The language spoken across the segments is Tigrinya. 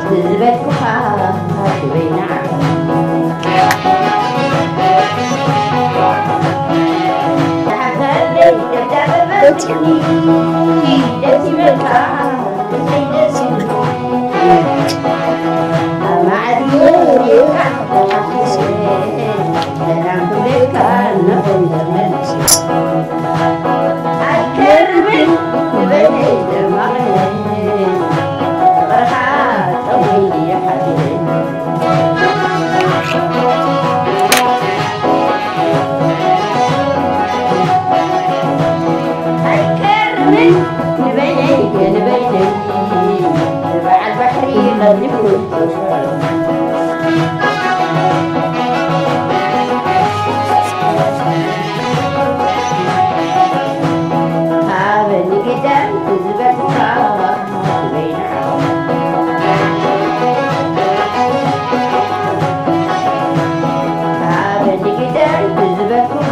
ዝበልኩኻ በይና ደስ ይበልካ። ኣይከርምን ንበይነይ ንበይነይ በዓል ባሕሪ ቀሊፉ ሃበኒ ግዳይ ዝበልካ በይና ሃበኒ ግዳይ ዝበልኩኻ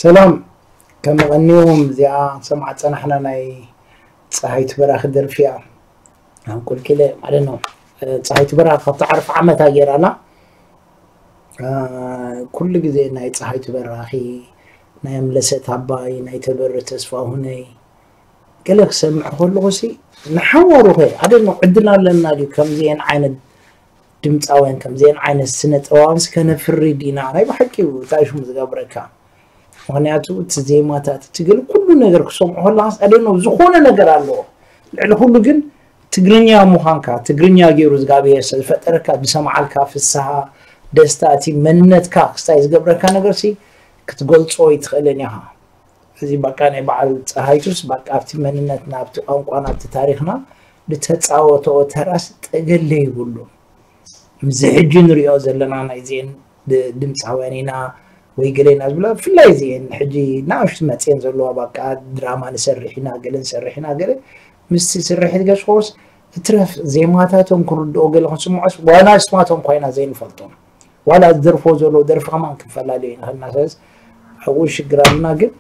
ሰላም፣ ከም ቀኒዎም እዚኣ ሰማዕ ጸናሕና ናይ ጸሃይቱ በራኺ ደርፊ እያ። ኣብ ቁልቂለ ማለት ነው። ጸሃይቱ በራኺ ካብቲ ዓርፊ ዓመታ ገይራና። ኩሉ ግዜ ናይ ጸሃይቱ በራኺ፣ ናይ ኣምለሰት ኣባይ፣ ናይ ተበረ ተስፋሁነይ ገለ ክሰምዕ ከለኹ ሲ ንሓዋሩ ኸ ኣደ ነው ዕድል ኣለና ድዩ ከምዚአን ዓይነት ድምፃውያን ከምዚአን ዓይነት ስነ ጥበባንስ ከነፍሪ ዲና? ናይ ብሓቂ እዩ እንታይ ሽሙ ዝገብረካ። ምክንያቱ እቲ ዜማታት እቲ ገለ ኩሉ ነገር ክሰምዖ ከለካ ኣደ ነው ዝኾነ ነገር ኣለዎ። ልዕሊ ኩሉ ግን ትግርኛ ምዃንካ ትግርኛ ገይሩ እግዚኣብሔር ስለዝፈጠረካ ዝሰምዓልካ ፍስሃ ደስታ እቲ መንነትካ ክስታይ ዝገብረካ ነገር ሲ ክትገልጾ ይትኽእልን ኢኻ። እዚ በቃ ናይ በዓል ፀሃይቱስ በቃ ኣብቲ መንነትና ኣብቲ ቋንቋና ኣብቲ ታሪኽና ዝተፃወተኦ ተራስ ጠገለ ይብሉ። ምዚ ሕጂ ንሪኦ ዘለና ናይዚአን ድምፃውያን ኢና ወይ ገለ ኢና ዝብላ ብፍላይ እዚአን ሕጂ ናእሽቱ መፅየን ዘለዋ በቃ ድራማ ንሰርሕ ኢና ገለ ንሰርሕ ኢና ገለ ምስቲ ስርሒት ገስኮስ እትረፍ ዜማታቶም ክንርድኦ ገለ ክንስምዖስ ዋላ ስማቶም ኮይና ዘይንፈልጦም ዋላ ዝደርፎ ዘሎ ደርፊ ከማን ክንፈላለዩ ኢና ከልና ስለዚ ኣብኡ ሽግር ኣለና ግን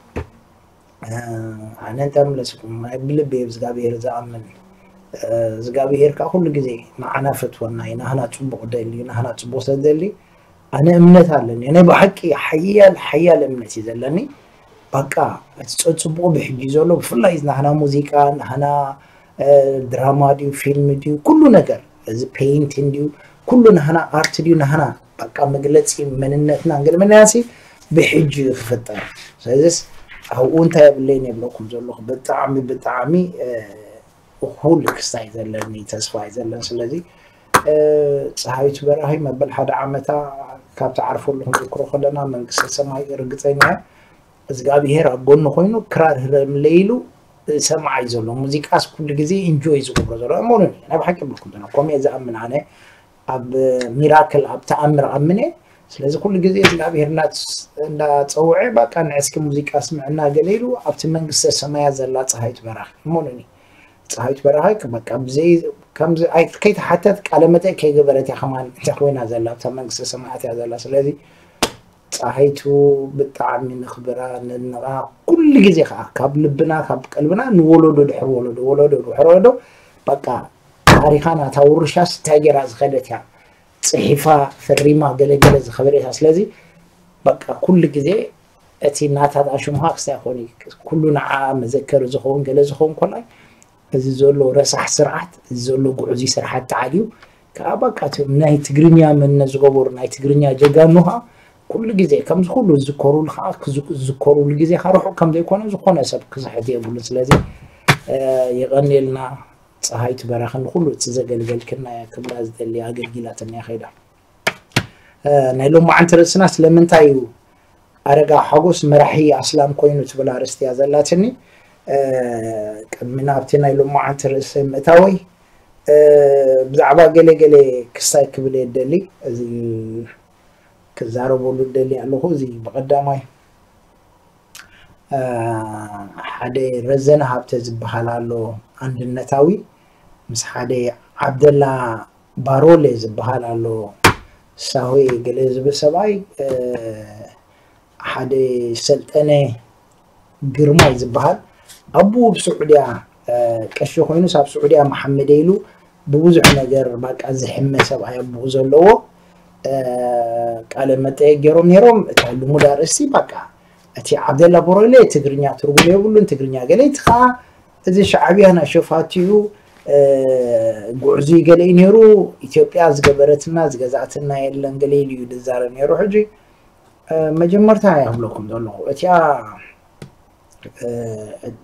ኣነ እንታይ ምለስኩም ናይ ብልቢ እየ ብዝጋብሄር ዝኣምን ዝጋብሄር ከዓ ኩሉ ግዜ ንዓና ፈትወና እዩ ናህና ፅቡቅ ደሊ ናህና ፅቡቅ ሰደሊ ኣነ እምነት ኣለኒ ናይ ብሓቂ ሓያል ሓያል እምነት እዩ ዘለኒ በቃ እቲ ፀፅቡቁ ብሕጂ ዘሎ ብፍላይ ናህና ሙዚቃ ናህና ድራማ ድዩ ፊልም ድዩ ኩሉ ነገር እዚ ፔይንቲን ድዩ ኩሉ ናህና ኣርት ድዩ ናህና በቃ መግለፂ መንነትና ገለመናያሲ ብሕጂ ክፍጠር ስለዚስ ኣብኡ እንታይ የብለይን የብለኩም ዘለኹ ብጣዕሚ ብጣዕሚ እኹል ክስታይ ዘለኒ ተስፋ እዩ ዘለኒ ስለዚ ፀሃይቱ በራሂ መበል ሓደ ዓመታ ካብ ትዓርፈሉ ክንዝክሮ ከለና መንግስተ ሰማይ ርግፀኛ እግዚኣብሄር ኣብ ጎኑ ኮይኑ ክራር ህረምለ ኢሉ ሰማዓይ ዘሎ ሙዚቃስ ኩሉ ግዜ ኢንጆይ ዝገብሮ ዘሎ እመኑኒ ናይ ብሓቂ ብልኩም ዘሎ ኮሜ ዝኣምን ኣነ ኣብ ሚራክል ኣብ ተኣምር ኣምነ ስለዚ ኩሉ ግዜ እግዚኣብሄር እንዳፀውዐ በቃ ንዕስኪ ሙዚቃ ስምዕና ገለ ኢሉ ኣብቲ መንግስተ ሰማያ ዘላ ፀሃይቱ በራኺ እመኑኒ ፀሃይቱ በራኺ በቃ ብዘይ ከምዚ ከይተሓተት ቃለ መጠ ከይገበረት እያ ከማን እታ ኮይና ዘላ ኣብታ መንግስተ ሰማያት እያ ዘላ ስለዚ ፀሃይቱ ብጣዕሚ ንኽብራ ነድንቓ ኩሉ ግዜ ከዓ ካብ ልብና ካብ ቀልብና ንወለዶ ድሕሪ ወለዶ ወለዶ ድሕሪ ወለዶ በቃ ታሪኻና እታ ውርሻስ እንታይ ገይራ ዝኸደት እያ ፅሒፋ ፈሪማ ገለገለ ዝኸበደታ ስለዚ በቃ ኩሉ ግዜ እቲ ናታታ ሽምሃ ክስታይ ኮን ኩሉ ንዓ መዘከሪ ዝኸውን ገለ ዝኸውን ኮላይ እዚ ዘሎ ረሳሕ ስርዓት እዚ ዘሎ ጉዕዙ ስርዓት ተዓልዩ ከዓ በቃ እቶም ናይ ትግርኛ መነ ዝገበሩ ናይ ትግርኛ ጀጋኑ ከዓ ኩሉ ግዜ ከምዚ ኩሉ ዝዝከሩሉ ከዓ ዝዝከሩሉ ግዜ ከዓ ርሑቅ ከም ዘይኮነ ዝኾነ ሰብ ክስሕት የብሉን ስለዚ የቐንየልና ፀሃይቱ በራኺ ንኩሉ እቲ ዘገልገልክና ክብላ ዝደሊ ኣገልጊላትና ከይዳ ናይ ሎማዓንቲ ርእስና ስለምንታይ እዩ ኣረጋ ሓጎስ መራሒ ኣስላም ኮይኑ ትብል ኣርእስቲ እያ ዘላትኒ ቅድሚ ናብቲ ናይ ሎማዓንቲ ርእሲ ምእታወይ ብዛዕባ ገለ ገለ ክስታይ ክብል እየ ደሊ እዚ ክዛረበሉ ደሊ ኣለኹ እዚ ብቀዳማይ ሓደ ረዘነ ሃብተ ዝበሃል ኣሎ ኣንድነታዊ ምስ ሓደ ዓብደላ ባሮሌ ዝበሃል ኣሎ ሳሆ ገለ ዝብል ሰብኣይ ሓደ ሰልጠነ ግርማይ ዝበሃል ኣቦኡ ብስዑድያ ቀሺ ኮይኑ ሳብ ስዑድያ መሓመደ ኢሉ ብብዙሕ ነገር ባቃ ዝሕመ ሰብኣይ ኣቦኡ ዘለዎ ቃለ መጠየቅ ገይሮም ነይሮም እታ ልሙድ ኣርእስቲ ባቃ እቲ ዓብደላ ቦረለ ትግርኛ ትርጉም የብሉን ትግርኛ ገለ እቲ ከዓ እዚ ሻዕብያ ናይ ሸፋትኡ ጉዕዙይ ገለ እዩ ነይሩ ኢትዮጵያ ዝገበረትና ዝገዛእትና የለን ገለ ኢሉ እዩ ዝዛረብ ነይሩ ሕጂ መጀመርታ ይብለኩም ዘለኹ እቲኣ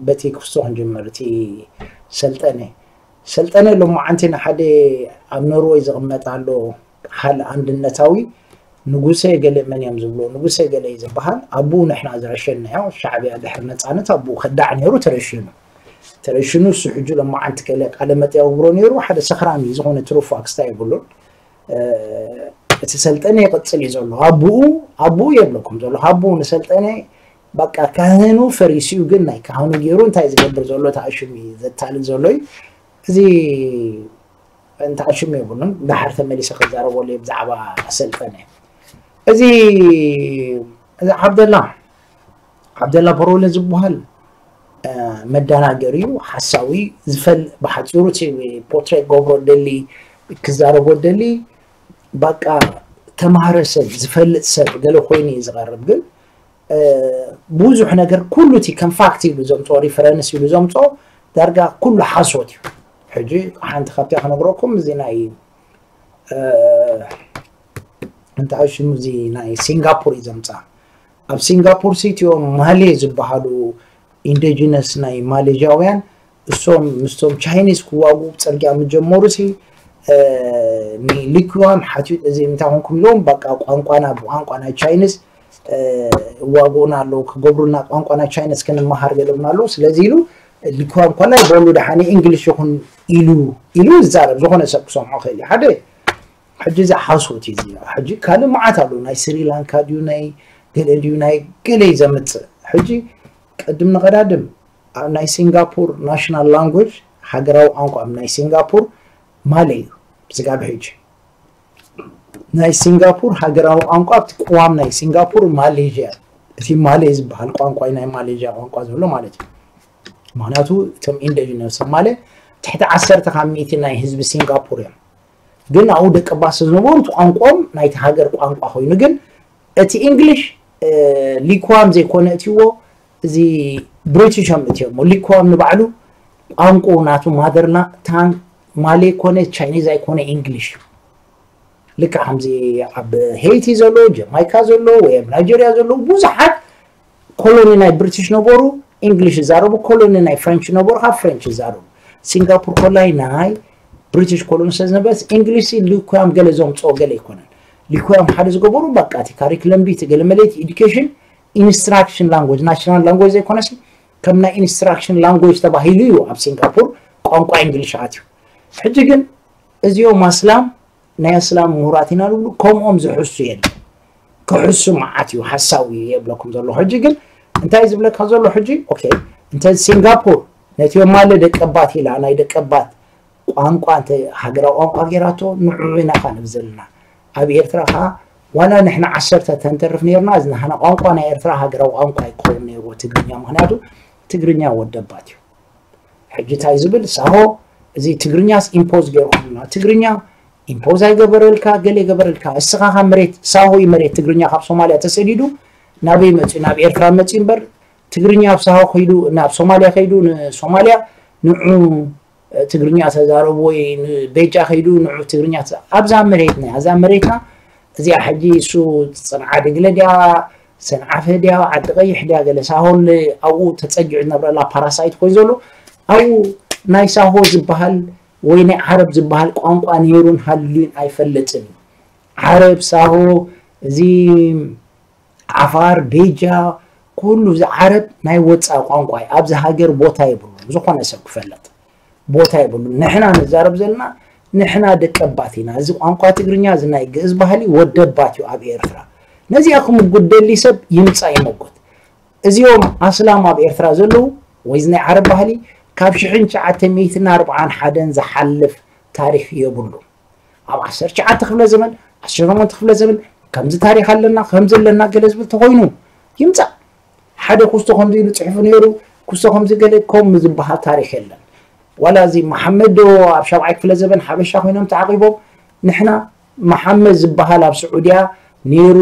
በቲ ክፍቶ ክንጅምር እቲ ሰልጠነ ሰልጠነ ሎማዓንቲ ንሓደ ኣብ ኖርወይ ዝቕመጥ ኣሎ ሓል ኣንድነታዊ ንጉሰ ገለ መን እዮም ዝብሎ ንጉሰ ገለ እዩ ዝበሃል ኣብኡ ንሕና ዝረሸናዮ ሻዕብያ ድሕሪ ነፃነት ኣብኡ ከዳዕ ነይሩ ተረሽኑ ተረሽኑ እሱ ሕጂ ሎማዓንቲ ገለ ቃለ መጠ የውግሮ ነይሩ ሓደ ሰኽራም እዩ ዝኾነ ትሩፋ ክስታ የብሉን እቲ ሰልጠነ ይቕፅል እዩ ዘሎ ኣቡኡ ኣቡኡ የብለኩም ዘሎ ኣቡኡ ንሰልጠነ በቃ ካህኑ ፈሪሲኡ ግን ናይ ካህኑ ገይሩ እንታይ ዝገብር ዘሎ ተኣሽሙ እዩ ዘታልል ዘሎ እዩ እዚ እንተኣሽሙ የብሉን ዳሓር ተመሊሰ ክዛረበሉ ብዛዕባ ሰልጠነ እዚ እዚ ዓብደላ ዓብደላ በሮለ ዝበሃል መዳናገር እዩ፣ ሓሳዊ። ዝፈል ብሓፂሩ ፖርትሬት ገብሮ ደሊ ክዛረቦ ደሊ በቃ ተማሃረ ሰብ ዝፈልጥ ሰብ ገለ ኮይኑ እዩ ዝቐርብ። ግን ብዙሕ ነገር ኩሉ እቲ ከም ፋክት ኢሉ ዘምፅኦ ሪፈረንስ ኢሉ ዘምፅኦ ዳርጋ ኩሉ ሓሶት እዩ። ሕጂ ሓንቲ ካብቲያ ክነግረኩም እዚ ናይ እንታይ ሽሙ እዚ ናይ ሲንጋፖር እዩ ዘምፃ። ኣብ ሲንጋፖር ሲቲኦም ማሌ ዝበሃሉ ኢንዲጂነስ ናይ ማሌዥያውያን እሶም ምስቶም ቻይኒዝ ክዋጉ ፅርግያ ምጀመሩ ሲ ንሊኩዋም ሓትዩ እዚ እንታይ ኮንኩም ኢሎም በቃ ቋንቋና ብቋንቋ ናይ ቻይኒዝ ዋግኡና ኣለዉ ክገብሩና ቋንቋ ናይ ቻይኒዝ ክንመሃር ገለምና ኣለዉ። ስለዚ ኢሉ ሊኩዋም ኮላይ በሉ ደሓነ እንግሊሽ ይኹን ኢሉ ኢሉ ይዛረብ። ዝኾነ ሰብ ክሰምዖ ክእል እዩ። ሓደ ሕጂ እዚ ሓሶት እዩ እዚ። ሕጂ ካልእ መዓት ኣሎ ናይ ስሪላንካ ድዩ ናይ ገለ ድዩ ናይ ገለ እዩ ዘምፅእ። ሕጂ ቅድም ንቐዳድም ኣብ ናይ ሲንጋፖር ናሽናል ላንጉጅ ሃገራዊ ቋንቋ ኣብ ናይ ሲንጋፖር ማሌ እዩ። ስጋብ ሕጂ ናይ ሲንጋፖር ሃገራዊ ቋንቋ ኣብቲ ቅዋም ናይ ሲንጋፖር ማሌዥያ እቲ ማሌ ዝበሃል ቋንቋ ናይ ማሌዥያ ቋንቋ ዘሎ ማለት እዩ። ምክንያቱ እቶም ኢንዲጂነስ ማሌ ትሕቲ ዓሰርተ ካብ ሚእቲ ናይ ህዝቢ ሲንጋፖር እዮም። ግን ኣብኡ ደቂ ባስ ዝነበሩ እቲ ቋንቋኦም ናይቲ ሃገር ቋንቋ ኮይኑ ግን እቲ እንግሊሽ ሊኳም ዘይኮነ እትዎ እዚ ብሪቲሾም እትሞ ሊኳም ንባዕሉ ቋንቋ ናቱ ማደርና ታን ማሌ ኮነ ቻይኒዝ ኣይኮነ እንግሊሽ እዩ። ልክዕ ከምዚ ኣብ ሄይቲ ዘሎ ጀማይካ ዘሎ ወይ ኣብ ናይጀርያ ዘሎ ብዙሓት ኮሎኒ ናይ ብሪቲሽ ነበሩ እንግሊሽ ይዛረቡ፣ ኮሎኒ ናይ ፍሬንች ነበሩ ካብ ፍሬንች ይዛረቡ። ሲንጋፖር ኮላይ ናይ ብሪቲሽ ኮሎኒ ስለ ዝነበረት እንግሊሽ ሊኳም ገለ ዘምፅኦ ገለ ኣይኮነን። ሊኳም ሓደ ዝገበሩ በቃ እቲ ካሪክለም ቢት ገለ መለይቲ ኤዱኬሽን ኢንስትራክሽን ላንጉጅ ናሽናል ላንጉጅ ዘይኮነሲ ከም ናይ ኢንስትራክሽን ላንጉጅ ተባሂሉ እዩ ኣብ ሲንጋፖር ቋንቋ እንግሊሽ ኣትዩ። ሕጂ ግን እዚኦም ኣስላም ናይ ኣስላም ምሁራት ኢና ዝብሉ ከምኦም ዝሕሱ የለ ክሕሱ መዓት እዩ ሓሳዊ የብለኩም ዘሎ ሕጂ ግን እንታይ ዝብለካ ዘሎ ሕጂ ኦኬ እንተ ሲንጋፖር ነቲ ማለ ደቀባት ኢላ ናይ ደቀባት ቋንቋ እንተ ሃገራዊ ቋንቋ ገይራቶ ንዑ ኢና ካ ንብ ዘለና ኣብ ኤርትራ ካ ዋላ ንሕና ዓሰርተ ተንተርፍ ነርና እዚ ንሓና ቋንቋ ናይ ኤርትራ ሃገራዊ ቋንቋ ይከውን ነይርዎ ትግርኛ ምክንያቱ ትግርኛ ወደባት እዩ ሕጂ እንታይ ዝብል ሳሆ እዚ ትግርኛስ ኢምፖዝ ገይርኩምና ትግርኛ ኢምፖዝ ኣይገበረልካ ገለ ይገበረልካ እስኻ ካብ መሬት ሳሆ እዩ መሬት ትግርኛ ካብ ሶማልያ ተሰዲዱ ናበይ መፅኡ ናብ ኤርትራ መፅኡ እምበር ትግርኛ ኣብ ሳሆ ከይዱ ናብ ሶማልያ ከይዱ ንሶማልያ ንዑ ትግርኛ ተዛረቡ ወይ ንቤጃ ከይዱ ንዑ ትግርኛ ኣብዛ መሬትና እዛ መሬትና እዚኣ ሕጂ እሱ ፅንዓ ድግለ ድያ ሰንዓፈ ድያ ዓዲ ቀይሕ ድያ ገለ ሳሆን ኣብኡ ተፀጊዑ ዝነብረላ ፓራሳይት ኮይኑ ዘሎ ኣብኡ ናይ ሳሆ ዝበሃል ወይ ናይ ዓረብ ዝበሃል ቋንቋ ነይሩን ሃልዩን ኣይፈልጥን እዩ ዓረብ ሳሆ እዚ ዓፋር ቤጃ ኩሉ እዚ ዓረብ ናይ ወፃኢ ቋንቋ እዩ ኣብዚ ሃገር ቦታ የብሉን ዝኾነ ሰብ ክፈለጥ ቦታ የብሉን ንሕና ንዛረብ ዘለና ንሕና ደቀባት ኢና እዚ ቋንቋ ትግርኛ እዚ ናይ ግእዝ ባህሊ ወደባት እዩ ኣብ ኤርትራ ነዚኣ ክምጉት ደሊ ሰብ ይምፃእ ይመጉት እዚኦም ኣስላም ኣብ ኤርትራ ዘለዉ ወይ እዚ ናይ ዓረብ ባህሊ ካብ ሽሕን ትሽዓተ ሚእትን ኣርብዓን ሓደን ዝሓልፍ ታሪክ የብሉ ኣብ ዓሰርተ ትሽዓተ ክፍለ ዘመን ዓሰርተ ሸሞንተ ክፍለ ዘመን ከምዚ ታሪክ ኣለና ከምዚ ኣለና ገለ ዝብል ተኮይኑ ይምፃእ ሓደ ኩስቶ ከምዚ ኢሉ ፅሕፉ ነይሩ ኩስቶ ከምዚ ገለ ከም ዝበሃል ታሪክ የለን ዋላ እዚ መሓመድ ዶ ኣብ ሻብዓይ ክፍለ ዘመን ሓበሻ ኮይኖም ተዓቂቦም ንሕና መሓመድ ዝበሃል ኣብ ስዑድያ ነይሩ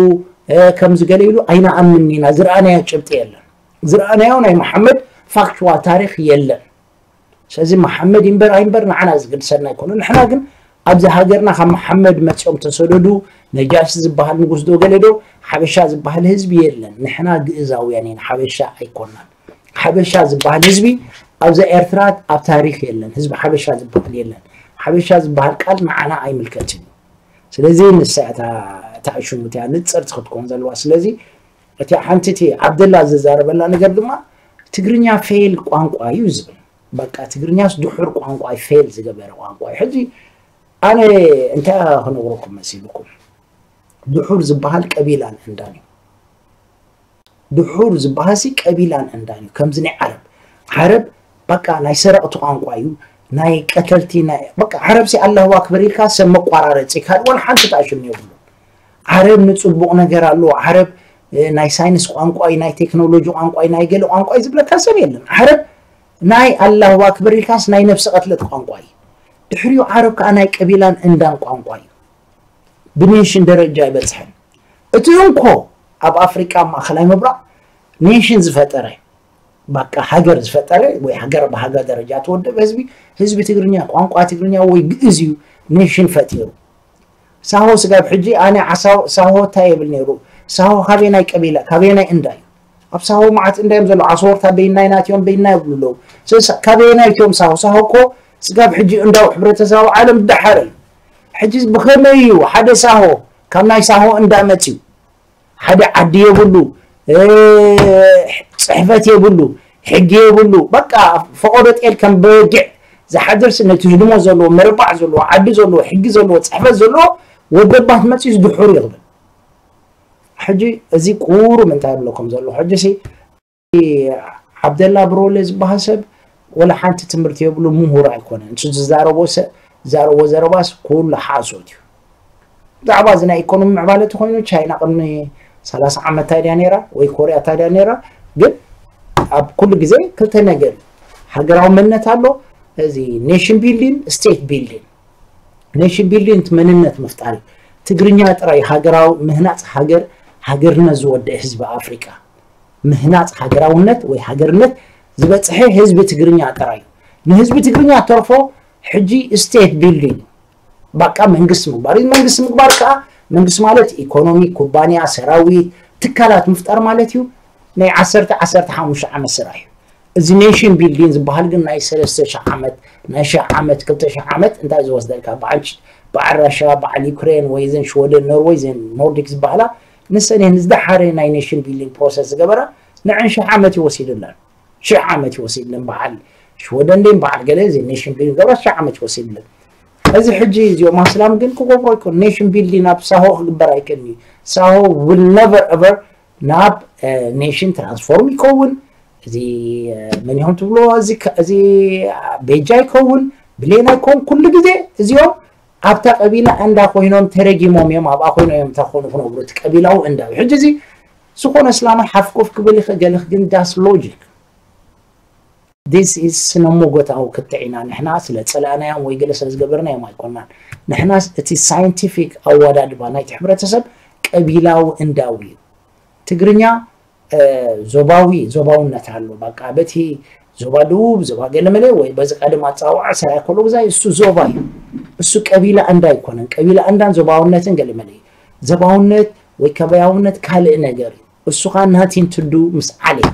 ከምዚ ገለ ኢሉ ኣይንኣምን ኢና ዝረኣናዮ ጭብጢ የለን ዝረኣናዮ ናይ መሓመድ ፋክቹዋል ታሪክ የለን ስለዚ መሓመድ ይንበር ኣይንበር ንዓና ዝግድሰና ኣይኮነ ንሕና ግን ኣብዚ ሃገርና ካብ መሓመድ መፂኦም ተሰደዱ ነጃሲ ዝበሃል ንጉስ ዶ ገለ ዶ ሓበሻ ዝበሃል ህዝቢ የለን ንሕና ግእዛውያን ኢና ሓበሻ ኣይኮናን ሓበሻ ዝበሃል ህዝቢ ኣብዛ ኤርትራ ኣብ ታሪክ የለን ህዝቢ ሓበሻ ዝበሃል የለን ሓበሻ ዝበሃል ቃል ንዓና ኣይምልከትን እዩ ስለዚ ንሳ እታ እታ ሽሙ እቲያ ንፅርቲ ክትኮን ዘለዋ ስለዚ እቲ ሓንቲ እቲ ዓብደላ ዝዛረበላ ነገር ድማ ትግርኛ ፌል ቋንቋ እዩ ዝብል በቃ ትግርኛስ ድሑር ቋንቋ ፌል ዝገበረ ቋንቋ እዩ ሕጂ ኣነ እንታይ ክነግረኩም መሲልኩም ድሑር ዝበሃል ቀቢላን እንዳን እዩ ድሑር ዝበሃሲ ቀቢላን እንዳን እዩ ከምዚ ናይ ዓረብ ዓረብ በቃ ናይ ሰረቕቲ ቋንቋ እዩ ናይ ቀተልቲ ናይ በቃ ዓረብ ሲ ኣላሁ ኣክበር ኢልካ ሰብ መቋራረፂ ካልእ ወላ ሓንቲ ተኣሽም የብሉ ዓረብ ንፅቡቕ ነገር ኣለዎ ዓረብ እ፣ ናይ ሳይንስ ቋንቋ እዩ፣ ናይ ቴክኖሎጂ ቋንቋ እዩ፣ ናይ ገለ ቋንቋ እዩ ዝብለካ ሰብ የለን። ዓረብ ናይ ኣላሁ ኣክበር ኢልካስ ናይ ነፍሲ ቀትለት ቋንቋ እዩ። ድሕሪኡ ዓረብ ከዓ ናይ ቀቢላን እንዳን ቋንቋ እዩ። ብኔሽን ደረጃ ኣይበፅሐን። እቲ እንኮ ኣብ ኣፍሪቃ ማእኸላይ ምብራቕ ኔሽን ዝፈጠረ፣ ባቃ ሃገር ዝፈጠረ ወይ ሃገር ብሃገር ደረጃ ተወደበ ህዝቢ፣ ህዝቢ ትግርኛ ቋንቋ ትግርኛ ወይ ግእዝ እዩ ኔሽን ፈጢሩ። ሳሆ ስጋብ ሕጂ ኣነ ዓሳው ሳሆ እንታይ የብል ነይሩ? ሳሆ ካበየናይ ቀቢላ ካበየናይ እንዳ እዩ? ኣብ ሳሆ መዓት እንዳ እዮም ዘለዉ። ዓሰወርታ በይናይ ናትዮም በይናይ ይብሉ ኣለዉ። ስለዚ ካበየናይ እትዮም ሳሆ? ሳሆ እኮ ስጋብ ሕጂ እንዳው ሕብረተሰብ ዓለም ደሓረ እዩ። ሕጂ ብኸመይ እዩ ሓደ ሳሆ ካብ ናይ ሳሆ እንዳ መፅዩ? ሓደ ዓዲ የብሉ፣ እ፣ ፅሕፈት የብሉ፣ ሕጊ የብሉ። በቃ ፈቆዶ ጤል ከም በጊዕ ዝሓድርስ ነቲ ህድሞ ዘለዎ፣ መርባዕ ዘለዎ፣ ዓዲ ዘለዎ፣ ሕጊ ዘለዎ፣ ፅሕፈት ዘለዎ ወደባት መፅዩስ ድሑር ይቕብል። ሕጂ እዚ ቁሩብ እንታይ ይብለኩም ዘሎ? ሕጂ ሲ ዓብደላ ብሮለ ዝበሃል ሰብ ወላ ሓንቲ ትምህርቲ የብሉ፣ ምሁር ኣይኮነን። እሱ ዝዛረቦ ሰ-፣ ዝዛረቦ ዘረባስ ኩሉ ሓሶት እዩ። ብዛዕባ እዚ ናይ ኢኮኖሚ ምዕባለ ተኾይኑ ቻይና ቅድሚ ሰላሳ ዓመት እንታይ ድያ ነይራ? ወይ ኮርያ እንታይ ድያ ነይራ? ግን ኣብ ኩሉ ግዜ ክልተ ነገር እዩ። ሃገራዊ መንነት ኣሎ፣ እዚ ኔሽን ቢልዲንግ፣ ስቴት ቢልዲንግ። ኔሽን ቢልዲንግ እቲ መንነት ምፍጣር እዩ። ትግርኛ ጥራይ ሃገራዊ ምህናፅ ሃገር፣ ሃገርነት ዝወደአ ህዝቢ ኣፍሪቃ። ምህናፅ ሃገራውነት ወይ ሃገርነት ዝበፅሐ ህዝቢ ትግርኛ ጥራይ እዩ። ንህዝቢ ትግርኛ ተርፎ ሕጂ ስቴት ቢልዲንግ ባቃ መንግስቲ ምግባር እዩ። መንግስቲ ምግባር ከዓ መንግስቲ ማለት ኢኮኖሚ፣ ኩባንያ፣ ሰራዊት፣ ትካላት ምፍጣር ማለት እዩ። ናይ ዓሰርተ ዓሰርተ ሓሙሽተ ዓመት ስራሕ እዩ። እዚ ኔሽን ቢልዲንግ ዝበሃል ግን ናይ ሰለስተ ሽሕ ዓመት፣ ናይ ሽሕ ዓመት፣ ክልተ ሽሕ ዓመት እንታይ ዝወስደልካ? በዓል ች-፣ በዓል ራሻ፣ በዓል ዩክሬን ወይ ዘን ሽወደን፣ ኖርወይ፣ ዘን ኖርዲክ ዝበሃላ ንሰን እየን ዝደሓረ ናይ ኔሽን ቢልዲንግ ፕሮሰስ ዝገበራ። ንዐን ሽሕ ዓመት ይወሲድለን። ሽሕ ዓመት ይወሲድለን። በዓል ሽወደን ደን በዓል ገለ እዚ ኔሽን ቢልዲንግ ገብራ ሽሕ ዓመት ይወሲድለን። እዚ ሕጂ እዚኦም ኣስላም ግን ክገብሮ ይኮን። ኔሽን ቢልዲንግ ኣብ ሳሆ ክግበር ኣይክእልን እዩ። ሳሆ will never ever ናብ፣ እ፣ ኔሽን ትራንስፎርም ይከውን። እዚ፣ እ፣ መን ይሆን ትብሎ? እዚ ከ-፣ እዚ ቤጃ ይከውን፣ ብሌና ይከውን። ኩሉ ግዜ እዚኦም ኣብታ ቀቢላ እንዳ ኮይኖም ተረጊሞም እዮም፣ ኣብኣ ኮይኖም እዮም እንታይ ክኾኑ ክነብሩ፣ እቲ ቀቢላዊ እንዳ እዩ። ሕጂ እዚ ዝኾነ እስላማይ ሓፍ ኮፍ ክብል ይኽእል፣ ገለ ግን ዳስ ሎጂክ። This is ስነ ሞጎታዊ ክትዕ ኢና። ንሕና ስለ ጸላእናዮም ወይ ገለ ስለ ዝገበርናዮም ኣይኮናን። ንሕናስ እቲ ሳይንቲፊክ ኣወዳድባ ናይቲ ሕብረተሰብ ቀቢላዊ እንዳዊ እዩ። ትግርኛ፣ እ፣ ዞባዊ፣ ዞባውነት ኣሎ። በቃ በቲ ዞባ ደቡብ፣ ዞባ ገለመለ ወይ በዚ ቀደም ኣጸዋውዓ ሰራይ ከሎ ግዛይ እሱ ዞባ እዩ። እሱ ቀቢላ እንዳ ኣይኮነን። ቀቢላ እንዳን ዞባውነትን ገለመለ እዩ። ዞባውነት ወይ ከባያውነት ካልእ ነገር እዩ። እሱ ኸኣ nothing to do ምስ ዓሌት።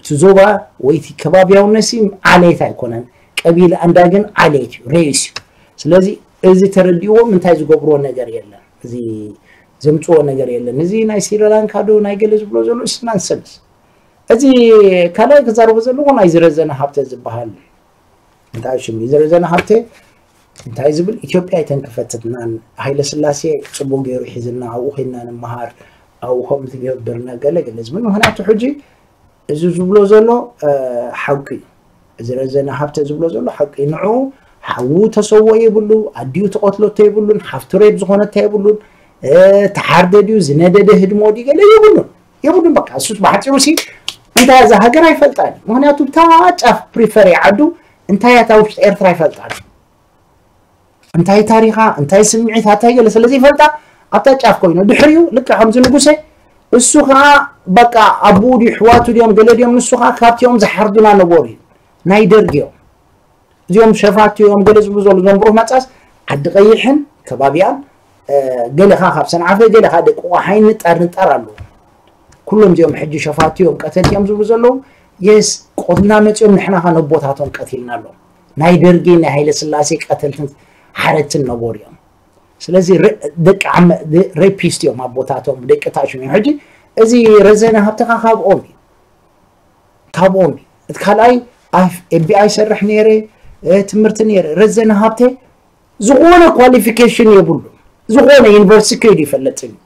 እቲ ዞባ ወይ እቲ ከባቢያውነት ሲ ዓሌት ኣይኮነን። ቀቢላ እንዳ ግን ዓሌት እዩ፣ ሬስ እዩ። ስለዚ እዚ ተረዲእዎም እንታይ ዝገብርዎ ነገር የለን። እዚ ዘምጽዎ ነገር የለን። እዚ ናይ ስሪላንካ ዶ ናይ ገለ ዝብሎ ዘሎ እሱ ናንሰንስ። እዚ ካልኣይ ክዛረቦ ዘለኹ ናይ ዝረዘነ ሃብተ ዝበሃል እንታይ ሽም እዩ? ዝረዘነ ሃብተ እንታይ ዝብል? ኢትዮጵያ ኣይተንክፈትናን፣ ሃይለ ስላሴ ጽቡቅ ገይሩ ሒዝና፣ ኣብኡ ኮይንና ንምሃር፣ ኣብኡ ከምኡ ትገብርና ገለ ገለ ዝብል። ምክንያቱ ሕጂ እዚ ዝብሎ ዘሎ፣ እ፣ ሓቂ እዩ። እዚ ረዘነ ሃብተ ዝብሎ ዘሎ ሓቂ እዩ። ንዑ ሓዉ ተሰዎ የብሉ፣ ኣዲኡ ተቐትለቶ የብሉን፣ ሓፍቱ ሬብ ዝኾነታ የብሉን፣ እ፣ ተሓርደ ድዩ ዝነደደ ህድሞ ድዩ ገለ የብሉን። የብሉን በቃ። እሱ ብሓጺሩ ሲ እንታይ እዛ ሃገር ኣይፈልጣን። ምክንያቱ እታ ጫፍ ፕሪፈር ይዓዱ፣ እንታይ እያ እታ ውሽጢ ኤርትራ ኣይፈልጣን። እንታይ ታሪኻ፣ እንታይ ስምዒታ፣ እንታይ ገለ ስለ ዘይፈልጣ ኣብታ ጫፍ ኮይኑ ድሕሪኡ ልክዕ ከምዚ ንጉሰ እሱ ኸዓ በቃ ኣቡኡ ድዩ ኣሕዋቱ ድዮም ገለ ድዮም ንሱ ኸዓ ካብቲኦም ዝሓርዱና ነበሩ እዩ። ናይ ደርጊ እዮም። እዚኦም ሸፋቱ እዮም ገለ ዝብሉ ዘለዉ እዞም ብሩህ መጻስ ዓዲ ቀይሕን ከባቢኣን፣ እ፣ ገለ ኸዓ ካብ ሰንዓፈ ገለ ኸዓ ደቂ ቆሓይ ንጣር ንጣር ኣለዉ። ኩሎም እዚኦም ሕጂ ሸፋቱ እዮም ቀተልቲ እዮም ዝብሉ ዘለዉ የስ ቆትና መጺኦም ንሕና ኸዓ ነቦታቶም ቀቲልና ኣለዉ። ናይ ደርጊ ናይ ሃይለ ስላሴ ቀተልትን ሓረድትን ነበሩ እዮም። ስለዚ ረ-፣ ደቂ ዓመ-፣ ደ-፣ ሬፒስት እዮም ኣቦታቶም፣ ደቂ ታሽም እዮም። ሕጂ እዚ ረዘነ ሃብተኻ ካብኦም እዩ። ካብኦም እዩ። እቲ ካልኣይ ኣብ ኤፍ ቢ ኣይ ይሰርሕ ነይረ፣ እ፣ ትምህርቲ ነይረ። ረዘነ ሃብተ ዝኾነ ኳሊፊኬሽን የብሉ። ዝኾነ ዩኒቨርሲቲ ከይዱ ይፈልጥን እዩ።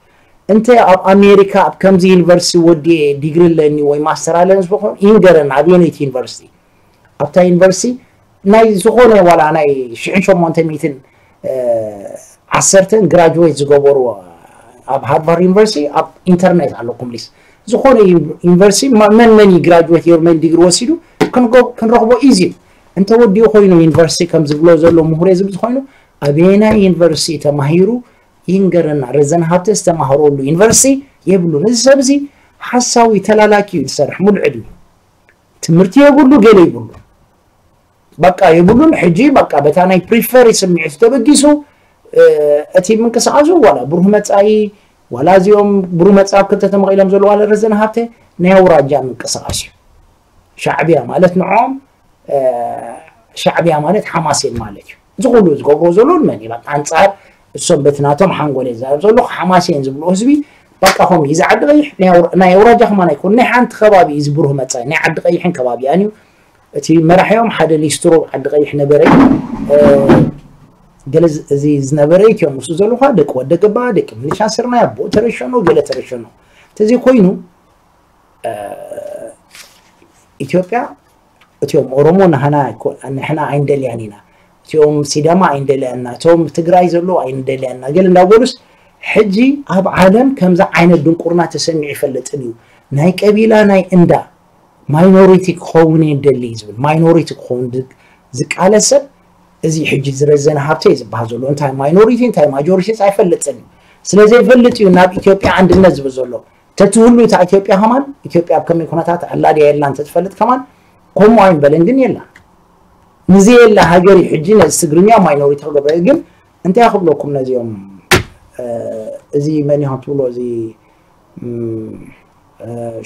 እንተ ኣብ ኣሜሪካ ኣብ ከምዚ ዩኒቨርሲቲ ወዲኤ ዲግሪ ኣለኒ ወይ ማስተር ኣለኒ ዝኾነ ይንገረና ኣበየነይቲ ዩኒቨርሲቲ። ኣብታ ዩኒቨርሲቲ ናይ ዝኾነ ዋላ ናይ ሽሕን ሸሞንተ ሚእትን፣ እ፣ ዓሰርተን ግራጁዌት ዝገበሩ ኣብ ሃርቫርድ ዩኒቨርሲቲ ኣብ ኢንተርኔት ኣለኩም ሊስ ዝኾነ ዩኒቨርሲቲ መን መን ዩ ግራጁዌት ዮር መን ዲግሪ ወሲዱ ክንረኽቦ ኢዚ። እንተወዲኡ ኮይኑ ዩኒቨርሲቲ ከም ዝብሎ ዘሎ ምሁር ዝብ ዝኾይኑ ኣበየናይ ዩኒቨርሲቲ ተማሂሩ ይንገረና። ረዘን ሃብተ ዝተማህረሉ ዩኒቨርሲቲ የብሉን። እዚ ሰብ እዚ ሓሳዊ ተላላኪ እዩ ዝሰርሕ ሙሉ ዕድሚ ትምህርቲ የብሉ ገለ ይብሉ በቃ የብሉን። ሕጂ በቃ በታ ናይ ፕሪፈሪ ስምዒት ተበጊሱ እቲ ምንቅስቃሱ ዋላ ብሩህ መጻኢ ዋላ እዚኦም ብሩህ መጻኢ ክልተ ተመቒሎም ዘለዉ ዋላ ረዘን ሃብተ ናይ ኣውራጃ ምንቅስቃስ እዩ። ሻዕቢያ ማለት ንዖም ሻዕቢያ ማለት ሓማሴን ማለት እዩ። እዚ ኩሉ ዝገብሮ ዘሎ መን እዩ? ኣንጻር እሶም በቲ ናቶም ሓንጎል እየ ዝዛረብ ዘለኹ። ሓማሴን ዝብሉ ህዝቢ በቃ ከም እዚ ዓዲ ቀይሕ ናይ ኣውራጃ ከማን ኣይኮን ናይ ሓንቲ ከባቢ እዩ ዝብሩህ መጻኢ ናይ ዓዲ ቀይሕን ከባቢያን እዩ። እቲ መራሒኦም ሓደ ሊስትሮ ዓዲ ቀይሕ ነበረ። ገለ እዚ ዝነበረ ኢትዮም ምስ ዘለኹ ደቂ ወደ ገባ ደቂ ምልሻ ስርናይ ኣቦ ተረሸኖ ገለ ተረሸኖ ተዘይ ኮይኑ ኢትዮጵያ እቲኦም ኦሮሞ ንሕና ኣይኮ- ንሕና ኣይንደልያን ኢና፣ እቲኦም ሲዳማ ኣይንደልያና፣ እቶም ትግራይ ዘለዉ ኣይንደልያና ገለ እንዳበሉስ ሕጂ ኣብ ዓለም ከምዚ ዓይነት ድንቁርና ተሰሚዑ ይፈልጥን እዩ። ናይ ቀቢላ ናይ እንዳ ማይኖሪቲ ክኸውን እየ ደሊ ዝብል ማይኖሪቲ ክኸውን ዝ- ዝቃለስ ሰብ እዚ ሕጂ ዝረዘነ ሃብተ እዩ ዝበሃል ዘሎ እንታይ ማይኖሪቲ እንታይ ማጆሪቲ ኣይፈልጥን እዩ። ስለዘይፈልጥ እዩ ናብ ኢትዮጵያ ኣንድነት ዝብል ዘሎ ተትህሉ እታ ኢትዮጵያ ከማን ኢትዮጵያ ኣብ ከመይ ኩነታት ኣላ ድያ የላ እንተትፈልጥ ከማን ከምኡ ኣይምበለን ግን የላ ንዘየላ ሃገር እዩ ሕጂ ነዚ ትግርኛ ማይኖሪቲ ክገብረ ግን እንታይ ክብለኩም ነዚኦም እዚ መን ይኾን ትብሎ እዚ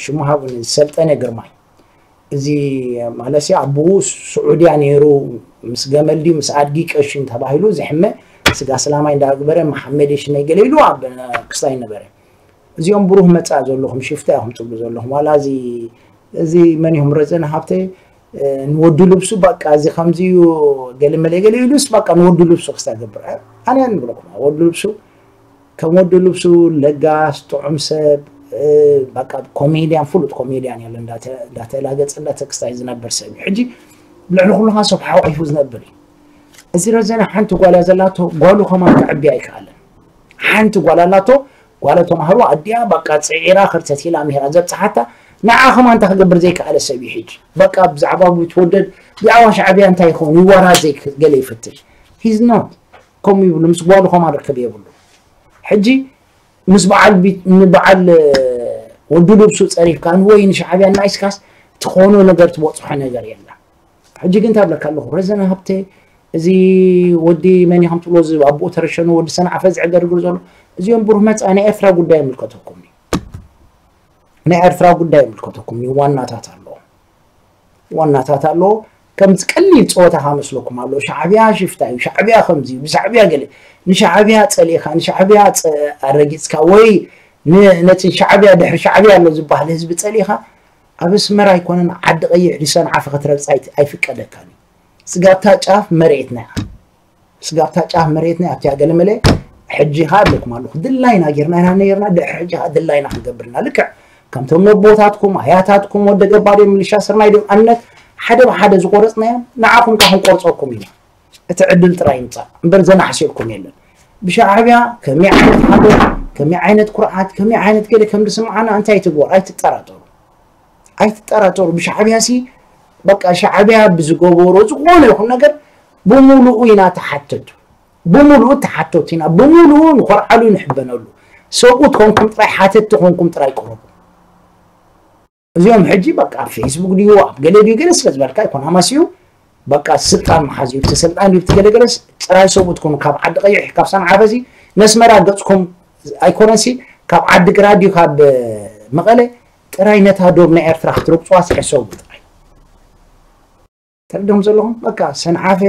ሽሙ ሃቡኒ ዝሰልጠነ ግርማይ እዚ ማለት ኣቦኡ ስዑድያ ነይሩ ምስ ገመል ድዩ ምስ ኣድጊ ቀሽን ተባሂሉ ዝሕመ ስጋ ስላማይ እንዳግበረ መሓመድ ሽመይ ገለ ኢሉ ኣብ ክስታይ ነበረ እዚኦም ብሩህ መፃ ዘለኹም ሽፍታ ኢኹም ትብሉ ዘለኹም ዋላ እዚ እዚ መን ይኹም ረዘነ ሃብተ ንወዱ ልብሱ በቃ እዚ ከምዚ እዩ ገለ መለ ገለ ኢሉስ በቃ ንወዱ ልብሱ ክስታይ ገብር ኣነ ንብለኩም ወዱ ልብሱ ከም ወዲ ልብሱ ለጋስ ጥዑም ሰብ በቃ ኮሜድያን ፍሉጥ ኮሜድያን ያለ እንዳተላገጸ እንዳተክስታይ ዝነበር ሰብ እዩ ሕጂ ልዕሊ ኩሉ ከዓ ሰብ ሓቂፉ ዝነብር እዩ እዚ ረዘነ ሓንቲ ጓል እያ ዘላቶ ጓሉ ከማን ክዕቢ ኣይከኣለን ሓንቲ ጓል ኣላቶ ጓለ ተማህሮ ኣዲኣ በቃ ፅዒራ ክርተት ኢላ ምሂራ ዘብፅሓታ ንዓ ከማን እንታይ ክገብር ዘይከኣለ ሰብ እዩ ሕጂ በቃ ብዛዕባ ብትወደድ ብዛዕባ ሻዕብያ እንታይ ይኸውን ይዋራ ዘይገለ ይፍትሽ he's not ከምኡ ይብሉ ምስ ጓሉ ከማን ርክብ የብሉ ሕጂ ምስ በዓል ንበዓል ወዲ ልብሱ ፀሪፍካ ንወይ ንሻዕብያ እናኢስካስ ትኾኖ ነገር ትበፅሖ ነገር የላ ሕጂ ግን ታብለካ ኣለኹ ረዘነ ሃብተ እዚ ወዲ መን ከም ትብሎ እዚ ኣቦኡ ተረሸኑ ወዲ ሰንዓፈ ዝዕገርግር ዘሎ እዚኦም ብሩህ መፃ ናይ ኤርትራ ጉዳይ ይምልከተኩም ናይ ኤርትራ ጉዳይ ይምልከተኩም ዋናታት ኣለዎ ዋናታት ኣለዎ ከምዚ ቀሊል ፀወታ ካመስለኩም ኣሎ ሻዕብያ ሽፍታ እዩ ሻዕብያ ከምዚ እዩ ብሻዕብያ ገለ ንሻዕብያ ፀሊእካ ንሻዕብያ ኣረጊፅካ ወይ ነቲ ሻዕብያ ድሕሪ ሻዕብያ ኣሎ ዝበሃል ህዝቢ ፀሊእካ ኣብ ኣስመራ ኣይኮነን ዓዲ ቀይሕ ድሰንዓፈ ክትረግፅ ኣይፍቀደካን እዩ ስጋብታ ጫፍ መሬትና እያ ስጋብታ ጫፍ መሬትና እያ ኣብቲያ ገለመለ ሕጂ ካ ኣለኩም ኣለኹ ድላይና ጌርና ኢና ነይርና ድሕሪ ሕጂ ካ ድላይና ክንገብርና ልክዕ ከምቶም ነቦታትኩም ኣያታትኩም ወደ ገባሪ ምልሻ ስርናይ ዶ ኣነት ሓደ ብሓደ ዝቆረፅናዮም ንዓኹም ካ ክንቆርፀኩም ኢና እቲ ዕድል ጥራይ ይምፃእ እምበር ዘናሕሲልኩም የለን ብሻዕብያ ከመይ ዓይነት ሓጎስ ከመይ ዓይነት ኩርዓት ከመይ ዓይነት ገለ ከም ዝስምዓና እንታይ ትግበር ኣይትጠራጠሩ ኣይትጠራጠሩ ብሻዕብያ ሲ በቃ ሻዕብያ ብዝገበሮ ዝኾነ ይኹን ነገር ብምሉኡ ኢና ተሓተቱ ብምሉኡ ተሓተቱ ኢና ብምሉኡ ንኾርዓሉ ንሕበነሉ ሰብኡት ኮንኩም ጥራይ ሓተቲ ኮንኩም ጥራይ ቅረቡ እዚኦም ሕጂ በቃ ኣብ ፌስቡክ ድዩ ኣብ ገለ ድዩ ገለ ስለ ዝበልካ ይኮን ኣማስዩ በቃ ስልጣን መሓዝ እዩ እቲ ስልጣን ድዩ እቲ ገለ ገለስ ጥራይ ሰብኡት ኮኑ ካብ ዓዲ ቀይሕ ካብ ሰንዓፈ እዚ ነስመራ ገፅኩም ኣይኮነሲ ካብ ዓዲ ግራት ድዩ ካብ መቐለ ጥራይ ነታ ዶብ ናይ ኤርትራ ክትረግፅዋ ሕሰቡ ጥራይ ተረድኹም ዘለኹም በቃ ሰንዓፈ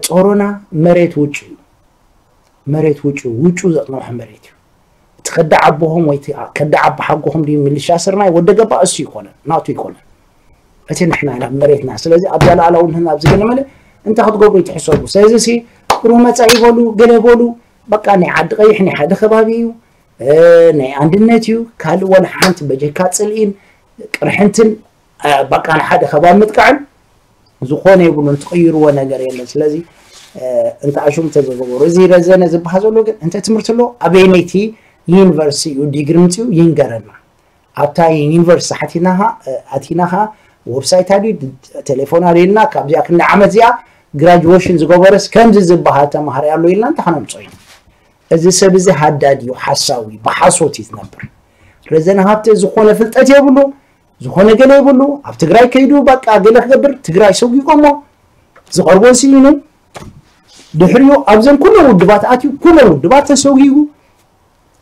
ጾሮና መሬት ውጩ እዩ መሬት ውጩ ውጩ ዘጥነውሐ መሬት እዩ እቲ ከዳ ዓቦኹም ወይ ከዳ ዓቦ ሓጎኹም ድዩ ምልሻ ስርናይ ወደ ገባ እሱ ይኮነ ናቱ ይኮነ እቲ ንሕና ኢና መሬትና ስለዚ ኣብዛ ላዕላውነት ኣብዚ ገለመለ እንታይ ክትገብሩ ትሕሰቡ ስለዚ ሲ ሩመፃ ይበሉ ገለ በሉ በቃ ናይ ዓዲ ቀይሕ ናይ ሓደ ከባቢ እዩ ናይ ኣንድነት እዩ ካልእ ወላ ሓንቲ በጀካ ፅልኢን ቅርሕንትን በቃ ንሓደ ከባቢ ምጥቃዕን ዝኾነ የብሉን ትቕይርዎ ነገር የለን ስለዚ እንተ ኣሹም ተዘገበሩ እዚ ረዘነ ዝበሃል ዘሎ ግን እንተ ትምህርቲ ኣሎ ኣበይነይቲ ዩኒቨርሲቲ እዩ ዲግሪ ምፅኡ ይንገረና። ኣብታ ዩኒቨርሲቲ ሓቲናኻ ኣቲናኻ ወብሳይታ ድዩ ቴሌፎን ኣልየልና ካብዚኣ ክንዲ ዓመት እዚኣ ግራጅዌሽን ዝገበረስ ከምዚ ዝበሃል ተማሃሪ ኣሎ ኢልና እንታይ ከነምፅኦ ኢና? እዚ ሰብ እዚ ሃዳድ እዩ፣ ሓሳዊ እዩ፣ ብሓሶት እዩ ዝነብር። ረዘነ ሃብተ ዝኾነ ፍልጠት የብሉ፣ ዝኾነ ገለ የብሉ። ኣብ ትግራይ ከይዱ በቃ ገለ ክገብር ትግራይ ሰጒጎሞ ዝቐርቦ ስኢኑ ድሕሪኡ ኣብዘን ኩለን ውድባት ኣትዩ ኩለን ውድባት ተሰጒጉ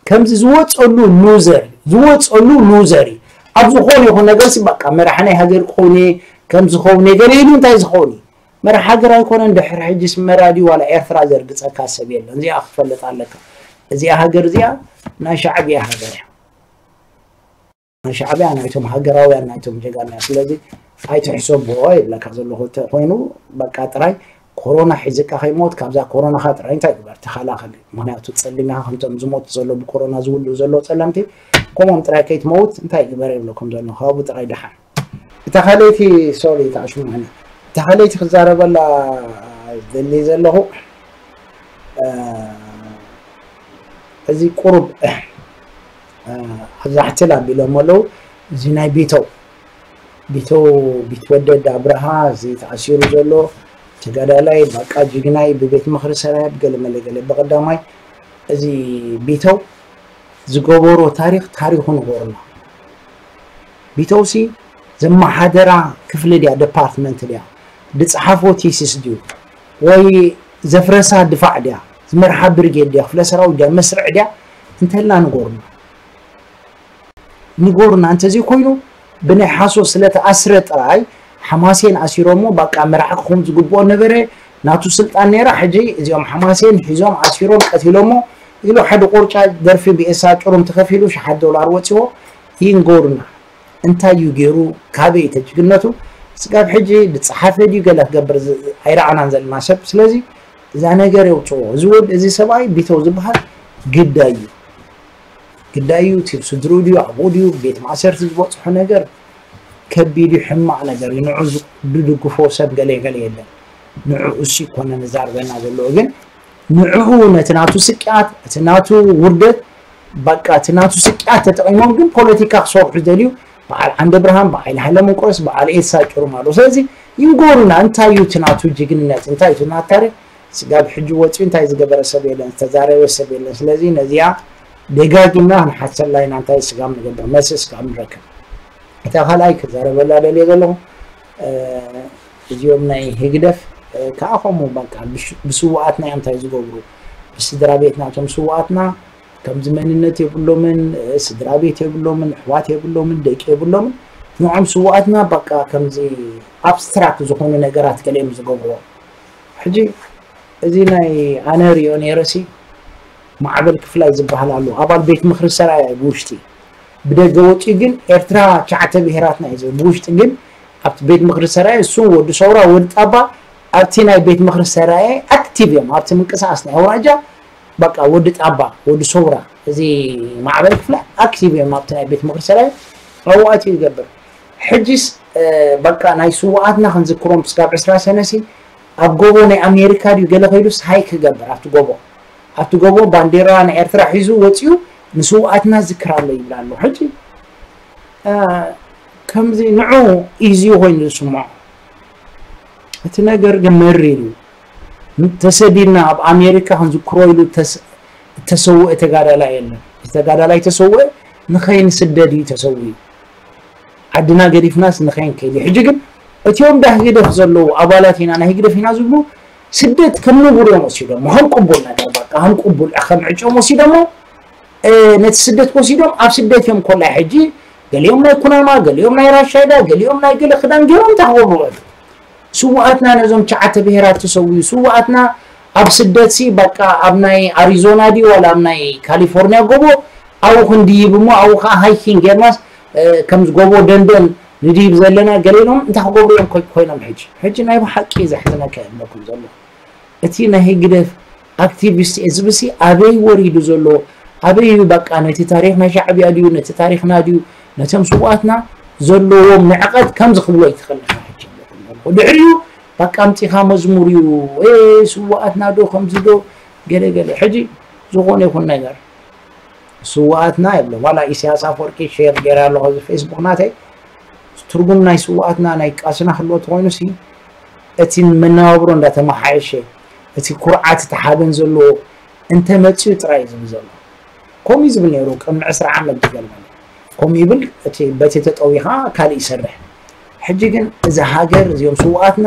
ከምዚ ዝወፀሉ ሉዘር ዝወፀሉ ሉዘር እዩ። ኣብ ዝኾነ ይኹን ነገር ሲ በቃ መራሕ ናይ ሃገር ክኸውን እየ ከም ዝኸውን እየ ገለ ኢሉ እንታይ ዝኸውን እዩ? መራሕ ሃገር ኣይኮነን። ድሕሪ ሕጂ ስመራ ድዩ ዋላ ኤርትራ ዘርግፀካ ሰብ የለን። እዚኣ ክትፈልጥ ኣለካ። እዚኣ ሃገር እዚኣ ናይ ሻዕብያ ሃገር እያ። ናይ ሻዕብያ ናይቶም ሃገራውያን ናይቶም ጀጋና እያ። ስለዚ ኣይትሕሰብዎ ይብለካ ዘለኹ እንተኮይኑ በቃ ጥራይ ኮሮና ሒዝካ ከይሞት ካብዛ ኮሮናኻ ጥራይ እንታይ ግበር ተኸላኸል። ምክንያቱ ጸሊም ኢኻ ከምቶም ዝሞቱ ዘሎ ብኮሮና ዝውልኡ ዘለዉ ጸለምቲ ከምኦም ጥራይ ከይትመውት እንታይ ግበር ይብለኩም ዘሎ ካብኡ ጥራይ ደሓን። እታ ካልኣይቲ ሶሪ ተዓሽሙኒ እታ ካልኣይቲ ክዛረበላ ዝደሊ ዘለኹ እዚ ቁሩብ ኣብዛ ሕትል ኣቢሎም ኣለዉ። እዚ ናይ ቢተው ቢተው ቢትወደድ ኣብርሃ እዚ ተኣሲሩ ዘሎ ተጋዳላይ ባቃ ጅግናይ ብቤት ምኽሪ ሰራየ ብገለ መለ ገለ ብቐዳማይ እዚ ቢተው ዝገበሮ ታሪኽ ታሪኹ ንገሩና። ቢተውሲ ዘመሓደራ ክፍሊ ድያ ደፓርትመንት ድያ ድፅሓፎ ቲሲስ ድዩ ወይ ዘፍረሳ ድፋዕ ድያ ዝመርሓ ብርጌድ ድያ ክፍለ ሰራዊት ድያ መስርዕ ድያ እንተላ ንገሩና። ንገሩና እንተዘይ ኮይኑ ብናይ ሓሶ ስለተኣስረ ጥራይ ሓማሴን ኣሲሮሞ ባቃ መራሒ ክኾን ዝግብኦ ነበረ ናቱ ስልጣን ነይራ ሕጂ እዚኦም ሓማሴን ሒዞም ኣሲሮም ቀቲሎሞ ኢሉ ሓደ ቆርጫ ደርፊ ብኤሳ ጭሩም ተኸፊሉ ሸሓት ዶላር ወፂዎ ይንገሩና እንታይ እዩ ገይሩ ካበይ ተጅግነቱ ስጋብ ሕጂ ዝፀሓፈ ድዩ ገለ ክገብር ዝ- ኣይረኣናን ዘለና ሰብ ስለዚ እዛ ነገር የውፅዎ እዚ ወድ እዚ ሰብኣይ ቢተው ዝበሃል ግዳይ እዩ ግዳይ እዩ እቲ ስድርኡ ድዩ ኣብኡ ድዩ ቤት ማእሰርቲ ዝበፅሖ ነገር ከቢድ እዩ ሕማቕ ነገር እዩ ንዑ ዝ- ዝድግፎ ሰብ ገለ ገለ የለን ንዑ እሱ ይኮነ ንዛርበና ዘለዎ ግን ንዕኡ ነቲ ናቱ ስቅያት እቲ ናቱ ውርደት በቃ እቲ ናቱ ስቅያት ተጠቂሞም ግን ፖለቲካ ክሰርሑ ዝደልዩ በዓል ዓንደ ብርሃን በዓል ሃይለ መንቆስ በዓል ኤሳ ጭሩም ኣለዉ ስለዚ ይንገሩና እንታይ እዩ እቲ ናቱ ጅግንነት እንታይ እዩ እቲ ናቱ ታሪክ ስጋብ ሕጂ ወፂኡ እንታይ ዝገበረ ሰብ የለን ዝተዛረበ ሰብ የለን ስለዚ ነዚኣ ደጋጊምና ክንሓሰላ ኢና እንታይ ስጋብ ንገብር መልሲ ስጋብ ንረክብ እታ ካልኣይ ክዛረበላ ደልየ ዘለኹ እዚኦም ናይ ህግደፍ ከዓ ከምኡ በቃ ብስውኣትና እዮም እንታይ ዝገብሩ ብስድራ ቤት ናቶም ስውኣትና ከምዚ መንነት የብሎምን ስድራ ቤት የብሎምን ኣሕዋት የብሎምን ደቂ የብሎምን ንዖም ስውኣትና በቃ ከምዚ ኣብስትራክት ዝኾኑ ነገራት ገለ እዮም ዝገብርዎ ሕጂ እዚ ናይ ኣነ ሪኦ ነይረሲ ማዕበል ክፍላይ ዝበሃል ኣሎ ኣባል ቤት ምኽሪ ሰራያ ብውሽጢ ብደገ ወፂኡ ግን ኤርትራ ትሽዓተ ብሄራትና እዩ ዝብል ብውሽጢ ግን ኣብቲ ቤት ምኽሪ ሰራየ እሱን ወዲ ሰውራ ወዲ ጣባ ኣብቲ ናይ ቤት ምኽሪ ሰራየ ኣክቲቭ እዮም ኣብቲ ምንቅስቃስ ናይ ኣውራጃ በቃ ወዲ ጣባ ወዲ ሰውራ እዚ ማዕበል ክፍለ ኣክቲቭ እዮም ኣብቲ ናይ ቤት ምኽሪ ሰራየ ኣብኡ ኣትዩ ይገብር ሕጂስ በቃ ናይ ስውኣትና ክንዝክሮም ስጋብ ዕስራ ሰነሲ ኣብ ጎቦ ናይ ኣሜሪካ ድዩ ገለ ከይዱስ ሃይክ ክገብር ኣብቲ ጎቦ ኣብቲ ጎቦ ባንዴራ ናይ ኤርትራ ሒዙ ወፂኡ ንስውኣትና ዝክር ኣሎ ይብል ኣሎ ሕጂ ከምዚ ንዑ ኢዚ ኮይኑ ዝስምዖ እቲ ነገር ግን መሪር እዩ ተሰዲድና ኣብ ኣሜሪካ ክንዝክሮ ኢሉ እተሰውአ ተጋዳላይ የለን ተጋዳላይ ተሰውአ ንኸይንስደድ እዩ ተሰዊኡ ዓድና ገዲፍናስ ንኸይንከይድ እዩ ሕጂ ግን እቲኦም ዳ ህግደፍ ዘለዉ ኣባላት ኢና ናይ ህግደፍ ኢና ዝብሉ ስደት ከም ንቡር እዮም ወሲዶሞ ከም ቅቡል ነገር በቃ ከም ቅቡል ከም ዕጭኦም ወሲዶሞ ነቲ ስደት ወሲዶም ኣብ ስደት እዮም ኮላይ ሕጂ ገሊኦም ናይ ኩናማ ገሊኦም ናይ ራሻይዳ ገሊኦም ናይ ገለ ክዳን ገይሮም እንታይ ክገብሩ ስውኣትና ነዞም ትሽዓተ ብሄራት ተሰውዩ ስውኣትና ኣብ ስደት ሲ በቃ ኣብ ናይ ኣሪዞና ድዩ ዋላ ኣብ ናይ ካሊፎርኒያ ጎቦ ኣብኡ ክንድይብ እሞ ኣብኡ ከዓ ሃይኪንግ ጌርናስ ከምዚ ጎቦ ደንደን ንድይብ ዘለና ገለ ኢሎም እንታይ ክገብሩ እዮም ኮይኖም ሕጂ ሕጂ ናይ ብሓቂ ዘሕዝነካ የብለኩም ዘሎ እቲ ናይ ህግደፍ ኣክቲቪስት እየ ዝብሲ ኣበይ ወሪዱ ዘሎ ኣበይ እዩ በቃ ነቲ ታሪክ ናይ ሻዕብያ ድዩ ነቲ ታሪክና ድዩ ነቶም ስውኣትና ዘለዎም ንዕቀት ከምዚ ክብሎ ይትኽእል ንኻ ሕጂ ኣለኹም ኣለኹ ድሕሪኡ በቃ ኣምፂኻ መዝሙር እዩ ስውኣትና ዶ ከምዚ ዶ ገለ ገለ ሕጂ ዝኾነ ይኹን ነገር ስውኣትና የብሎም። ዋላ ኢሳያስ ኣፈወርቂ ሼር ገይረ ኣለኹ እዚ ፌስቡክ ናተይ። ትርጉም ናይ ስውኣትና ናይ ቃስና ክህልዎ ተኾይኑ ሲ እቲ መነባብሮ እንዳተመሓየሸ እቲ ኩርዓት እቲ ሓበን ዘለዎ እንተመፅኡ ጥራይ እዩ ዝብል ዘሎ። ከምኡ እዩ ዝብል ነይሩ ቅድሚ ዕስራ ዓመት ዝገርመኒ። ከምኡ ይብል እቲ በቲ ተጠዊኻ ካልእ ይሰርሕ። ሕጂ ግን እዚ ሃገር እዚኦም ስውኣትና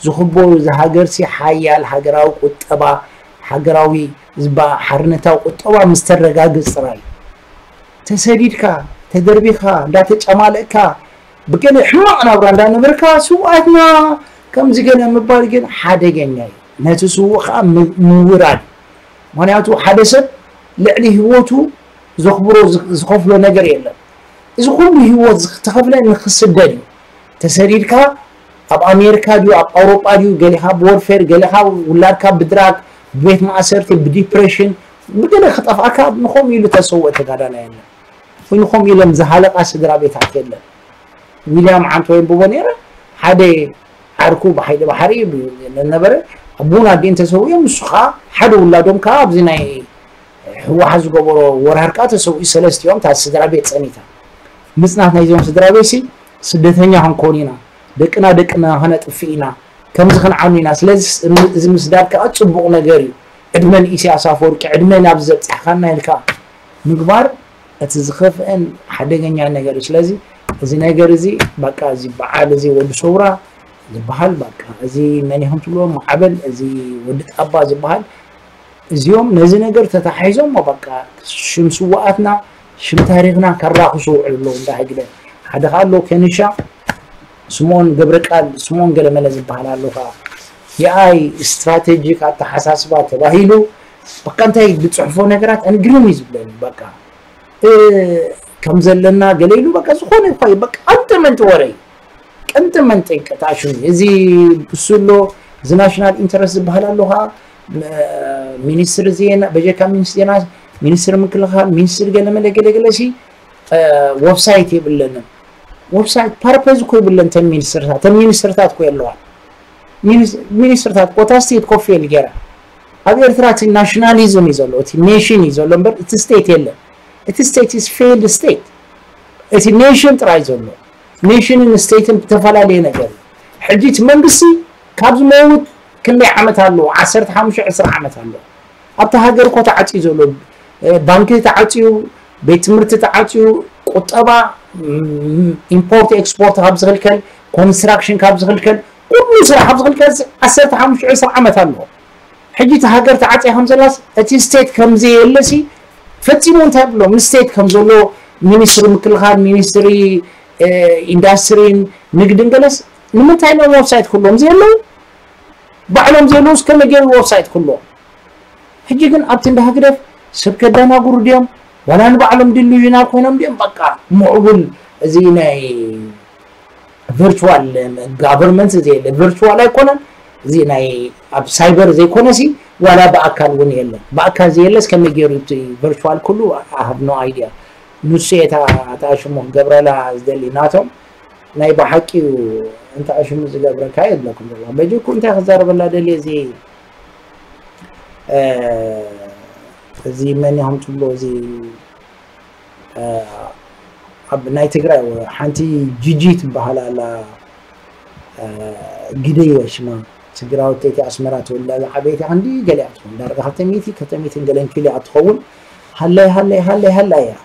ዝኽበሩ እዚ ሃገር ሲ ሓያል ሃገራዊ ቁጠባ ሃገራዊ ዝባ ሓርነታዊ ቁጠባ ምስ ተረጋግፅ ጥራይ ተሰዲድካ ተደርቢኻ እንዳተጨማለእካ ብገለ ሕማቕ ናብራ እንዳነበርካ ስውኣትና ከምዚ ገለ ምባል ግን ሓደገኛ እዩ። ነቲ ስዉእ ከዓ ም- ምውራድ እዩ። ምክንያቱ ሓደ ሰብ ልዕሊ ህይወቱ ዘኽብሮ ዝ- ዝኸፍሎ ነገር የለን። እዚ ኩሉ ህይወት ዝተኸፍለ ንክስደድ እዩ። ተሰዲድካ ኣብ ኣሜሪካ ድዩ ኣብ ኣውሮጳ ድዩ ገሊኻ ብወርፌር ገሊኻ ውላድካ ብድራግ ብቤት ማእሰርቲ ብዲፕሬሽን ብገለ ክጠፍኣካ ንኸምኡ ኢሉ ተሰውኦ ተጋዳላይ የለን። ወይ ንኸምኡ ኢሎም ዝሃለቃ ስድራ ቤታት የለን። ዊልያም ዓንቶ የንብቦ ነይረ። ሓደ ዓርኩ ብሓይሊ ባሕሪ ነበረ። ኣቦን ኣዴን ተሰዊኦም፣ ንሱ ከዓ ሓደ ውላዶም ከዓ ኣብዚ ናይ ህወሓት ዝገበሮ ወራር ከዓ ተሰዊኡ። ሰለስቲኦም እታ ስድራ ቤት ፀኒታ። ምፅናት ናይዞም ስድራ ቤት ሲ ስደተኛ ክንኮን ኢና፣ ደቅና ደቅና ከነጥፍእ ኢና፣ ከምዚ ክንዓኑ ኢና። ስለዚ እዚ ምስዳድ ከዓ ፅቡቕ ነገር እዩ። ዕድመ ንኢሳያስ ኣፈወርቂ፣ ዕድመ ናብዚ ዘብፃሕካና ኢልካ ምግባር እቲ ዝኸፍአን ሓደገኛ ነገር እዩ። ስለዚ እዚ ነገር እዚ በቃ እዚ በዓል እዚ ወዲ ሰውራ ዝበሃል በቃ እዚ መን ኢኹም ትብልዎ ማዕበል እዚ ወዲ ጣባ ዝበሃል እዚኦም ነዚ ነገር ተታሒዞም በቃ ሽም ስውኣትና ሽም ታሪኽና ከራኽሱ ውዕሉ ኣለዉ እንዳ ህግደፍ ሓደ ከዓ ኣሎ ከንሻ ስምኦን ገብረቃል ስምኦን ገለመለ ዝበሃል ኣሎ ከዓ የኣይ ስትራቴጂክ ኣተሓሳስባ ተባሂሉ በቃ እንታይ ዝፅሕፎ ነገራት ኣንግሪም እዩ ዝብለኒ በቃ ከም ዘለና ገለ ኢሉ በቃ ዝኾነ ይኳ በቃ ኣንተ መንጢ ወረ እዩ ቀንተ መንጢ ቀጣሽም እዚ ብስሎ እዚ ናሽናል ኢንተረስት ዝበሃል ኣሎ ከዓ ሚኒስትር ዜና በጀካ ሚኒስትር ዜና ሚኒስትር ምክልኻል ሚኒስትር ገለመለ ገለገለ ሲ ወብሳይት የብለንን ወብሳይት ፓርፐዝ እኮ ይብለን ተን ሚኒስትርታት ተን ሚኒስትርታት እኮ የለዋል ሚኒስትርታት ኮታ ስቴት ኮፍ የል ገይራ ኣብ ኤርትራ እቲ ናሽናሊዝም እዩ ዘሎ እቲ ኔሽን እዩ ዘሎ እምበር እቲ ስቴት የለን እቲ ስቴት is failed state እቲ ኔሽን ጥራይ ዘሎ ኔሽንን ስቴትን ዝተፈላለየ ነገር እዩ ሕጂ እቲ መንግስቲ ካብ ዝመውት ክንደይ ዓመት ኣለዎ ዓሰርተ ሓሙሽተ ዕስራ ዓመት ኣለዎ ኣብቲ ሃገር እኮ ተዓፅዩ ዘሎ ባንኪ ተዓፅዩ ቤት ትምህርቲ ተዓፅዩ ቁጠባ ኢምፖርት ኤክስፖርት ካብ ዝኽልከል ኮንስትራክሽን ካብ ዝኽልከል ኩሉ ስራሕ ካብ ዝኽልከል ዓሰርተ ሓሙሽተ ዕስራ ዓመት ኣለዎ ሕጂ እቲ ሃገር ተዓፅያ ከም ዘላስ እቲ ስቴት ከም ዘየለሲ ፈፂሙ እንታይ ብሎ ምስ ስቴት ከም ዘሎ ሚኒስትሪ ምክልኻል ሚኒስትሪ ኢንዳስትሪን ንግድን ገለስ ንምንታይ ሎም ወብሳይት ክህሎም ዘየለዉ ባዕሎም ዘየለዉስ ከመይ ገይሩ ወብሳይት ክህልዎም ሕጂ ግን ኣብቲ እንዳ ህግደፍ ሰብ ከዳናጉሩ ድዮም ዋላ ንባዕሎም ዲሉዥናል ኮይኖም ድዮም በቃ ምዕቡል እዚ ናይ ቨርቹዋል ጋቨርንመንት ዘየለ ቨርቹዋል ኣይኮነን እዚ ናይ ኣብ ሳይበር ዘይኮነሲ ዋላ ብኣካል እውን የለን ብኣካል ዘየለስ ከመይ ገይሩ እቲ ቨርቹዋል ኩሉ I have no idea ንሱ እየ እታ ሽሙ ክገብረላ ዝደሊ ናቶም ናይ ብሓቂ እዩ እንተ ሽሙ ዝገብረካ የድለኩም ዘሎ በጅኩ እንታይ ክዛረበላ ደልየ እዚ እዚ መን ኢኹም ትብሎ እዚ ኣብ ናይ ትግራይ ሓንቲ ጂጂ ትበሃል ኣላ ግደይ ሽማ ትግራወተይቲ ኣስመራ ተወልዳ ዝዓበየት እያ ክንዲ ገሊኣ ትኸውን ዳርጋ ከተሚቲ ከተሚትን ገለን ኪሎ እያ ትኸውን ሃለይ ሃለይ ሃለይ ሃለይ እያ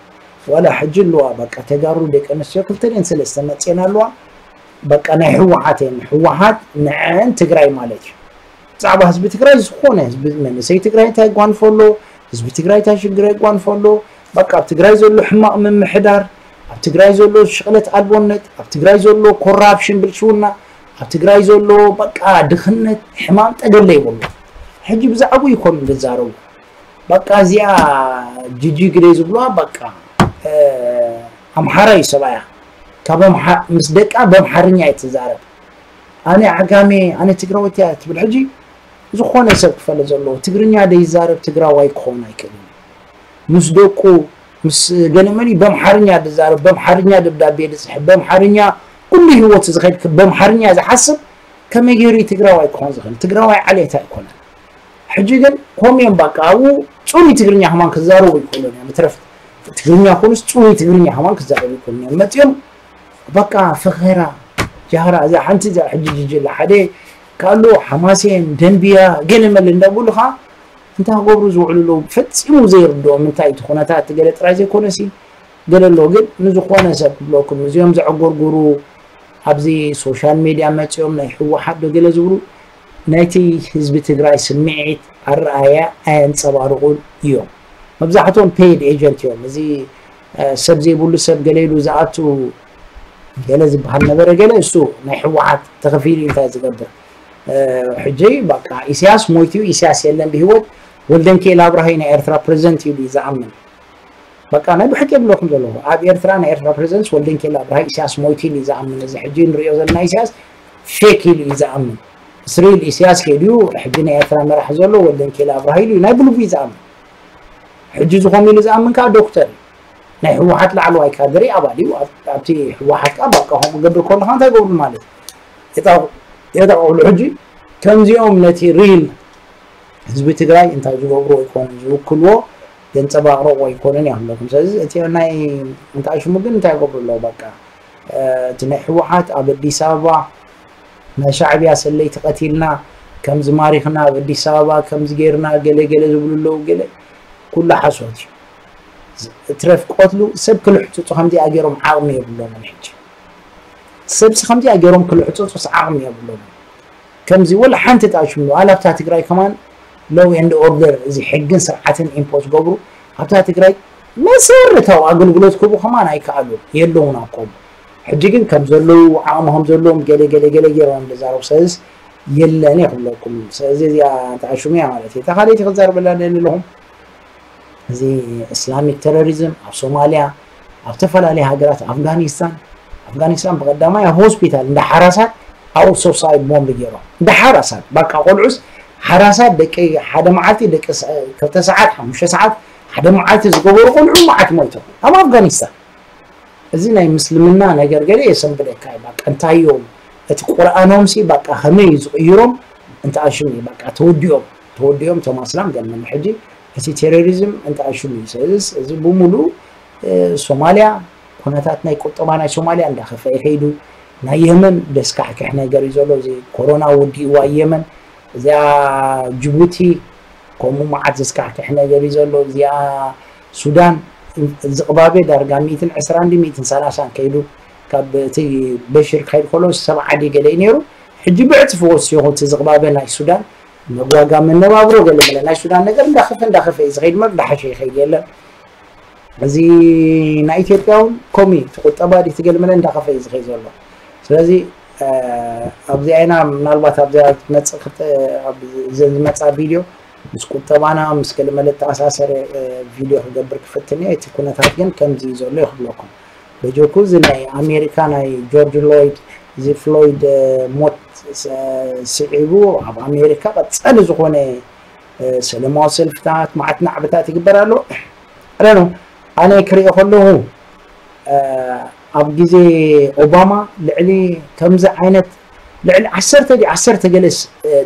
ዋላ ሕጂ ኣለዋ በቃ ተጋሩ ደቂ ኣንስትዮ ክልተ ደን ሰለስተ መፅየን ኣለዋ በቃ ናይ ህወሓት እየን ህወሓት ንዐን ትግራይ ማለት እዩ ብዛዕባ ህዝቢ ትግራይ ዝኾነ ህዝቢ መንእሰይ ትግራይ እንታይ የጓንፎ ኣሎ ህዝቢ ትግራይ እንታይ ሽግር የጓንፎ ኣሎ በቃ ኣብ ትግራይ ዘሎ ሕማቕ ምምሕዳር ኣብ ትግራይ ዘሎ ሽቕለት ኣልቦነት ኣብ ትግራይ ዘሎ ኮራፕሽን ብልሽውና ኣብ ትግራይ ዘሎ በቃ ድኽነት ሕማም ጠገለ ይብሉ ሕጂ ብዛዕባኡ ይኮኑ ዝዛረቡ በቃ እዚኣ ጂጂ ግደይ ዝብሉዋ በቃ ኣምሓራ እዩ ሰብኣያ ካብ ምስ ደቃ በምሓርኛ እየ ትዛረብ ኣነ ዓጋሜ ኣነ ትግራወት እያ ትብል ሕጂ ዝኾነ ሰብ ክፈለ ዘለዎ ትግርኛ ደይዛረብ ትግራዋይ ክኸውን ኣይክእልን ምስ ደቁ ምስ ገለመሊ በምሓርኛ ድዛረብ በምሓርኛ ደብዳቤ ድፅሕፍ በምሓርኛ ኩሉ ህይወቱ ዝኸድ በምሓርኛ ዝሓስብ ከመይ ገይሩ ትግራዋይ ክኾን ዝኽእል ትግራዋይ ዓሌት ኣይኮነን ሕጂ ግን ኮምዮም በቃ ኣብኡ ፅሩይ ትግርኛ ከማን ክዛረቡ ይኽእሉ እዮም ትረፍት ትግርኛ ኮኑስ ጽሩይ ትግርኛ ከማን ክዛረቡ ይኮኑ እዮም መጺኦም። በቃ ፈኸራ ጃህራ እዛ ሓንቲ እዛ ሕጂ ጅጅላ ሓደ ካሉ ሓማሴን ደንቢያ ገለ መለ እንዳብሉኻ እንታይ ክገብሩ ዝውዕሉ ኣለዉ ፈጺሙ ዘይርድኦም እንታይ እቲ ኩነታት ገለ ጥራይ ዘይኮነሲ ገለ ኣሎ ግን ንዝኾነ ሰብ ክብለኩም እዚኦም ዘዕጎርጉሩ ኣብዚ ሶሻል ሜድያ መጺኦም ናይ ህወሓት ዶ ገለ ዝብሉ ናይቲ ህዝቢ ትግራይ ስምዒት ኣረኣያ ኣየንጸባርቑን እዮም። መብዛሕትኦም ፔይድ ኤጀንት እዮም። እዚ ሰብ ዘይብሉ ሰብ ገለ ኢሉ ዝኣቱ ገለ ዝበሃል ነበረ ገለ እሱ ናይ ህወሓት ተኸፊሉ እንታይ ዝገብር ሕጂ በቃ ኢሳያስ ሞይቱ ኢሳያስ የለን ብህይወት ወልደንኬል ኣብርሃይ ናይ ኤርትራ ፕሬዚደንት ኢሉ እዩ ዝኣምን በቃ ናይ ብሕቂ የብለኩም ዘለኹ ኣብ ኤርትራ ናይ ኤርትራ ፕሬዚደንት ወልደንኬል ኣብርሃይ ኢሳያስ ሞይቱ ኢሉ እዩ ዝኣምን እዚ ሕጂ ንሪኦ ዘለና ኢሳያስ ፌክ ኢሉ እዩ ዝኣምን እስሪል ኢሳያስ ከይዱ ሕጂ ናይ ኤርትራ መራሕ ዘሎ ወልደንኬል ኣብርሃይ ኢሉ ናይ ብልቡ እዩ ዝኣምን ሕጂ ዝኾም ኢሉ ዝኣምን ከዓ ዶክተር እዩ ናይ ህወሓት ላዕለዋይ ካድሪ ኣባል እዩ ኣብቲ ህወሓት ከዓ በቃ ከምኡ ገብር ከለካ እንታይ ገብሩ ማለት የጣቕሉ ሕጂ ከምዚኦም ነቲ ሪል ህዝቢ ትግራይ እንታይ ዝገብሩ ኣይኮኑን ዝውክልዎ ዘንፀባቕረቑ ኣይኮኑን ይብለኩም ስለዚ እቲ ናይ እንታይ ሽሙ ግን እንታይ ይገብሩ ኣለዉ በቃ እቲ ናይ ህወሓት ኣብ ኣዲስ ኣበባ ናይ ሻዕብያ ሰለይቲ ቀቲልና ከምዚ ማሪኽና ኣብ ኣዲስ ኣበባ ከምዚ ገይርና ገለ ገለ ዝብሉ ኣለዉ ገለ ኩሉ ሓሶት እዩ ትረፍ ቆትሉ ሰብ ክልሕፅፁ ከምዚኣ ገይሮም ዓቕሚ የብሎምን ሕጂ ሰብሲ ከምዚኣ ገይሮም ክልሕፅፁስ ዓቕሚ የብሎምን ከምዚ ወላ ሓንቲ ጣሽምሉ ኣላብታ ትግራይ ከማን ሎው ኤንድ ኦርደር እዚ ሕግን ስርዓትን ኢምፖዝ ገብሩ ኣብታ ትግራይ መሰረታዊ ኣገልግሎት ክህቡ ከማን ኣይከኣሉን የለውን ኣብ ከምኡ ሕጂ ግን ከም ዘለዉ ዓቕሚ ከም ዘለዎም ገለ ገለ ገለ ገይሮም ዝዛረቡ ሰለዚ የለን እየ ክብለኩም ስለዚ እዚኣ ተኣሽሙ እያ ማለት እዩ እታ ካልኣይቲ ክዛረበላ ደሊ ኣለኹም እዚ እስላሚክ ተሮሪዝም ኣብ ሶማሊያ ኣብ ዝተፈላለዩ ሃገራት ኣፍጋኒስታን ኣፍጋኒስታን ብቀዳማይ ኣብ ሆስፒታል እንዳ ሓራሳት ኣብኡ ሶሳይድ ቦምብ ገይሮም እንዳ ሓራሳት በቃ ቆልዑስ ሓራሳት ደቂ ሓደ መዓልቲ ደቂ ክልተ ሰዓት ሓሙሽተ ሰዓት ሓደ መዓልቲ ዝገበሩ ቆልዑ መዓት ሞይቶም ኣብ ኣፍጋኒስታን እዚ ናይ ምስልምና ነገር ገለ የሰንብደካ እዩ በቃ እንታይ እዮም እቲ ቁርኣኖም ሲ በቃ ከመይ እዩ ዝቕይሮም እንተ ኣሽም እዩ በቃ ተወዲኦም ተወዲኦም እቶም ኣስላም ገለ ሕጂ እቲ ቴሮሪዝም እንተ ኣሽም እዩ ስለዚ እዚ ብሙሉ ሶማሊያ ኩነታት ናይ ቁጠባ ናይ ሶማሊያ እንዳኸፈ ይኸይዱ ናይ የመን ደስካሕክሕ ነገር እዩ ዘሎ እዚ ኮሮና ወዲእዋ የመን እዚኣ ጅቡቲ ከምኡ መዓት ዘስካሕክሕ ነገር እዩ ዘሎ እዚኣ ሱዳን ዝቕባበ ዳርጋ ሚእትን ዕስራን ድዩ ሚእትን ሰላሳን ከይዱ ካብ እቲ በሽር ክኸይድ ከሎ ሰብዓ ድዩ ገለ እዩ ነይሩ ሕጂ ብዕፅፊ ወሲኹ እቲ ዝቕባበ ናይ ሱዳን መጓጋ መነባብሮ ገለ መለ ናይ ሱዳን ነገር እንዳኸፈ እንዳኸፈ እዩ ዝኸይድ እምበር እንዳሓሸ ይኸይድ የለን እዚ ናይ ኢትዮጵያ እውን ከምኡ እዩ እቲ ቁጠባ ድዩ እቲ ገለ መለ እንዳኸፈ እዩ ዝኸይድ ዘሎ ስለዚ ኣብዚ ዓይና ምናልባት ኣብዚኣ ትመፅእ ክልተ እዘን ዝመፃ ቪድዮ ምስ ቁጠባና ምስ ገለ መለ ተኣሳሰረ ቪድዮ ክገብር ክፍትን እየ እቲ ኩነታት ግን ከምዚ እዩ ዘሎ እዩ ክብለኩም በጀኩ እዚ ናይ ኣሜሪካ ናይ ጆርጅ ሎይድ እዚ ፍሎይድ ሞት ስዒቡ ኣብ ኣሜሪካ ቀፀሊ ዝኾነ ሰለማዊ ሰልፍታት ማዕት ናዕብታት ይግበር ኣሎ ረኑ ኣነ ክሪኦ ከለኹ ኣብ ግዜ ኦባማ ልዕሊ ከምዚ ዓይነት ልዕሊ ዓሰርተ ድዩ ዓሰርተ ገለ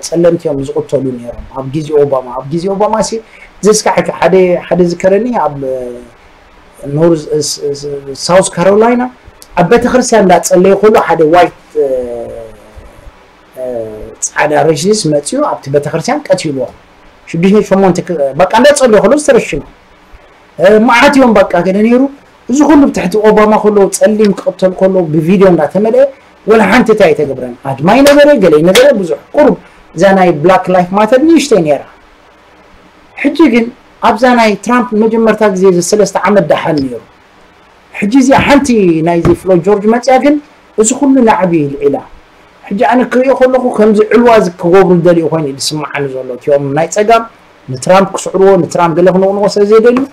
ጸለምቲ እዮም ዝቕተሉ ነይሮም ኣብ ግዜ ኦባማ ኣብ ግዜ ኦባማ ሲ ዘስካሕክ ሓደ ሓደ ዝከረኒ ኣብ ኖርዝ ሳውስ ካሮላይና ኣብ ቤተክርስትያን እንዳጸለየ ከሎ ሓደ ዋይት ጻዕዳ ረሽስ መፅኡ ኣብቲ ቤተክርስትያን ቀትልዎ ሽዱሽተ ሸሞንተ በቃ እንዳፀለዩ ከሎ ዝተረሽኑ መዓት እዮም በቃ ገለ ነይሩ እዚ ኩሉ ብትሕቲ ኦባማ ከሎ ፀሊም ክቕተል ከሎ ብቪድዮ እንዳተመልአ ወላ ሓንቲ እንታይ ኣይተገብረን ኣድማይ ነበረ ገለ ነበረ ብዙሕ ቁሩብ እዛ ናይ ብላክ ላይፍ ማተር ንእሽተይ ነይራ ሕጂ ግን ኣብዛ ናይ ትራምፕ መጀመርታ ግዜ እዚ ሰለስተ ዓመት ደሓን ነይሩ ሕጂ እዚኣ ሓንቲ ናይዚ ፍሎይድ ጆርጅ መፅያ ግን እዚ ኩሉ ናዕቢ ይልዒላ ሕጂ ኣነ ክሪኦ ከለኹ ከምዚ ዕልዋ እዚ ክገብሩ ዝደልዩ ኮይኑ እዩ ዝስምዓኒ ዘሎ እቲኦም ናይ ፀጋም ንትራምፕ ክስዕርዎ ንትራምፕ ገለ ክነቕንቆ ስለ ዘይደልዩ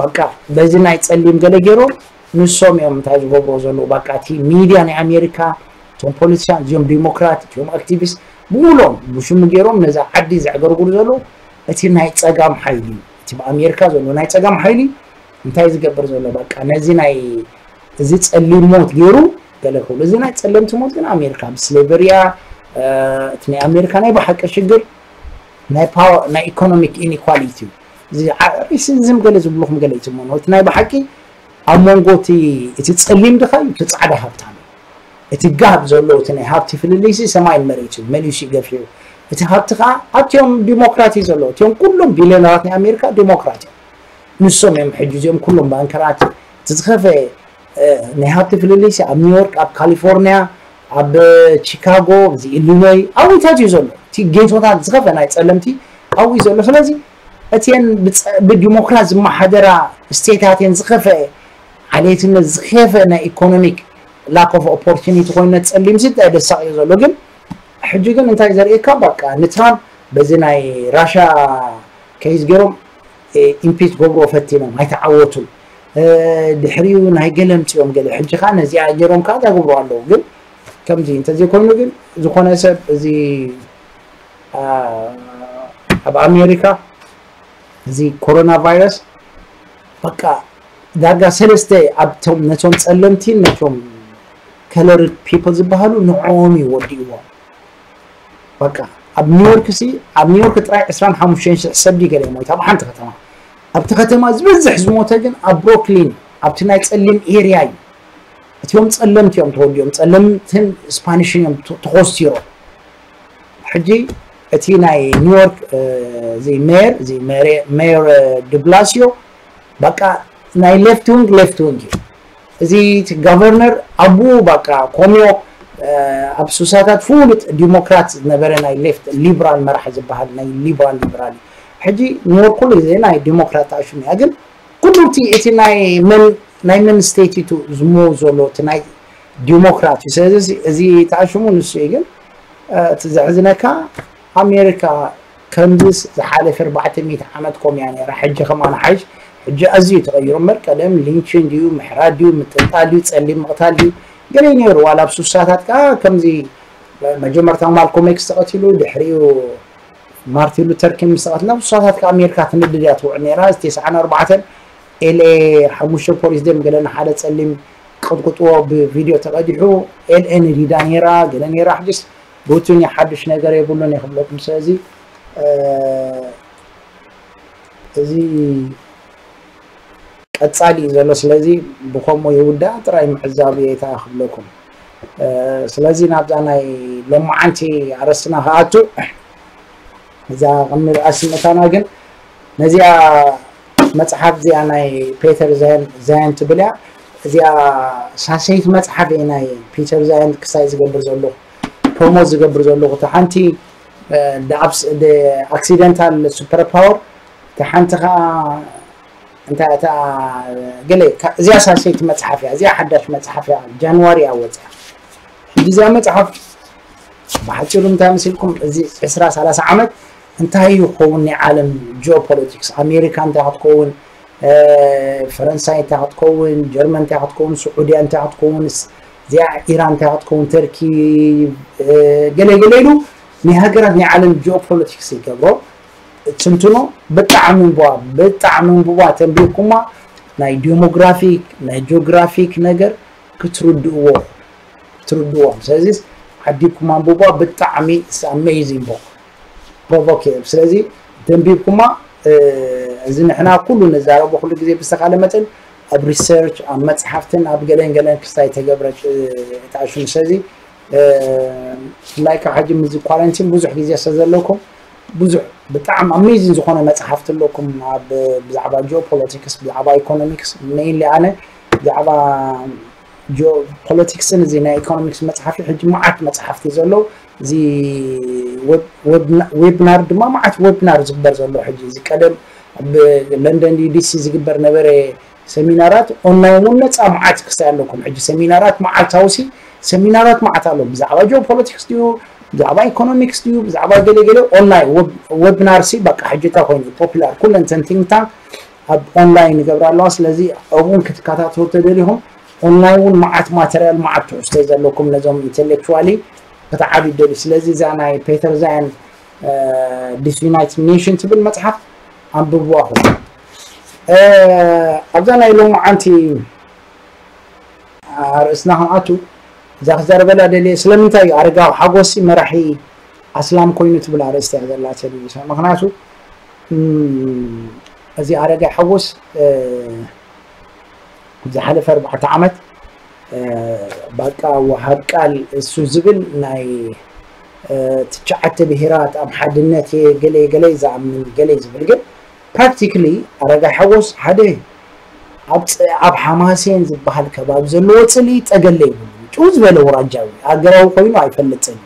በቃ በዚ ናይ ፀሊም ገለ ገይሮም ንሶም እዮም እንታይ ዝገብርዎ ዘለዉ በቃ እቲ ሚድያ ናይ ኣሜሪካ እቶም ፖለቲሻን እዚኦም ዲሞክራት እቲኦም ኣክቲቪስት ብምሎም ብሽሙ ገይሮም ነዛ ዓዲ ዘዕገርግሩ ዘለዉ እቲ ናይ ፀጋም ሓይሊ እቲ ብኣሜሪካ ዘሎ ናይ ፀጋም ሓይሊ እንታይ ዝገብር ዘሎ በቃ ነዚ ናይ እዚ ጸሊም ሞት ገይሩ ገለ ክብሉ እዚ ናይ ጸለምቲ ሞት ግን ኣሜሪካ ብስሌቨሪያ እቲ ናይ ኣሜሪካ ናይ ብሓቂ ሽግር ናይ ፓወር ናይ ኢኮኖሚክ ኢኒኳሊቲ እዩ እዚ ዓ- ሬሲዝም ገለ ዝብልኹም ገለ ይትመኑ። እቲ ናይ ብሓቂ ኣብ መንጎ እቲ እቲ ጸሊም ድኻ እዩ፣ እቲ ጻዕዳ ሃብታም እዩ። እቲ ጋብ ዘሎ እቲ ናይ ሃብቲ ፍልልይሲ ሰማይን መሬት እዩ፣ መሊሱ እዩ ገፊሑ። እቲ ሃብቲ ከዓ ኣብቲኦም ዲሞክራት እዩ ዘሎ። እቲኦም ኩሎም ቢልዮነራት ናይ ኣሜሪካ ዲሞክራት እዮም። ንሶም እዮም ሕጂ እዚኦም ኩሎም ባንከራት። እቲ ዝኸፈ ናይ ሃብቲ ፍልልይሲ ኣብ ኒውዮርክ፣ ኣብ ካሊፎርኒያ፣ ኣብ ቺካጎ፣ እዚ ኢሊኖይ ኣብታት እዩ ዘሎ። እቲ ጌቶታት ዝኸፈ ናይ ጸለምቲ ኣብኡ እዩ ዘሎ። ስለዚ እቲን ብጸ- ብዲሞክራት ዝመሓደራ ስቴታት እየን ዝኸፈ ዓሌትነት ዝኸፈ ናይ ኢኮኖሚክ ላክ ኦፍ ኦፖርቹኒቲ ኮይነ ጸሊም ስት ደሳቕ እዩ ዘሎ። ግን ሕጂ ግን እንታይ ዘርእየካ፣ በቃ ንትራምፕ በዚ ናይ ራሻ ከይዝ ገይሮም ኢምፒች ገብሮ ፈቲኖም ኣይተዓወቱን። ድሕሪኡ ናይ ገለ ምፅኦም ገለ ሕጂ ከዓ ነዚኣ ገይሮም ከዓ ዳገብሩ ኣለዉ። ግን ከምዚ እንተዘይኮይኑ ግን ዝኾነ ሰብ እዚ ኣብ ኣሜሪካ እዚ ኮሮና ቫይረስ በቃ ዳርጋ ሰለስተ ኣብቶም ነቶም ጸለምቲ ነቶም ከለርድ ፒፕል ዝበሃሉ ንዕኦም እዩ ወዲእዎም። በቃ ኣብ ኒውዮርክ ሲ ኣብ ኒውዮርክ ጥራይ ዕስራን ሓሙሽተን ሽሕ ሰብ ድዩ ገለ ሞይቱ ኣብ ሓንቲ ከተማ። ኣብቲ ከተማ ዝበዝሕ ዝሞተ ግን ኣብ ብሮክሊን ኣብቲ ናይ ጸሊም ኤርያ እዩ። እቲኦም ጸለምቲ እዮም ተወዲኦም፣ ጸለምትን ስፓኒሽን እዮም ተ- ተኾስቲሮም። ሕጂ እቲ ናይ ኒውዮርክ እዚ ሜየር እዚ ሜየር ድብላሲዮ በቃ ናይ ሌፍት ዊንግ ሌፍት ዊንግ እዩ። እዚ እቲ ጋቨርነር ኣብኡ በቃ ኮሚዮ ኣብ ሱሳታት ፍሉጥ ዲሞክራት ዝነበረ ናይ ሌፍት ሊብራል መራሒ ዝበሃል ናይ ሊብራል ሊብራል እዩ። ሕጂ ኒውዮርክ ኩሉ ግዜ ናይ ዲሞክራት ተኣሽሙ እያ። ግን ኩሉ እቲ እቲ ናይ መን ናይ መን ስቴት እዩ ዝሞ ዘሎ እቲ ናይ ዲሞክራት እዩ። ስለዚ እዚ ተኣሽሙ ንሱ እዩ። ግን እቲ ዘሕዝነካ ኣሜሪካ ከምዚስ ዝሓለፈ ኣርባዕተ ሚእቲ ዓመት ኮም እያ ነይራ። ሕጂ ከማን ሓይሽ ሕጂ ኣዝዩ ተቐይሩ እምበር ቀደም ሊንችን ድዩ ምሕራድ ድዩ ምጥልጣል ድዩ ጸሊም ምቕታል ድዩ ገለ ነይሩ። ዋላ ኣብ ሱሳታት ከዓ ከምዚ መጀመርታ ማልኮም ኤክስ ተቐቲሉ ድሕሪኡ ማርቲን ሉተር ኪንግ ምስ ተቐትለ ኣብ ሱሳታት ከዓ ኣሜሪካ ትንድድ እያ ትውዕል ነይራ። እዚ ተስዓን ኣርባዕተን ኤልኤ ሓሙሽተ ፖሊስ ደም ገለ ንሓደ ጸሊም ቀጥቅጥዎ ብቪድዮ ተቐዲሑ ኤልኤ ንዲዳ ነይራ ገለ ነይራ። ሕጅስ ሩቲን ሓዱሽ ነገር የብሉን ይኽብለኩም። ስለዚ እዚ ቀጻሊ እዩ ዘሎ። ስለዚ ብኸምኡ ይውዳእ ጥራይ ምዕዛብ እየ ክብለኩም። ስለዚ ናብዛ ናይ ሎማዓንቲ ኣረስትና ክኣቱ እዛ ቅድሚ ርኣሲ ምእታና ግን ነዚኣ መጽሓፍ እዚኣ ናይ ፔተር ዛያን ትብል እያ። እዚኣ ሳሰይት መጽሓፍ እየ ናይ ፒተር ዛያን ክሳይ ዝገብር ዘለኹ ፕሮሞት ዝገብር ዘለኹ። እታ ሓንቲ ኣክሲደንታል ሱፐር ፓወር እታ ሓንቲ ከዓ እንታይ እታ ገለ እዚኣ ሳሰይቲ መፅሓፍ እያ። እዚኣ ሓዳሽ መፅሓፍ እያ፣ ጃንዋሪ እያ ወፅያ። ሕጂ እዚኣ መፅሓፍ ብሓፂሩ እንታይ መሲልኩም፣ እዚ ዕስራ ሰላሳ ዓመት እንታይ ይኸውን ናይ ዓለም ጂኦፖለቲክስ፣ ኣሜሪካ እንታይ ክትከውን፣ ፈረንሳይ እንታይ ክትከውን፣ ጀርመን እንታይ ክትከውን፣ ስዑድያ እንታይ ክትከውን፣ እዚኣ ኢራን እንታይ ክትከውን፣ ተርኪ ገለ ገለ ኢሉ ናይ ሃገራት ናይ ዓለም ጂኦፖለቲክስ ይገብሮ። ትንትኖ ብጣዕሚ እንቡባ ብጣዕሚ እንቡባ ተንቢብኩማ ናይ ዲሞግራፊክ ናይ ጂኦግራፊክ ነገር ክትርድእዎ ክትርድዎም። ስለዚ ዓዲብኩም ኣንብቧ። ብጣዕሚ ኣሜዚንግ ቦክ ፕሮቮክ። ስለዚ ተንቢብኩማ እዚ ንሕና ኩሉ ንዛረቦ ኩሉ ግዜ ብዝተኻለ መጠን ኣብ ሪሰርች ኣብ መፅሓፍትን ኣብ ገለን ገለን ክስታይ ተገብረ ተኣሽሙ። ስለዚ ብፍላይ ካብ ሕጂ ምዚ ኳረንቲን ብዙሕ ግዜ ስለ ዘለኩም ብዙሕ ብጣዕሚ ኣሜዚን ዝኾነ መፅሓፍቲ ኣለኩም ኣብ ብዛዕባ ጂኦፖለቲክስ ብዛዕባ ኢኮኖሚክስ ሜይንሊ ኣነ ብዛዕባ ጂኦፖለቲክስን እዚ ናይ ኢኮኖሚክስ መፅሓፊ ሕጂ መዓት መፅሓፍቲ ዘሎ እዚ ዌብናር ድማ መዓት ዌብናር ዝግበር ዘሎ ሕጂ እዚ ቀደም ኣብ ለንደን ዲሲ ዝግበር ነበረ ሰሚናራት ኦንላይን እውን ነፃ መዓት ክሳይ ኣለኩም። ሕጂ ሰሚናራት መዓልታዊ ሲ ሰሚናራት መዓት ኣሎ። ብዛዕባ ጂኦፖለቲክስ ድዩ ብዛዕባ ኢኮኖሚክስ ድዩ ብዛዕባ ገለ ገለ ኦንላይን ዌብናር ሲ በቃ ሕጂ እታ ኮይኑ ፖፑላር ኩለን ተን ቲንክ ታንክ ኣብ ኦንላይን ይገብራ ኣለዋ። ስለዚ ኣብኡን ክትከታተሉ ተደሊኹም ኦንላይን እውን መዓት ማተርያል መዓት ትሕዝቶ ዘለኩም ነዞም ኢንቴሌክቹዋሊ ክትዓቢ ደሊ። ስለዚ እዛ ናይ ፔተር ዛያን ዲስዩናይትድ ኔሽን ትብል መፅሓፍ ኣንብብዋ ኹም። ኣብዛ ናይ ሎማዓንቲ ኣርእስትና ክንኣቱ እዛ ክዛረበላ ደልየ ስለምንታይ እዩ ኣረጋዊ ሓጎሲ መራሒ ኣስላም ኮይኑ ትብል ኣርእስቲ እያ ዘላትኒ። ምክንያቱ እዚ ኣረጋይ ሓጎስ ዝሓለፈ ኣርባዕተ ዓመት ባቃ ወሃብ ቃል እሱ ዝብል ናይ ትሽዓተ ብሄራት ኣብ ሓድነት እየ ገለ ገለ ዝኣምን ገለ ዝብል፣ ግን ፕራክቲካሊ ኣረጋይ ሓጎስ ሓደ ኣብ ሓማሴን ዝበሃል ከባቢ ዘለዎ ፅሊ ጠገለ ይብሉ። ጭው ዝበለ ውራጃዊ ኣገራዊ ኮይኑ ኣይፈልጥን።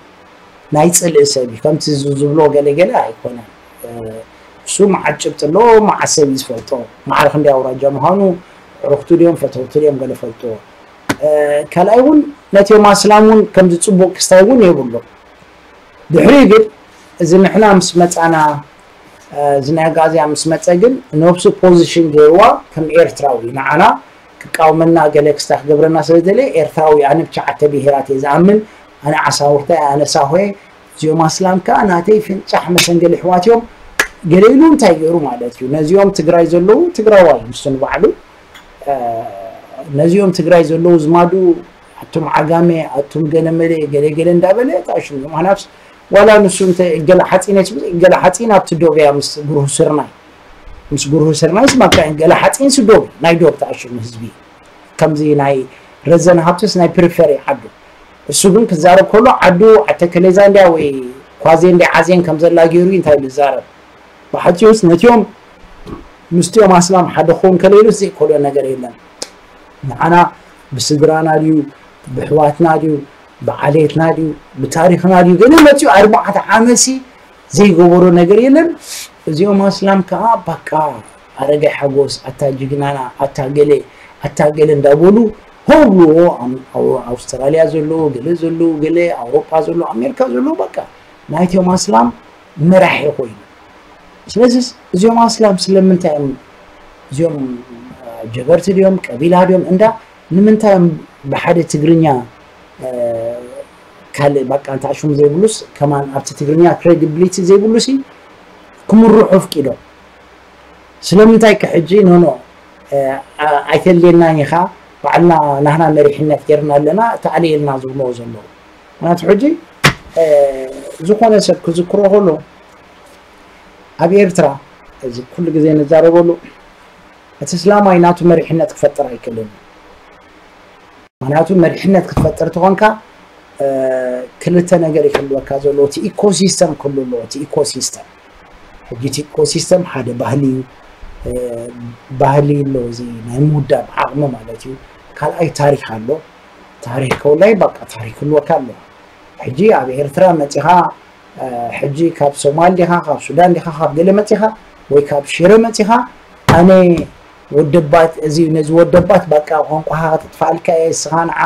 ናይ ፅልኢ ሰብ እዩ። ከምቲ ዝብሎ ገለ ገለ ኣይኮነን። እሱ መዓት ጭብጢ ኣለዎ፣ መዓት ሰብ እዩ ዝፈልጦ። ማዕረ ክንደይ ኣውራጃ ምዃኑ፣ ዕሩኽቱ ድዮም ፈተውቱ ድዮም ገለ ፈልጥዎ። ካልኣይ እውን ነቲ ኣስላም እውን ከምዚ ፅቡቕ ክስታይ እውን የብሉ። ድሕሪ ግን እዚ ንሕና ምስ መፃና፣ እዚ ናይ ኣጋዝያ ምስ መፀ ግን ነብሱ ፖዚሽን ገይርዋ ከም ኤርትራዊ ንዓና ክቃወመና ገለ ክስታይ ክገብረና ስለ ዝደለየ ኤርትራዊ ኣነ ብትሽዓተ ብሄራት እየ ዝኣምን፣ ኣነ ዓሳውርታ እየ፣ ኣነ ሳሆ እየ፣ እዚኦም ኣስላም ከኣ ናተይ ፍንጫሕ መሰንገሊ ኣሕዋት እዮም ገለ ኢሉ እንታይ ገይሩ ማለት እዩ። ነዚኦም ትግራይ ዘለዉ ትግራዋይ ንሱ ንባዕሉ ነዚኦም ትግራይ ዘለዉ ዝማዱ ኣቱም ዓጋመ ኣቱም ገለመለ ገለ ገለ እንዳበለ ታሽሙ እዮም። ኣናብስ ዋላ ንሱ እንተ ገለ ሓፂን እየ ትብል፣ ገለ ሓፂን ኣብቲ ዶብ እያ ምስ ጉርሁ ስርናይ ምስ ጉርሁ ስርናይ ስማካ ገለ ሓፂን ስዶብ ናይ ዶብ ታሽሙ ህዝቢ ከምዚ ናይ ረዘን ሃብትስ ናይ ፕሪፈሪ ዓዱ። እሱ ግን ክዛረብ ከሎ ዓዱ ኣተከሌዛ እንድያ ወይ ኳዜ እንድያ ዓዜን ከም ዘላ ገይሩ እዩ እንታይ ዝዛረብ። ብሓጺሩስ ነቲኦም ምስቲኦም ኣስላም ሓደ ክኸውን ከለኢሉስ ዘይከሎ ነገር የለን። ንዓና ብስድራና ድዩ ብሕዋትና ድዩ ብዓሌትና ድዩ ብታሪኽና ድዩ ገለ መጺኡ ኣርባዕተ ዓመሲ ዘይገበሮ ነገር የለን። እዚኦም ኣስላም ከዓ ባቃ ኣረጋይ ሓጎስ ኣታ ጅግናና ኣታ ገለ ኣታ ገለ እንዳበሉ ሆብልዎ። ኣውስትራልያ ዘለዉ ገለ ዘለዉ ገለ ኣውሮጳ ዘለዉ ኣሜሪካ ዘለዉ በቃ ናይቶም ኣስላም መራሒ ኮይኑ። ስለዚ እዚኦም ኣስላም ስለምንታይ እዮም እዚኦም ጀበርቲ ድዮም ቀቢላ ድዮም እንዳ ንምንታይ እዮም ብሓደ ትግርኛ ካልእ ባቃ እንታይ ሽሙ ዘይብሉስ ከማን ኣብቲ ትግርኛ ክሬዲብሊቲ ዘይብሉሲ ክምርሑ ኣፍቂዶም? ስለምንታይ ከ ሕጂ ኖኖ ኣይተልየናን ኢኻ ባዕልና ናህና መሪሕነት ጌርና ኣለና ተኣልየልና ዝብልዎ ዘለዉ? ምክንያቱ ሕጂ ዝኾነ ሰብ ክዝክሮ ከሎ ኣብ ኤርትራ እዚ ኩሉ ግዜ ንዛረበሉ እቲ እስላማይ ናቱ መሪሕነት ክፈጥር ኣይክእልን። ምክንያቱ መሪሕነት ክትፈጥር ተኾንካ ክልተ ነገር ይክልወካ ዘሎ እቲ ኢኮሲስተም ክሉ ኣለዎ። እቲ ኢኮሲስተም ሕጂ እቲ ኢኮሲስተም ሓደ ባህሊ እዩ። ባህሊ ኣሎ እዚ ናይ ምውዳብ ዓቕሚ ማለት እዩ። ካልኣይ ታሪክ ኣሎ። ታሪክ ከውላይ በቃ ታሪክ ክልወካ ኣሎ። ሕጂ ኣብ ኤርትራ መፂኻ ሕጂ ካብ ሶማል ዲኻ ካብ ሱዳን ዲኻ ካብ ገለ መፂኻ ወይ ካብ ሽረ መፂኻ ኣነ ወደባት እዚ ነዚ ወደባት በቃ ቋንቋኻ ክጥፋልካ እየ እስኻ ንዓ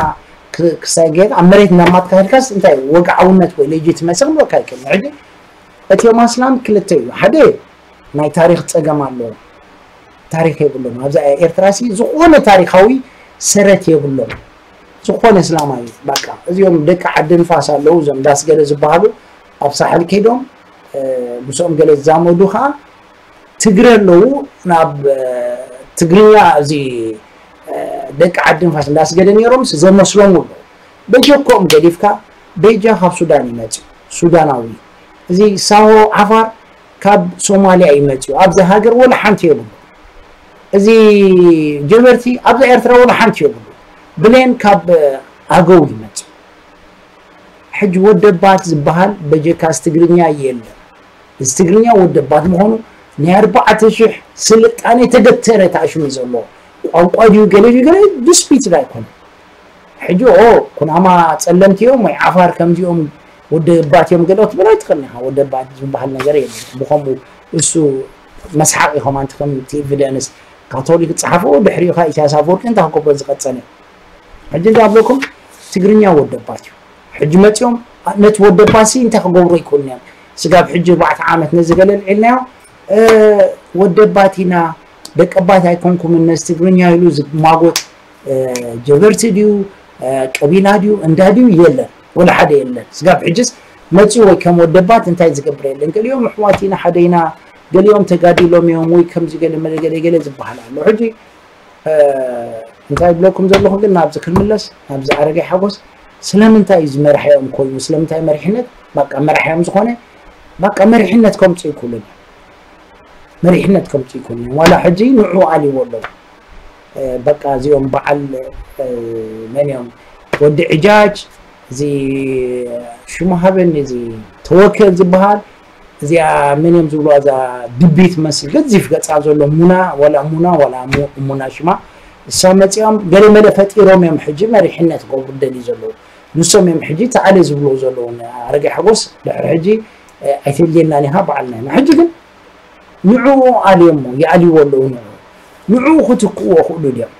ክሳይ ገይት ኣብ መሬት እናማትካ ከድካስ እንታይ ወግዓውነት ወይ ሌጂትመሲ ክብለካ ኣይክእልን። ሕጂ እቲኦም ኣስላም ክልተ እዩ። ሓደ ናይ ታሪክ ፀገም ኣለዎም። ታሪክ የብሎም። ኣብዛ ኤርትራ ሲ ዝኾነ ታሪካዊ ሰረት የብሎም። ዝኾነ እስላማዊ በቃ እዚኦም ደቂ ዓዲ ንፋስ ኣለዉ እዞም ዳስ ገለ ዝበሃሉ ኣብ ሳሕል ከይዶም ምስኦም ገለ ዝዛመዱ ከዓ ትግረ ኣለዉ ናብ ትግርኛ እዚ ደቂ ዓዲ ንፋስ እንዳስገደ ነይሮም ዘመስሎም ኣለዉ። በጀኮም ገዲፍካ በጃ ካብ ሱዳን ይመጽእ ሱዳናዊ እዚ ሳሆ ዓፋር ካብ ሶማሊያ ይመጽኡ ኣብዚ ሃገር ወላ ሓንቲ የብሉ። እዚ ጀበርቲ ኣብዛ ኤርትራ ወላ ሓንቲ የብሉ። ብሌን ካብ ኣገው ይመጽኡ። ሕጂ ወደባት ዝበሃል በጀካስ ትግርኛ የለን። እዚ ትግርኛ ወደባት ምዃኑ ናይ ኣርባዕተ ሽሕ ስልጣነ ተገተረ ተኣሽሙ ዘሎ ቋንቋ ድዩ ገለ ድዩ ገለ ዲስፒት ኣይኮነ። ሕጂ ኦ ኩናማ ጸለምቲ እዮም ወይ ዓፋር ከምዚኦም ወደባት እዮም ገለ ክትብል ኣይትኽእልን ኢኻ። ወደባት ዝበሃል ነገር የለን። ብኸምኡ እሱ መስሓቕ ኢኹም ኣንቲ ከም እቲ ኤቪደንስ ካቶሊክ ጸሓፍዎ ድሕሪኡ ኸዓ ኢሳያስ ኣፈወርቂ እንታይ ክገብሮ ዝቐጸለ። ሕጂ እንታይ ኣብለኩም ትግርኛ ወደባት እዩ። ሕጂ መጺኦም ነቲ ወደባት ሲ እንታይ ክገብሩ ይክእሉን እዮም። ስጋብ ሕጂ ኣርባዕተ ዓመት ነዚ ገለ ልዒልናዮ ወደባት ኢና ደቀባት ኣይኮንኩምን ነዚ ትግርኛ ኢሉ ዝማጎት ጀበርቲ ድዩ ቀቢላ ድዩ እንዳ ድዩ የለን ወላ ሓደ የለን። ስጋብ ሕጅስ መፂኡ ወይ ከም ወደባት እንታይ ዝገብር የለን። ገሊኦም ኣሕዋት ኢና ሓደ ኢና ገሊኦም ተጋዲሎም እዮም ወይ ከምዚ ገለ መለ ገለ ገለ ዝበሃል ኣሎ። ሕጂ እንታይ ብለኩም ዘለኹ ግን ናብዚ ክንምለስ ናብዚ ኣረጋይ ሓጎስ ስለምንታይ እዩ ዝመርሐኦም ኮይኑ ስለምንታይ መሪሕነት ባቃ መራሕዮም ዝኾነ ባቃ መሪሕነት ከምፁ ይክእሉን መሪሕነት ከምፅኡ ይኮኑ ዋላ ሕጂ ንዑ ኣልዎ ኣለዉ። በቃ እዚኦም በዓል መን እዮም ወዲ ዕጃጅ እዚ ሽሙ ሃበኒ እዚ ተወከል ዝበሃል እዚኣ መን እዮም ዝብሉ እዛ ድቢት መስል ገዚፍ ገፃ ዘሎ ሙና ዋላ ሙና ዋላ ሙና ሽማ እሳ መፂኦም ገለ መለ ፈጢሮም እዮም ሕጂ መሪሕነት ገብሩ ደሊ ዘለዉ ንሶም እዮም ሕጂ ተዓለ ዝብሉ ዘለዉ ኣረጋይ ሓጎስ ድሕሪ ሕጂ ኣይተልየና ኒኻ በዓልና ኢና ሕጂ ግን ንዕኡ ኣልዮሞ ይኣልይዎ ኣለዉ ንዕኡ ንዕኡ ክትክእዎ ክእሉ ድዮም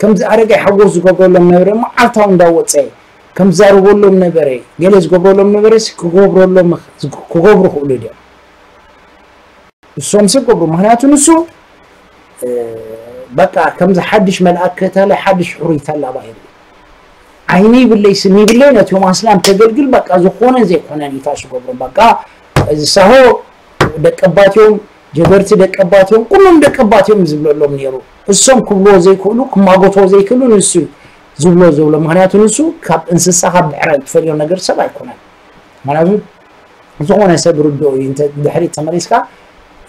ከምዚ ኣረጋይ ሓጎስ ዝገብረሎም ነበረ መዓልታዊ እንዳወፀ ከም ዝዛረበሎም ነበረ ገለ ዝገብረሎም ነበረ ክገብረሎም ክገብሩ ክእሉ ድዮም እሶም ሰብ ገብሩ ምክንያቱ ንሱ በቃ ከምዚ ሓድሽ መልኣክ ከታለ ሓድሽ ሕሩይ ተላባሂሩ ዓይኒ ይብለይ ስኒ ይብለይ ነቲ ዮም ኣስላም ተገልግል በቃ ዝኾነ ዘይኮነን ኢታሽ ገብሩ በቃ እዚ ሳሆ ደቀባትዮም ጀበርቲ ደቀባትዮም ኩሎም ደቀባትዮም ዝብለሎም ነይሩ እሶም ክብልዎ ዘይክእሉ ክማጎትዎ ዘይክእሉ ንሱ ዝብሎ ዝብሎ ምክንያቱ ንሱ ካብ እንስሳ ካብ ድሕረ ትፈልዮ ነገር ሰብ ኣይኮነን ምክንያቱ ዝኾነ ሰብ ርድኦ እዩ ድሕሪት ተመሊስካ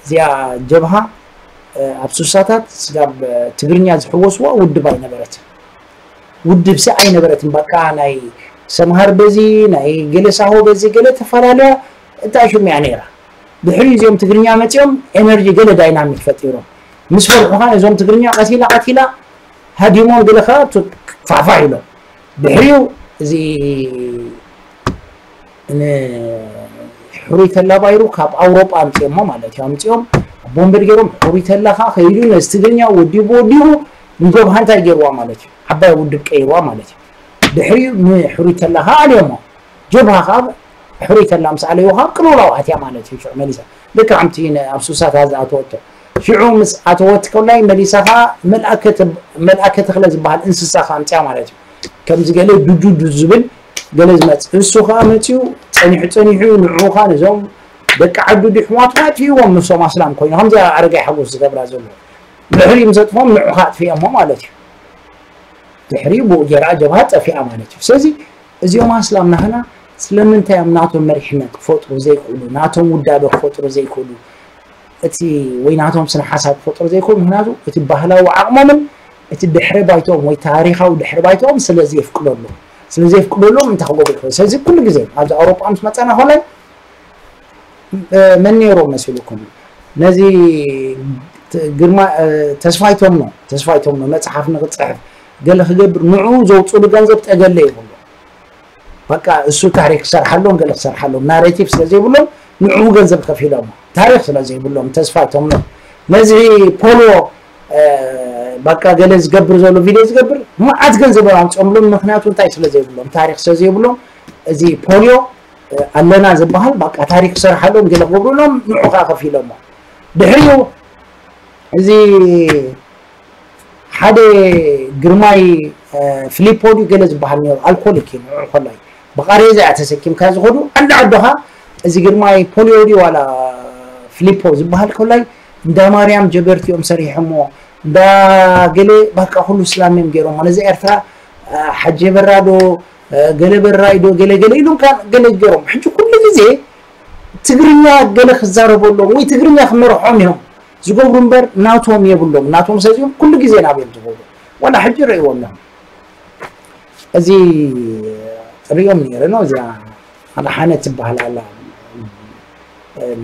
እዚኣ ጀብሃ ኣብ ሱሳታት ስጋብ ትግርኛ ዝሕወስዋ ውድብ ኣይነበረት ውድብ ሲ ኣይነበረትን በቃ ናይ ሰምሃር በዚ ናይ ገለ ሳሆ በዚ ገለ ተፈላለያ እንታይ ሽም እያ ነይራ ድሕሪ እዚኦም ትግርኛ መፂኦም ኤነርጂ ገለ ዳይናሚክ ፈጢሮም ምስ ፈርሑኻ እዞም ትግርኛ ቀቲላ ቀቲላ ሃዲሞም ገለ ከዓ ፋፋ ኢሎም ድሕሪኡ እዚ ሕሩይ ተላባይሩ ካብ ኣውሮጳ ኣምፅኦሞ ማለት እዩ ኣምፅኦም ቦምበድ ገይሮም ሕሩይ ተላ ከዓ ከይዱ ነዚ ትግርኛ ወዲቡ ወዲቡ ንገብሃ እንታይ ገይርዋ ማለት እዩ ዓባይ ውድብ ቀይርዋ ማለት እዩ ድሕሪኡ ንሕሩይ ተላ ከዓ ኣልዮሞ ጀብሃ ከዓ ሕሩይ ተላ ምስ ኣለይዎ ከዓ ቅልውላው ኣትያ ማለት እዩ ሽዑ መሊሳ ልክዕ ከምቲ ኣብ ሱሳታ ዝኣተወቶ ሽዑ ምስ ኣተወት ከላይ መሊሳ ከዓ መልኣከ ተኽለ ዝበሃል እንስሳ ከዓ ኣምፅያ ማለት እዩ ከምዚ ገለ ዱዱዱ ዝብል ገለ ዝመፅእ እሱ ከዓ መፅኡ ፀኒሑ ፀኒሑ ንዑ ከዓ ነዞም ደቂ ዓዱ ድሕዋቱ ኣጥፊእዎም ንሶም ኣስላም ኮይኑ ከምዚ ኣረጋይ ሓጎስ ዝገብራ ዘሎ ድሕሪ ምስ ኣጥፍኦም ንዑ ከዓ ኣጥፊኦሞ ማለት እዩ ድሕሪ ብኡ ገይራ ጀብሃ ጠፊኣ ማለት እዩ ስለዚ እዚኦም ኣስላም ናህና ስለምንታይ እዮም ናቶም መሪሕነት ክፈጥሩ ዘይክእሉ ናቶም ውዳበ ክፈጥሩ ዘይክእሉ እቲ ወይ ናቶም ስነ ሓሳብ ክፈጥሩ ዘይኮኑ ምክንያቱ እቲ ባህላዊ ዓቕሞምን እቲ ድሕሪ ባይቶኦም ወይ ታሪካዊ ድሕሪ ባይቶኦም ስለ ዘየፍቅደሉ ስለ ዘየፍቅደሎም እንታይ ክገብሩ ይኽእሉ ስለዚ ኩሉ ግዜ ኣብዚ ኣውሮጳ ምስ መፀና ኮላይ መን ነይሮም መሲልኩም ነዚ ግርማ ተስፋይቶም ነው ተስፋይቶም ነው መፅሓፍ ንክፅሕፍ ገለ ክገብር ንዑ ዘውፅሉ ገንዘብ ጠገለ ይብሉ በቃ እሱ ታሪክ ክሰርሓሎም ገለ ክሰርሓሎም ናሬቲቭ ስለ ዘይብሎም ንዕኡ ገንዘብ ከፊሎም ታሪክ ስለ ዘይብሎም ተስፋ ይቶም ነዚ ፖሎ በቃ ገለ ዝገብር ዘሎ ቪድዮ ዝገብር መዓት ገንዘብ ኣምፅኦምሎም ምክንያቱ እንታይ ስለ ዘይብሎም ታሪክ ስለ ዘይብሎም እዚ ፖሊዮ ኣለና ዝበሃል በቃ ታሪክ ክሰርሓሎም ገለ ክገብሩሎም ንዑ ከዓ ከፊሎሞ ድሕሪኡ እዚ ሓደ ግርማይ ፍሊፖ ድዩ ገለ ዝበሃል ነሩ ኣልኮሊክ እዩ ንዑ ኮላይ ብቃሬዛ እያ ተሰኪምካ ዝኸዱ ዓዲ ዓድኻ እዚ ግርማይ ፖሊዮ ድዩ ዋላ ፍሊፖ ዝበሃል ኮላይ እንዳ ማርያም ጀበርቲ እዮም ሰሪሖሞ እንዳ ገለ ባቃ ኩሉ ስላም እዮም ገይሮሞ ነዚ ኤርትራ ሓጀ በራዶ ገለ በራይ ዶ ገለ ገለ ኢሉም ገለ ገይሮም ሕጂ ኩሉ ግዜ ትግርኛ ገለ ክዛረበሎም ወይ ትግርኛ ክመርሖም እዮም ዝገብሩ እምበር ናቶም የብሎም ናቶም ሰዚኦም ኩሉ ግዜ ናብዮም ዝገብሩ ዋላ ሕጂ ርእይዎም እዮም እዚ ሪኦም ነይረ ነው እዚኣ ኣድሓነ ትበሃል ኣላ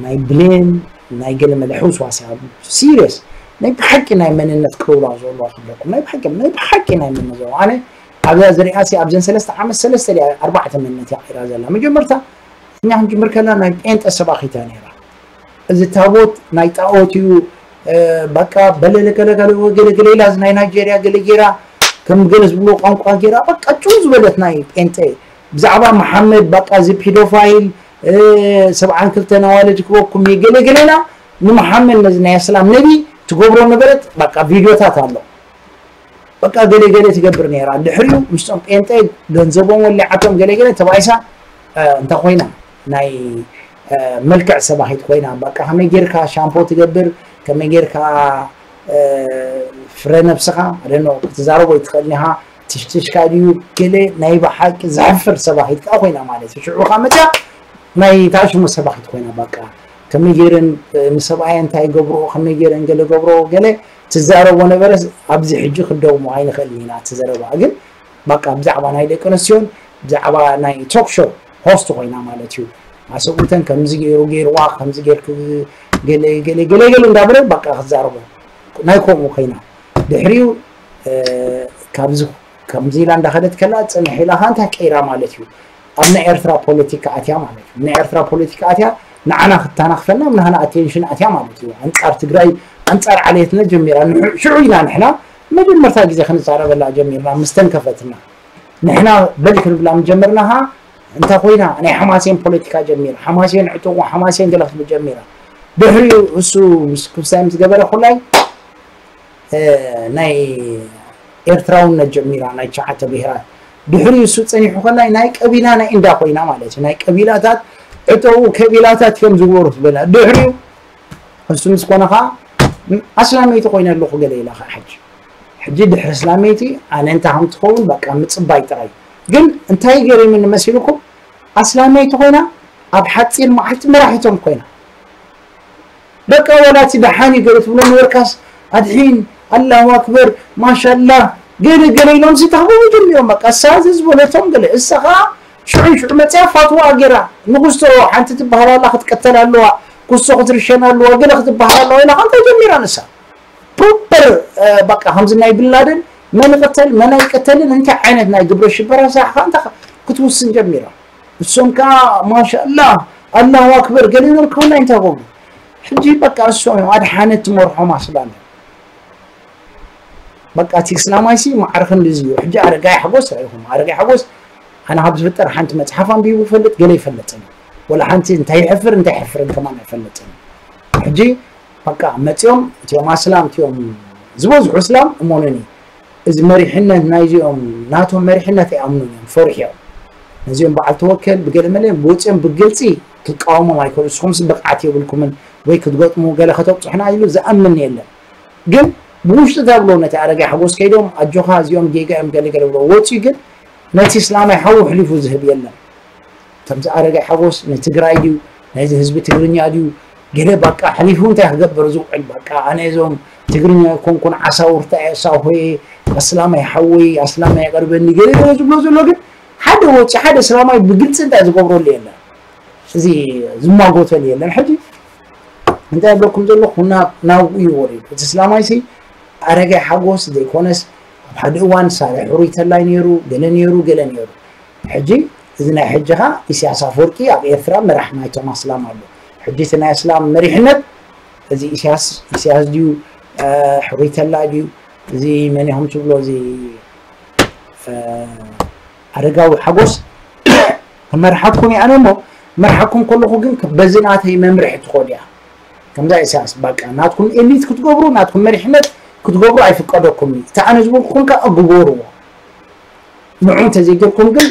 ናይ ብሌን ናይ ገለ መለ ሕውስዋስ እያ ሲሪየስ ናይ ብሓቂ ናይ መንነት ክብላ ዘለዋ ክብለኩም ናይ ብሓቂ ናይ ብሓቂ ናይ መንነት ዘለዋ ኣነ ኣብዛ ዝሪኣ ሲ ኣብዘን ሰለስተ ዓመት ሰለስተ ድያ ኣርባዕተ መንነት እያ ቀይራ ዘላ መጀመርታ እኛ ክንጅምር ከላ ናይ ጴንጠ ሰባኺት እያ ነይራ እዚ ታቦት ናይ ጣኦት እዩ በቃ በለለ ገለገለ ገለገለ ኢላ ናይ ናይጀርያ ገለ ጌራ ከም ገለ ዝብሎ ቋንቋ ጌራ በቃ ጭው ዝበለት ናይ ጴንጠ ብዛዕባ መሓመድ በቃ እዚ ፒዶፋይል ሰብዓን ክልተ ነዋልድ ክበኩም ገለገለና ንመሓመድ ነዚ ናይ እስላም ነቢ ትገብሮ ነበረት በቃ ቪድዮታት ኣሎ በቃ ገለገለ ትገብር ነይራ ድሕሪኡ ምስቶም ጴንጠ ገንዘቦም ወሊዓቶም ገለገለ ተባይሳ እንተ ኮይና ናይ መልክዕ ሰባኺት ኮይና በቃ ከመይ ጌርካ ሻምፖ ትገብር ከመይ ጌርካ ፍረ ነብስኻ ኣደኖ ክትዛረቦ ይትኽእል ኒኻ ትሽትሽካ ድዩ ገለ ናይ ብሓቂ ዘሕፍር ሰባኺት ከዓ ኮይና ማለት እዩ ሽዑ ከዓ መፅያ ናይ ታሽሙ ሰባኺት ኮይና በቃ ከመይ ገይረን ንሰብኣየን እንታይ ገብርኦ ከመይ ገይረን ገለ ገብርኦ ገለ ትዛረቦ ነበረ። ኣብዚ ሕጂ ክደግሞ ኣይንኽእልን ኢና እቲ ዘረባ። ግን በቃ ብዛዕባ ናይ ደቂ ኣንስትዮን ብዛዕባ ናይ ቶክ ሾው ሆስት ኮይና ማለት እዩ። ኣሰብኡተን ከምዚ ገይሩ ገይርዋ ከምዚ ገይርክ ገለ ገለ ገለ ገለ እንዳበለ በቃ ክዛረቦ ናይ ከምኡ ኮይና ድሕሪኡ ካብዚ ከምዚ ኢላ እንዳኸደት ከላ ጽንሕ ኢላ ኸዓ እንታይ ቀይራ ማለት እዩ። ኣብ ናይ ኤርትራ ፖለቲካ ኣትያ ማለት እዩ። ናይ ኤርትራ ፖለቲካ ኣትያ ንዓና ክተናኽፈና ኣብ ናህና ኣቴንሽን ኣትያ ማለት እዩ። ኣንጻር ትግራይ ኣንጻር ዓሌትና ጀሚራ። ንሕ- ሽዑ ኢና ንሕና መጀመርታ ግዜ ክንዛረበላ ጀሚርና ምስ ተንከፈትና። ንሕና በል ክንብላ ምጀመርና ኸዓ እንታይ ኮይና ናይ ሓማሴን ፖለቲካ ጀሚራ። ሓማሴን ዕጡቑ ሓማሴን ገለ ክትብል ጀሚራ። ድሕሪኡ እሱ ምስ ክፍሳይ ምስ ገበረ ኩላይ ናይ ኤርትራውነት ጀሚራ ናይ ትሽዓተ ብሄራት። ድሕሪኡ እሱ ጸኒሑ ከላይ ናይ ቀቢላ ናይ እንዳ ኮይና ማለት እዩ። ናይ ቀቢላታት ዕጠው ከቢላታት እዮም ዝወሩ ትበላ። ድሕሪኡ እሱ ምስ ኮነ ኸዓ ኣስላመይቲ ኮይነ ኣለኹ ገለ ኢላ ኸዓ ሕጂ። ሕጂ ድሕሪ እስላመይቲ ኣነ እንታይ ከም ትኸውን በቃ ምጽባይ ጥራይ። ግን እንታይ ገሪሙኒ መሲልኩም? ኣስላመይቲ ኮይና ኣብ ሓጺር መዓልቲ መራሒቶም ኮይና በቃ ወላ እቲ ደሓን እዩ ገለ ትብሎ ነበርካስ ኣድሒን ኣላሁ ኣክበር ማሻላ ገለ ገለ ኢሎም ሲ ተኽብቡ ጀሚሮም። በቃ እሳ እዚ ዝበለቶም ገለ እሳ ኸዓ ሽዑ ሽዑ መፅያ ፋትዋ ገይራ ንጉስቶ ሓንቲ ትበሃል ኣላ ክትቀተል ኣለዋ ኩስቶ ክትርሸን ኣለዋ ገለ ክትበሃል ኣለዋ ኢላ ከንታ ጀሚራ ንሳ ፕሮፐር በቃ ከምዚ ናይ ብንላደን መን ይቅተል መን ኣይቀተልን እንታይ ዓይነት ናይ ግብረ ሽበራ ስራሕ ከ እንታይ ክትውስን ጀሚራ። እሶም ከዓ ማሻላ ኣላሁ ኣክበር ገሊሎም ከውና እንታይ ገብሩ ሕጂ በቃ እሶም እዮም ኣድሓነት ትመርሖም ኣስላም በቃ እቲ እስላማይ ሲ ማዕረ ክንድዚ እዩ ሕጂ ኣረጋይ ሓጎስ ራይኹም ኣረጋይ ሓጎስ ኣነ ካብ ዝፍጠር ሓንቲ መፅሓፍ ኣንቢቡ ይፈልጥ ገለ ይፈልጥን ወላ ሓንቲ እንታይ ይሕፍር እንታይ ይሕፍርን ከማን ኣይፈልጥን ሕጂ በቃ መፅኦም እቲኦም ኣስላም እቲኦም ዝበዝሑ እስላም እሞኑኒ እዚ መሪሕነት ናይዚኦም ናቶም መሪሕነት ኣይኣምኑን እዮም ፈሪሕዮም ነዚኦም በዓል ተወከል ብገለ መለ ወፅኦም ብግልፂ ክትቃወሞም ኣይክእሉ ንስኹምስ ብቕዓት የብልኩምን ወይ ክትገጥሙ ገለ ከተብፅሑና ኢሉ ዝኣምን የለን ግን ብውሽጢ እንታይ ብሎ ነቲ ኣረጋይ ሓጎስ ከይዶም ኣጆኻ እዚኦም ጌጋ እዮም ገለ ገለ ብሎ ወፅኡ ግን ነቲ እስላማይ ሓዉ ኣሕሊፉ ዝህብ የለን ከምዚ ኣረጋይ ሓጎስ ንትግራይ ድዩ ናይዚ ህዝቢ ትግርኛ ድዩ ገለ በቃ ኣሕሊፉ እንታይ ክገብር ዝውዕል በቃ ኣነ እዞም ትግርኛ ኣይኮንኩን ዓሳውርታ እየ ሳሆየ ኣስላማይ ሓወይ ኣስላማይ የቅርበኒ ገለ ገለ ዝብሎ ዘሎ ግን ሓደ ወፂ ሓደ እስላማይ ብግልፂ እንታይ ዝገብረሉ የለን እዚ ዝማጎተሉ የለን ሕጂ እንታይ ይብለኩም ዘለኹ ናብኡ እዩ ወሪዱ እቲ እስላማይ ሲ ኣረጋይ ሓጎስ ዘይኮነስ ኣብ ሓደ እዋን ሳልሕ ሕሩይ ተላይ ነይሩ ገለ ነይሩ ገለ ነይሩ ሕጂ እዚ ናይ ሕጂ ኸ ኢሳያስ ኣፈወርቂ ኣብ ኤርትራ መራሕ ናይቶም ኣስላም ኣሎ ሕጂ እቲ ናይ ኣስላም መሪሕነት እዚ ኢሳያስ ኢሳያስ ድዩ ሕሩይ ተላ ድዩ እዚ መን ኢኹም ትብሎ እዚ ኣረጋዊ ሓጎስ ክመርሓኩም እየ ኣነ እሞ መርሓኩም ከለኹ ግን በዚ ናተይ መምርሒ ትኾድ እያ ከምዛ ኢሳያስ በቃ ናትኩም ኤሊት ክትገብሩ ናትኩም መሪሕነት ክትገብሩ ኣይፍቀደኩም እዩ እቲ ኣነ ዝበልኩኹም ከኣ ግበርዎ ንዑ እንተዘይገርኩም ግን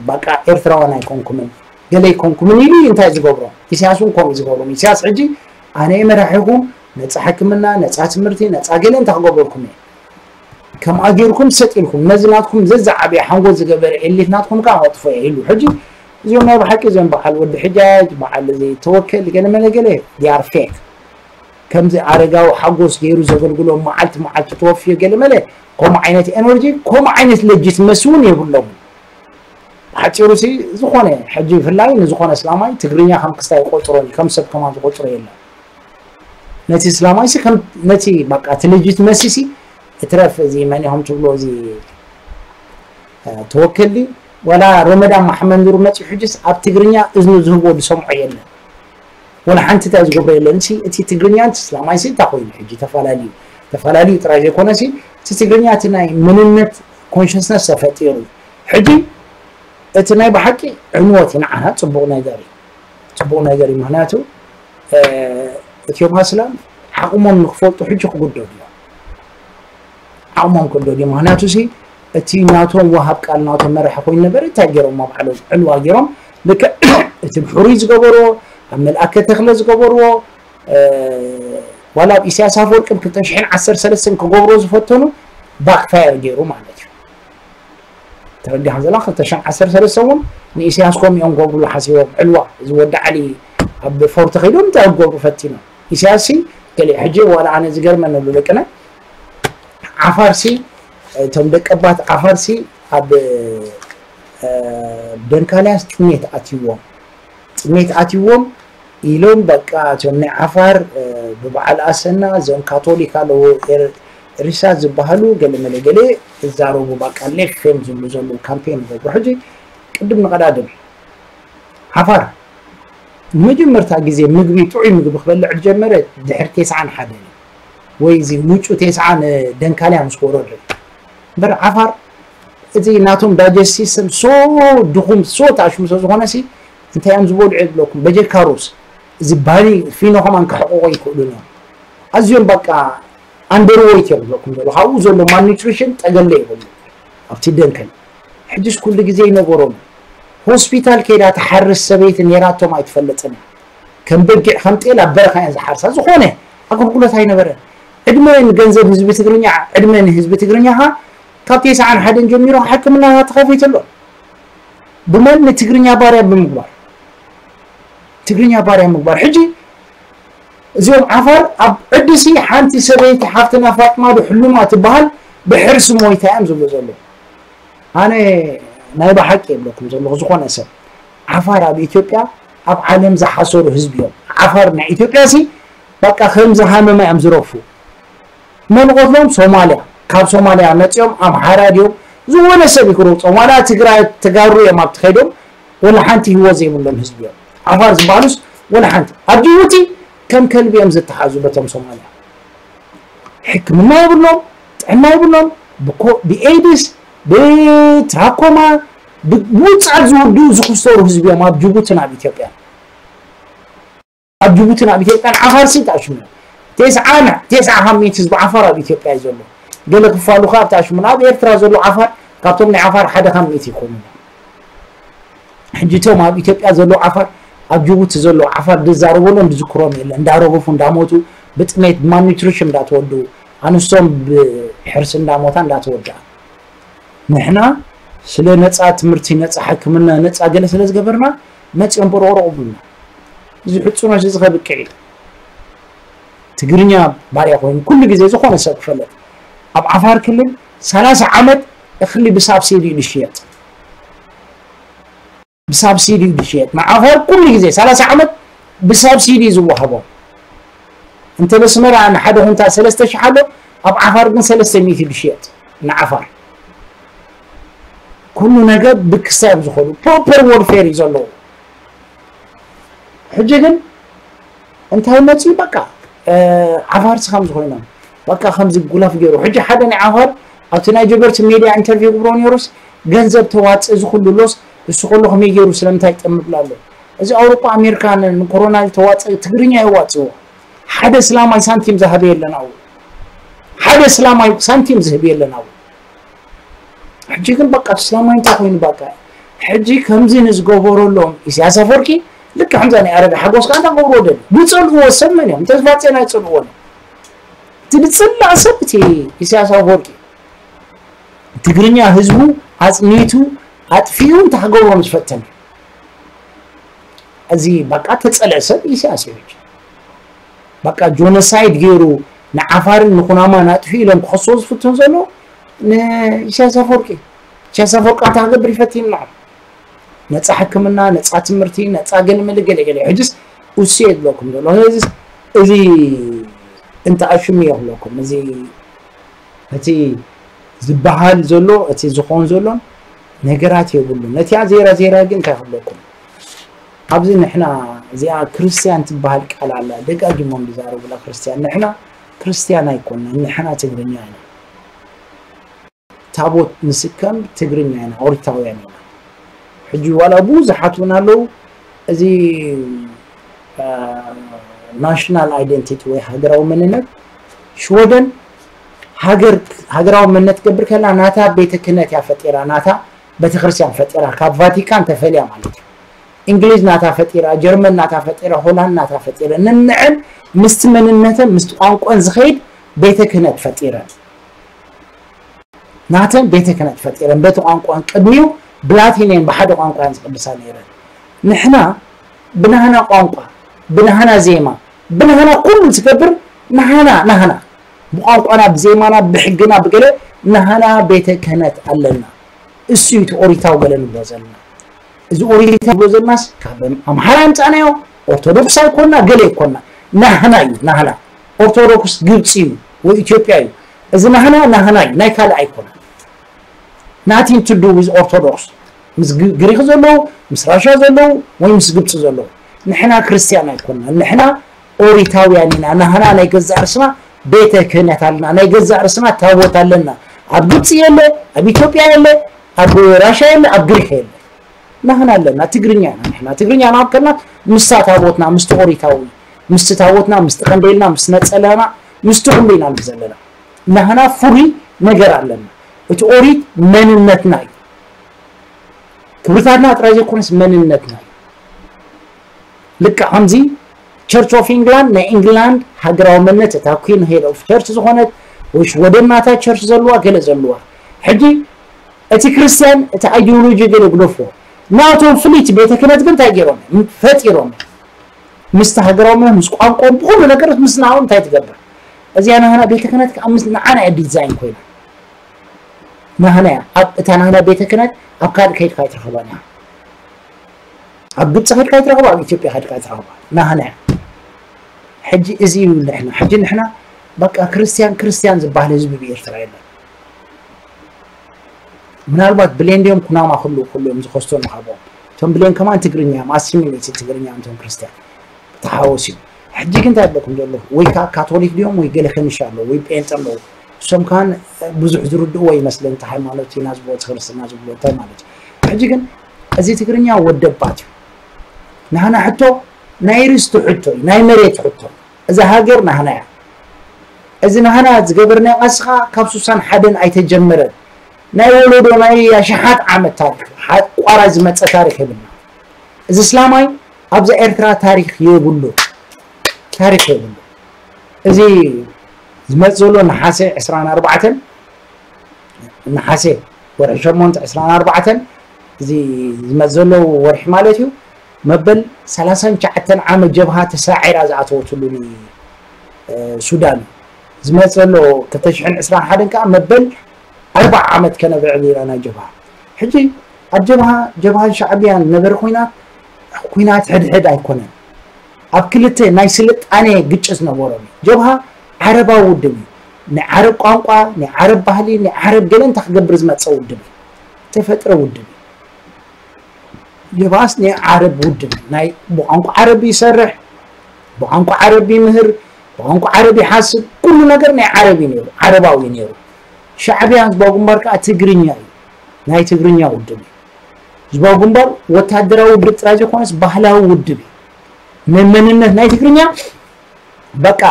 በቃ ኤርትራውያን ኣይኮንኩምን ገለ ኣይኮንኩምን ኢሉ እንታይ ዝገብሮ ኢሳያስ እውን ከምኡ ዝገብሮም ኢሳያስ ሕጂ ኣነ መራሒኹም ነፃ ሕክምና ነፃ ትምህርቲ ነፃ ገለ እንታይ ክገብረልኩም እየ ከምኣ ጌርኩም ሰጥ ኢልኩም ነዚ ናትኩም ዘዝዓበየ ሓንጎል ዝገበረ ኤሊት ናትኩም ከዓ ከጥፎ እየ ኢሉ ሕጂ እዚኦም ናይ ብሓቂ እዚኦም በዓል ወዲ ሕጃጅ በዓል እዚ ተወከል ገለ መለ ገለ they are fake ከምዚ ኣረጋዊ ሓጎስ ገይሩ ዘገልግሎም መዓልቲ መዓልቲ ተወፍዮ ገለ መለ ከምኡ ዓይነት ኤነርጂ ከምኡ ዓይነት ለጂትመሲ እውን የብሎምን ብሓፂሩ ሲ ዝኾነ ሕጂ ብፍላይ ንዝኾነ እስላማይ ትግርኛ ከም ክስታይ ይቆፅሮን እዩ ከም ሰብ ከማን ዝቆፅሮ የለን ነቲ እስላማይ ሲ ከም ነቲ በቃ እቲ ለጂትመሲ ሲ እትረፍ እዚ መን ኢኹም ትብሎ እዚ ተወከል ድዩ ዋላ ሮመዳን መሓመድ ኑር መፂኡ ሕጅስ ኣብ ትግርኛ እዝኑ ዝህቦ ዝሰምዖ የለን ወላ ሓንቲ እንታይ ዝገብሮ የለን ሲ እቲ ትግርኛን እስላማይ ሲ እንታይ ኮይኑ ሕጂ ተፈላለዩ ተፈላለዩ ጥራይ ዘይኮነ ሲ እቲ ትግርኛ እቲ ናይ መንነት ኮንሽስነስ ተፈጢሩ ሕጂ እቲ ናይ ብሓቂ ዕንወት እዩ ንዓና ፅቡቕ ነገር እዩ ፅቡቕ ነገር እዩ ምክንያቱ እቲኦም ኣስላም ዓቕሞም ንክፈልጡ ሕጂ ክጉደዱ እዮም ዓቕሞም ክጉደዱ እዮም ምክንያቱ ሲ እቲ ናቶም ወሃብ ቃል ናቶም መራሒ ኮይኑ ነበረ እንታይ ገይሮም ኣብ ዓለም ዕልዋ ገይሮም ልክዕ እቲ ብሕሩይ ዝገበርዎ ኣብ መልኣከ ተክለ ዝገበርዎ ዋላ ኣብ ኢሳያስ ኣፈወርቂ ብ ክልተ ሽሕን ዓሰርተ ሰለስተን ክገብሮ ዝፈተኑ ባክፋየር ገይሩ ማለት እዩ ተረዲኻ ዘላ ክልተ ሽሕን ዓሰርተ ሰለስተ እውን ንኢሳያስ ኮም እዮም ገብሩሉ ሓሲቦም ዕልዋ እዚ ወዲ ዓሊ ኣብ ፎርቶ ከይዶም እንታይ ክገብሩ ፈቲኖም? ኢሳያስ ሲ ገለ ሕጂ ዋላ ኣነ ዝገርመኒ ኣሎ ደቅና ዓፋር ሲ እቶም ደቀባት ዓፋር ሲ ኣብ ደንካልያስ ጥሜት ኣትይዎም ጥሜት ኣትይዎም ኢሎም በቃ እቶም ናይ ዓፋር ብበዓል ኣሰና እዞም ካቶሊክ ኣለዎ ሪሳ ዝበሃሉ ገለ መለ ገለ እዛረቡ በቃ ሌፍ ፌም ዝብሉ ዘለዉ ካምፔን ይገብሩ ሕጂ ቅድም ንቐዳድም ዓፋር ንመጀመርታ ግዜ ምግቢ ጥዑይ ምግቢ ክበልዕ ዝጀመረ ድሕሪ ተስዓን ሓደን እዩ ወይ እዚ ውጩ ተስዓን ደንካልያ ምስ ወረዱ እምበር ዓፋር እቲ ናቶም ዳጀስት ሲስተም ሶ ድኹም ሶ ተኣሽሙ ስለ ዝኾነ ሲ እንታይ እዮም ዝበልዑ የብለኩም በጀካ ሩዝ እዚ ባኒ ፊኖ ከማን ክሕቆቆ ይክእሉን እዮም ኣዝዮም በቃ ኣንደርወይት እዮም ዝብለኩም ዘሎ ካብኡ ዘሎ ማልኒትሪሽን ጠገለ ይብሉ ኣብቲ ደንከን ሕጅስ ኩሉ ግዜ ይነበሮም ሆስፒታል ከይዳ ትሓርስ ሰበይቲ ኔራቶም ኣይትፈልጥን እያ ከም በጊዕ ከም ጤል ኣብ በረኻ እየን ዝሓርሳ ዝኾነ ኣገልግሎት ኣይነበረን ዕድመ ንገንዘብ ህዝቢ ትግርኛ ዕድመ ንህዝቢ ትግርኛ ኻ ካብ ተስዓን ሓደን ጀሚሩ ሕክምና ተኸፊቱ ኣሎ ብመን ንትግርኛ ባርያ ብምግባር ትግርኛ ባርያ ምግባር ሕጂ እዚኦም ዓፋር ኣብ ዕድሲ ሓንቲ ሰበይቲ ሓፍትና ፋጥማ ዶ ሕሉማ ትበሃል ብሕርሲ ሞይታ እዮም ዝብሉ ዘለዉ ኣነ ናይ ብሓቂ የብለኩም ዘለኹ ዝኾነ ሰብ ዓፋር ኣብ ኢትዮጵያ ኣብ ዓለም ዝሓሰሩ ህዝቢ እዮም ዓፋር ናይ ኢትዮጵያ ሲ በቃ ከምዚ ሃመማ እዮም ዝረፉ መን ቆትሎም ሶማልያ ካብ ሶማልያ መፂኦም ኣምሓራ ድዮም ዝኾነ ሰብ ይክረውፆም ዋላ ትግራይ ተጋሩ እዮም ኣብቲ ከይዶም ወላ ሓንቲ ህይወት ዘይብሎም ህዝቢ እዮም ዓፋር ዝበሃሉስ ወላ ሓንቲ ኣብ ጅቡቲ ከም ከልቢ እዮም ዝተሓዙ በቶም ሶማልያ ሕክምና የብሎም ጥዕና የብሎም ብኤድስ ብትራኮማ ብውፅዓት ዝወድኡ ዝክሰሩ ህዝቢ እዮም ኣብ ጅቡትን ኣብ ኢትዮጵያ ኣብ ጅቡትን ኣብ ኢትዮጵያን ዓፋር ሲ ተኣሽሙ እዮም። ተስዓ ተስዓ ካብ ሚእቲ ህዝቢ ዓፋር ኣብ ኢትዮጵያ እዩ ዘሎ። ገለ ክፋሉ ከኣ ኣብቲ ኣሽሙን ኣብ ኤርትራ ዘሎ ዓፋር ካብቶም ናይ ዓፋር ሓደ ካብ ሚእቲ ይኮኑ እዮም። ሕጂ እቶም ኣብ ኢትዮጵያ ዘሎ ዓፋር ኣብ ጅቡቲ ዘሎ ዓፋር ዝዛረበሎም ዝዝክሮም የለ እንዳረገፉ እንዳሞቱ ብጥሜት ብማልኒትሪሽን እንዳተወድኡ ኣንስቶም ብሕርሲ እንዳሞታ እንዳተወድኣ ንሕና ስለ ነፃ ትምህርቲ ነፃ ሕክምና ነፃ ገለ ስለ ዝገበርና መፅኦም በረቕረቑ ብልና እዚ ሕፁኖች እዚ ከብቅዕ እዩ ትግርኛ ባርያ ኮይኑ ኩሉ ግዜ ዝኾነ ሰብ ክፈለጥ ኣብ ዓፋር ክልል ሰላሳ ዓመት እኽሊ ብሳብሲዲ እዩ ዝሽየጥ ብሳብሲዲ እዩ ዝሽየጥ ንዓፋር ኩሉ ግዜ ሰላሳ ዓመት ብሳብሲዲ እዩ ዝወሃቦም እንተ በስመራ ንሓደ ኩንታ ሰለስተ ሽሕ ኣሎ ኣብ ዓፋር ግን ሰለስተ ሚእቲ እዩ ዝሽየጥ ንዓፋር ኩሉ ነገር ብክስታ እዮም ዝኸዱ ፕሮፐር ወርፌር እዩ ዘለዎ ሕጂ ግን እንታይ መፅኡ በቃ ዓፋርሲ ከም ዝኾይኖም በቃ ከምዚ ጉላፍ ገይሩ ሕጂ ሓደ ናይ ዓፋር ኣብቲ ናይ ጀበርቲ ሜድያ ኢንተርቪው ክብሮ ነይሩስ ገንዘብ ተዋፅእ እዚ ኩሉ ሎስ እሱ ከሎ ከመይ ገይሩ ስለምንታይ ይጠምብላ ኣሎ እዚ ኣውሮፓ ኣሜሪካ ንኮሮና ተዋፅእ ትግርኛ የዋፅዎ ሓደ ስላማይ ሳንቲም ዝሃበ የለን ኣው ሓደ ስላማይ ሳንቲም ዝህብ የለን ኣው ሕጂ ግን በቃ ስላማይ እንታይ ኮይኑ በቃ ሕጂ ከምዚ ንዝገበረሎም ኢሳያስ ኣፈወርቂ ልክ ከምዛ ናይ ኣረጋ ሓጎስ ከኣ እንዳገብርዎ ደል ዝፀልእዎ ሰብ መን እዮም ተስፋፅዮን ኣይፀልእዎን እቲ ዝፅላእ ሰብ እቲ ኢሳያስ ኣፈወርቂ ትግርኛ ህዝቡ ኣፅኒቱ ኣጥፊኡ እንታይ ክገብሮ ምስ ፈተነ እዚ በቃ ተፀልአ ሰብ ኢሳያስ እዩ ሕጂ በቃ ጆኖሳይድ ገይሩ ንዓፋርን ንኩናማን ኣጥፊኡ ኢሎም ክኸስዎ ዝፍትኑ ዘለዉ ንኢሳያስ ኣፈወርቂ ኢሳያስ ኣፈወርቂ እንታይ ክገብር ይፈትን ይልዓል ነፃ ሕክምና ነፃ ትምህርቲ ነፃ ገለመለ ገለገለ ሕጅስ እሱ የድለኩም ዘሎ እዚ እዚ እንተ ኣሽሙ የኽለኩም እዚ እቲ ዝበሃል ዘሎ እቲ ዝኾን ዘሎን ነገራት የብሉን ነቲኣ ዜራ ዜራ ግን እንታይ ክብለኩም ኣብዚ ንሕና እዚኣ ክርስትያን ትበሃል ቃል ኣላ ደጋጊሞም ዝዛረቡላ ክርስትያን ንሕና ክርስትያን ኣይኮና ንሕና ትግርኛ ኢና ታቦት ንስከም ትግርኛ ኢና ኦሪታውያን ኢና ሕጂ ዋላ ብዙሓት እውን ኣለዉ እዚ ናሽናል ኣይደንቲቲ ወይ ሃገራዊ መንነት ሽወደን ሃገር ሃገራዊ መንነት ትገብር ከላ ናታ ቤተ ክህነት እያ ፈጢራ ናታ ቤተክርስትያን ፈጢራ ካብ ቫቲካን ተፈልያ ማለት እዩ እንግሊዝ ናታ ፈጢራ ጀርመን ናታ ፈጢራ ሆላንድ ናታ ፈጢራ ንንዕን ምስቲ መንነተን ምስቲ ቋንቋን ዝኸይድ ቤተ ክህነት ፈጢረን ናተን ቤተ ክህነት ፈጢረን በቲ ቋንቋን ቅድሚኡ ብላቲን እየን ብሓደ ቋንቋ እየን ዝቅድሳ ነይረን ንሕና ብናህና ቋንቋ ብናህና ዜማ ብናህና ኩሉ ዝገብር ናህና ናህና ብቋንቋና ብዜማና ብሕግና ብገለ ናህና ቤተ ክህነት ኣለና። እሱ እዩ እቲ ኦሪታዊ ገለ ንብሎ ዘለና። እዚ ኦሪታዊ ንብሎ ዘለናስ ካብ ኣምሓራ ኣምፃእናዮ። ኦርቶዶክስ ኣይኮና ገለ ኣይኮና ናህና እዩ ናህና። ኦርቶዶክስ ግብፂ እዩ ወይ ኢትዮጵያ እዩ። እዚ ናህና ናህና እዩ ናይ ካልእ ኣይኮነ። Nothing to do with Orthodox። ምስ ግሪክ ዘለዉ ምስ ራሻ ዘለዉ ወይ ምስ ግብፂ ዘለዉ ንሕና ክርስትያን ኣይኮና። ንሕና ኦሪታውያን ኢና። ናህና ናይ ገዛእ ርስና ቤተ ክህነት ኣለና። ናይ ገዛእ ርስና ታቦት ኣለና። ኣብ ግብፂ የለ፣ ኣብ ኢትዮጵያ የለ፣ ኣብ ራሻ የለ፣ ኣብ ግሪክ የለ። ናህና ኣለና። ትግርኛ ኢና ንሕና። ትግርኛ ናብ ከና ምስታ ታቦትና ምስቲ ኦሪታዊ ምስቲ ታቦትና ምስቲ ቀንዴልና ምስቲ ነፀላና ምስቲ ኩሉ ኢና ንብል ዘለና። ናህና ፍሉይ ነገር ኣለና። እቲ ኦሪት መንነትና እዩ። ክብርታትና ጥራይ ዘይኮነስ መንነትና እዩ። ልክዕ ከምዚ ቸርች ኦፍ ኢንግላንድ ናይ ኢንግላንድ ሃገራዊ መንነት እታ ኩን ሄድ ኦፍ ቸርች ዝኾነት ወይ ሽወደን ናታ ቸርች ዘለዋ ገለ ዘለዋ ሕጂ እቲ ክርስትያን እቲ ኣይዲዮሎጂ ገለ ግደፎ ናቶም ፍልይቲ ቤተ ክህነት ግን እንታይ ገይሮም ፈጢሮም ምስቲ ሃገራዊ ምስ ቋንቋ ብኩሉ ነገር ምስ ናው እንታይ ትገብር እዚኣ ናህና ቤተ ክህነት ከዓ ምስ ንዓና እያ ዲዛይን ኮይና ናህና እያ ኣብ እታ ናህና ቤተ ክህነት ኣብ ካልእ ከይድካ ኣይትረኸባን እያ ኣብ ግብፂ ከድካ ይትረኽባ ኣብ ኢትዮጵያ ከድካ ይትረኽባ ናህና እያ ሕጂ እዚ እዩ ንሕና ሕጂ ንሕና በቃ ክርስትያን ክርስትያን ዝበሃል ህዝቢ ብኤርትራ የለን ምናልባት ብሌን ድዮም ኩናማ ኩሉ ኩሉ እዮም ዝኸስቶ ንሃቦም እቶም ብሌን ከማን ትግርኛ እዮም ኣሲሚሌትድ ትግርኛ እዮም እቶም ክርስትያን ተሓወስ እዩ ሕጂ ግን እንታይ ኣለኩም ዘሎ ወይ ከዓ ካቶሊክ ድዮም ወይ ገለ ከንሻ ኣለዉ ወይ ጴንጠ ኣለዉ እሶም ከማን ብዙሕ ዝርድእዎ ይመስለኒ እቲ ሃይማኖት ኢና ዝብሎ እቲ ክርስትና ዝብሎ እንታይ ማለት እዩ ሕጂ ግን እዚ ትግርኛ ወደባት እዩ ናህና ሕቶ ናይ ርስቲ ሕቶ እዩ ናይ መሬት ሕቶ እዛ ሃገር ናህና እያ እዚ ናህና ዝገበርናዮ ቃልሲ ከዓ ካብ ሱሳን ሓደን ኣይተጀመረን ናይ ወለዶ ናይ ኣሽሓት ዓመት ታሪክ ሓቋራ ዝመፀ ታሪክ የብልና እዚ እስላማይ ኣብዛ ኤርትራ ታሪክ የብሉ ታሪክ የብሉ እዚ ዝመፅ ዘሎ ነሓሰ ዕስራን ኣርባዕተን ነሓሰ ወርሒ ሸሞንተ ዕስራን ኣርባዕተን እዚ ዝመፅ ዘሎ ወርሒ ማለት እዩ መበል ሰላሳን ትሽዓተን ዓመት ጀብሃ ተሳዒራ ዝኣተወትሉ ሱዳን እዩ ዝመፅ ዘሎ ክልተ ሽሕን ዕስራን ሓደን ከዓ መበል ኣርባዓ ዓመት ከነብዕል ኢና ናይ ጀብሃ ሕጂ ኣብ ጀብሃ ጀብሃን ሻዕብያን ነበረ ኩናት ኩናት ሕድሕድ ኣይኮነን ኣብ ክልተ ናይ ስልጣኔ ግጭት ነበሮም እዩ ጀብሃ ዓረባዊ ውድብ እዩ ናይ ዓረብ ቋንቋ ናይ ዓረብ ባህሊ ናይ ዓረብ ገለ እንታይ ክገብር ዝመፀ ውድብ እዩ ተፈጥረ ውድብ እዩ ጀብሃስ ናይ ዓረብ ውድብ እዩ ናይ ብቋንቋ ዓረብ ይሰርሕ ብቋንቋ ዓረብ ይምህር ብቋንቋ ዓረብ ይሓስብ ኩሉ ነገር ናይ ዓረብ እዩ ነይሩ ዓረባዊ እዩ ነይሩ ሻዕብያ ህዝባዊ ግንባር ከዓ ትግርኛ እዩ ናይ ትግርኛ ውድብ እዩ ህዝባዊ ግንባር ወታደራዊ ውድብ ጥራይ ዘይኮነስ ባህላዊ ውድብ እዩ ንመንነት ናይ ትግርኛ በቃ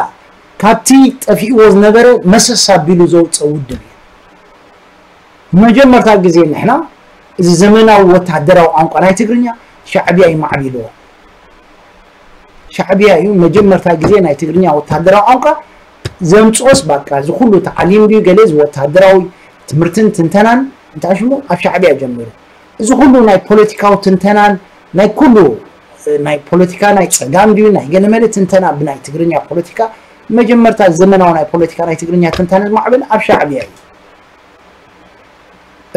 ካብቲ ጠፊእዎ ዝነበረ መሰስ ኣቢሉ ዘውፀ ውድብ እዩ መጀመርታ ግዜ ንሕና እዚ ዘመናዊ ወታደራዊ ቋንቋ ናይ ትግርኛ ሻዕብያ እዩ ማዕቢልዎ ሻዕብያ እዩ መጀመርታ ግዜ ናይ ትግርኛ ወታደራዊ ቋንቋ ዘምፅኦስ ባቃ እዚ ኩሉ ተዓሊም ድዩ ገለ እዚ ወታደራዊ ትምህርትን ትንተናን እንታይ ሽሙ ኣብ ሻዕብያ ጀሚሩ እዚ ኩሉ ናይ ፖለቲካዊ ትንተናን ናይ ኩሉ ናይ ፖለቲካ ናይ ፀጋም ድዩ ናይ ገለመለ ትንተና ብናይ ትግርኛ ፖለቲካ መጀመርታ ዘመናዊ ናይ ፖለቲካ ናይ ትግርኛ ትንታነ ዝማዕበል ኣብ ሻዕብያ እዩ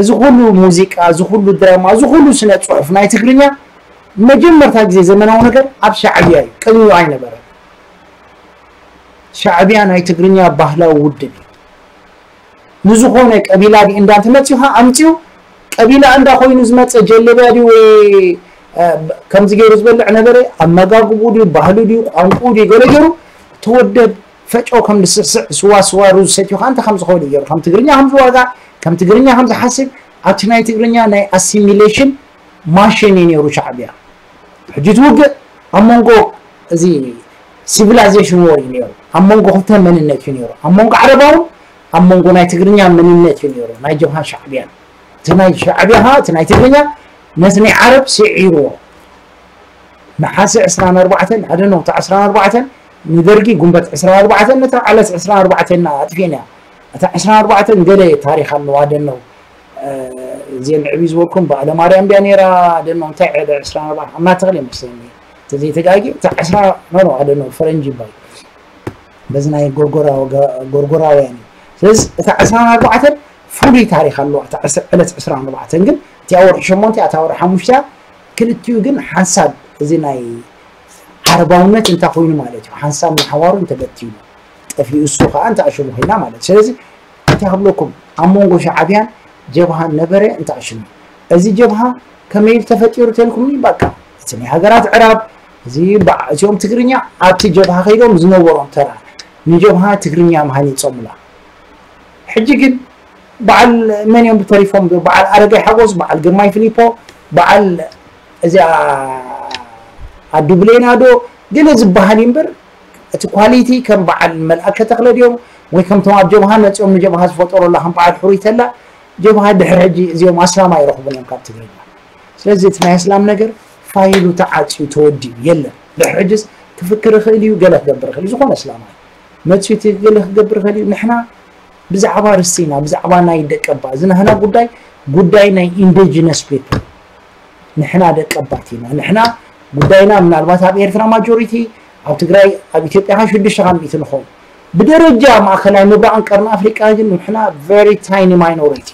እዚ ኩሉ ሙዚቃ እዚ ኩሉ ድራማ እዚ ኩሉ ስነ ፅሑፍ ናይ ትግርኛ መጀመርታ ግዜ ዘመናዊ ነገር ኣብ ሻዕብያ እዩ ቅድሚኡ ኣይነበረን ሻዕብያ ናይ ትግርኛ ባህላዊ ውድብ እዩ ንዝኾነ ቀቢላ ዲ እንዳ እንተመፂኡ ከዓ ኣምፂኡ ቀቢላ እንዳ ኮይኑ ዝመፀ ጀለብያ ድዩ ወይ ከምዚ ገይሩ ዝበልዕ ነበረ ኣመጋግቡ ድዩ ባህሉ ድዩ ቋንቁ ድዩ ገለ ገይሩ ተወደብ ፈጨው ከም ዝስዕስዕ ስዋ ስዋ ሩዝ ሰትዩ ከዓ እንታይ ከም ዝኸውን እዩ ገይሩ ከም ትግርኛ ከም ዝዋጋ ከም ትግርኛ ከም ዝሓስብ ኣብቲ ናይ ትግርኛ ናይ ኣሲሚሌሽን ማሽን እዩ ነይሩ ሻዕብያ ሕጂ ትውግእ ኣብ መንጎ እዚ ሲቪላይዜሽን ወር እዩ ነይሩ ኣብ መንጎ ክልተ መንነት እዩ ነይሩ ኣብ መንጎ ዓረባውን ኣብ መንጎ ናይ ትግርኛ መንነት እዩ ነይሩ ናይ ጀብሃን ሻዕብያን እቲ ናይ ሻዕብያ ከዓ እቲ ናይ ትግርኛ ነቲ ናይ ዓረብ ስዒርዎ ነሓሰ ዕስራን ኣርባዕተን ኣደነው እቲ ዕስራን ኣርባዕተን ንደርጊ ጉንበት ዕስራን ኣርባዕተን ነታ ዕለት ዕስራን ኣርባዕተን ኣጥፊእና እታ ዕስራን ኣርባዕተን ገለ ታሪክ ኣለዋ ኣደነው እዚአን ዕብይ ዝበልኩም በዓለ ማርያም ድያ ነይራ ኣደነው እንታይ ዕለ ዕስራን ኣርባዕተን እናተኽለ ይመስለኒ ዘይተጋጊ እታ ዕስራ ኖ ኖ ኣደ ኖ ፈረንጂ ይባል በዚ ናይ ጎርጎራውያን እዩ። ስለዚ እታ ዕስራን ኣርባዕተን ፍሉይ ታሪክ ኣለዋ። እታ ዕለት ዕስራን ኣርባዕተን ግን እቲኣ ወርሒ ሸሞንተ እታ ወርሒ ሓሙሽተ ክልቲኡ ግን ሓንሳብ እዚ ናይ ዓረባውነት እንታይ ኮይኑ ማለት እዩ ሓንሳብ ንሓዋሩ እንተበቲኑ ጠፊኡ እሱ ከዓ እንታይ ኣሽሙ ኮይና ማለት ስለዚ እንታይ ክብለኩም ኣብ መንጎ ሻዓብያን ጀብሃን ነበረ እንታይ ኣሽሙ እዚ ጀብሃ ከመይ ተፈጢሩ ተልኩምኒ በቃ እቲ ናይ ሃገራት ዕራብ እዚ እዚኦም ትግርኛ ኣብቲ ጀብሃ ከይዶም ዝነበሮም ተራ ንጀብሃ ትግርኛ ምሃን ይፀሙላ ሕጂ ግን በዓል መን እዮም ተሪፎም በዓል ኣረጋይ ሓጎስ በዓል ግርማይ ፊሊፖ በዓል እዚኣ ኣዱ ብሌና ዶ ገለ ዝበሃል እዩ እምበር እቲ ኳሊቲ ከም በዓል መልኣከ ተኽለ ድዮም ወይ ከምቶም ኣብ ጀብሃ መፂኦም ንጀብሃ ዝፈጠሩላ ከም በዓል ሕሩይ ተላ ጀብሃ ድሕሪ ሕጂ እዚኦም ኣስላም ኣይረኽቡን እዮም ካብ ትግርኛ ስለዚ እቲ ናይ ኣስላም ነገር ፋይሉ ተዓፅዩ ተወዲኡ የለን ድሕሪ ሕጅስ ክፍክር ይኽእል እዩ ገለ ክገብር ይኽእል እዩ ዝኾነ ኣስላማይ መፅዩ እቲ ገለ ክገብር ይኽእል እዩ ንሕና ብዛዕባ ርስቲና ብዛዕባ ናይ ደቀባ እዚ ናህና ጉዳይ ጉዳይ ናይ indigenous people ንሕና ደቀባት ኢና ንሕና ጉዳይና ምናልባት ኣብ ኤርትራ ማጆሪቲ ኣብ ትግራይ ኣብ ኢትዮጵያ ካ ሽዱሽተ ካብ ሚእቲ ንኸውን ብደረጃ ማእከላይ ምብራቕን ቀርኒ ኣፍሪቃ ግን ንሕና very tiny minority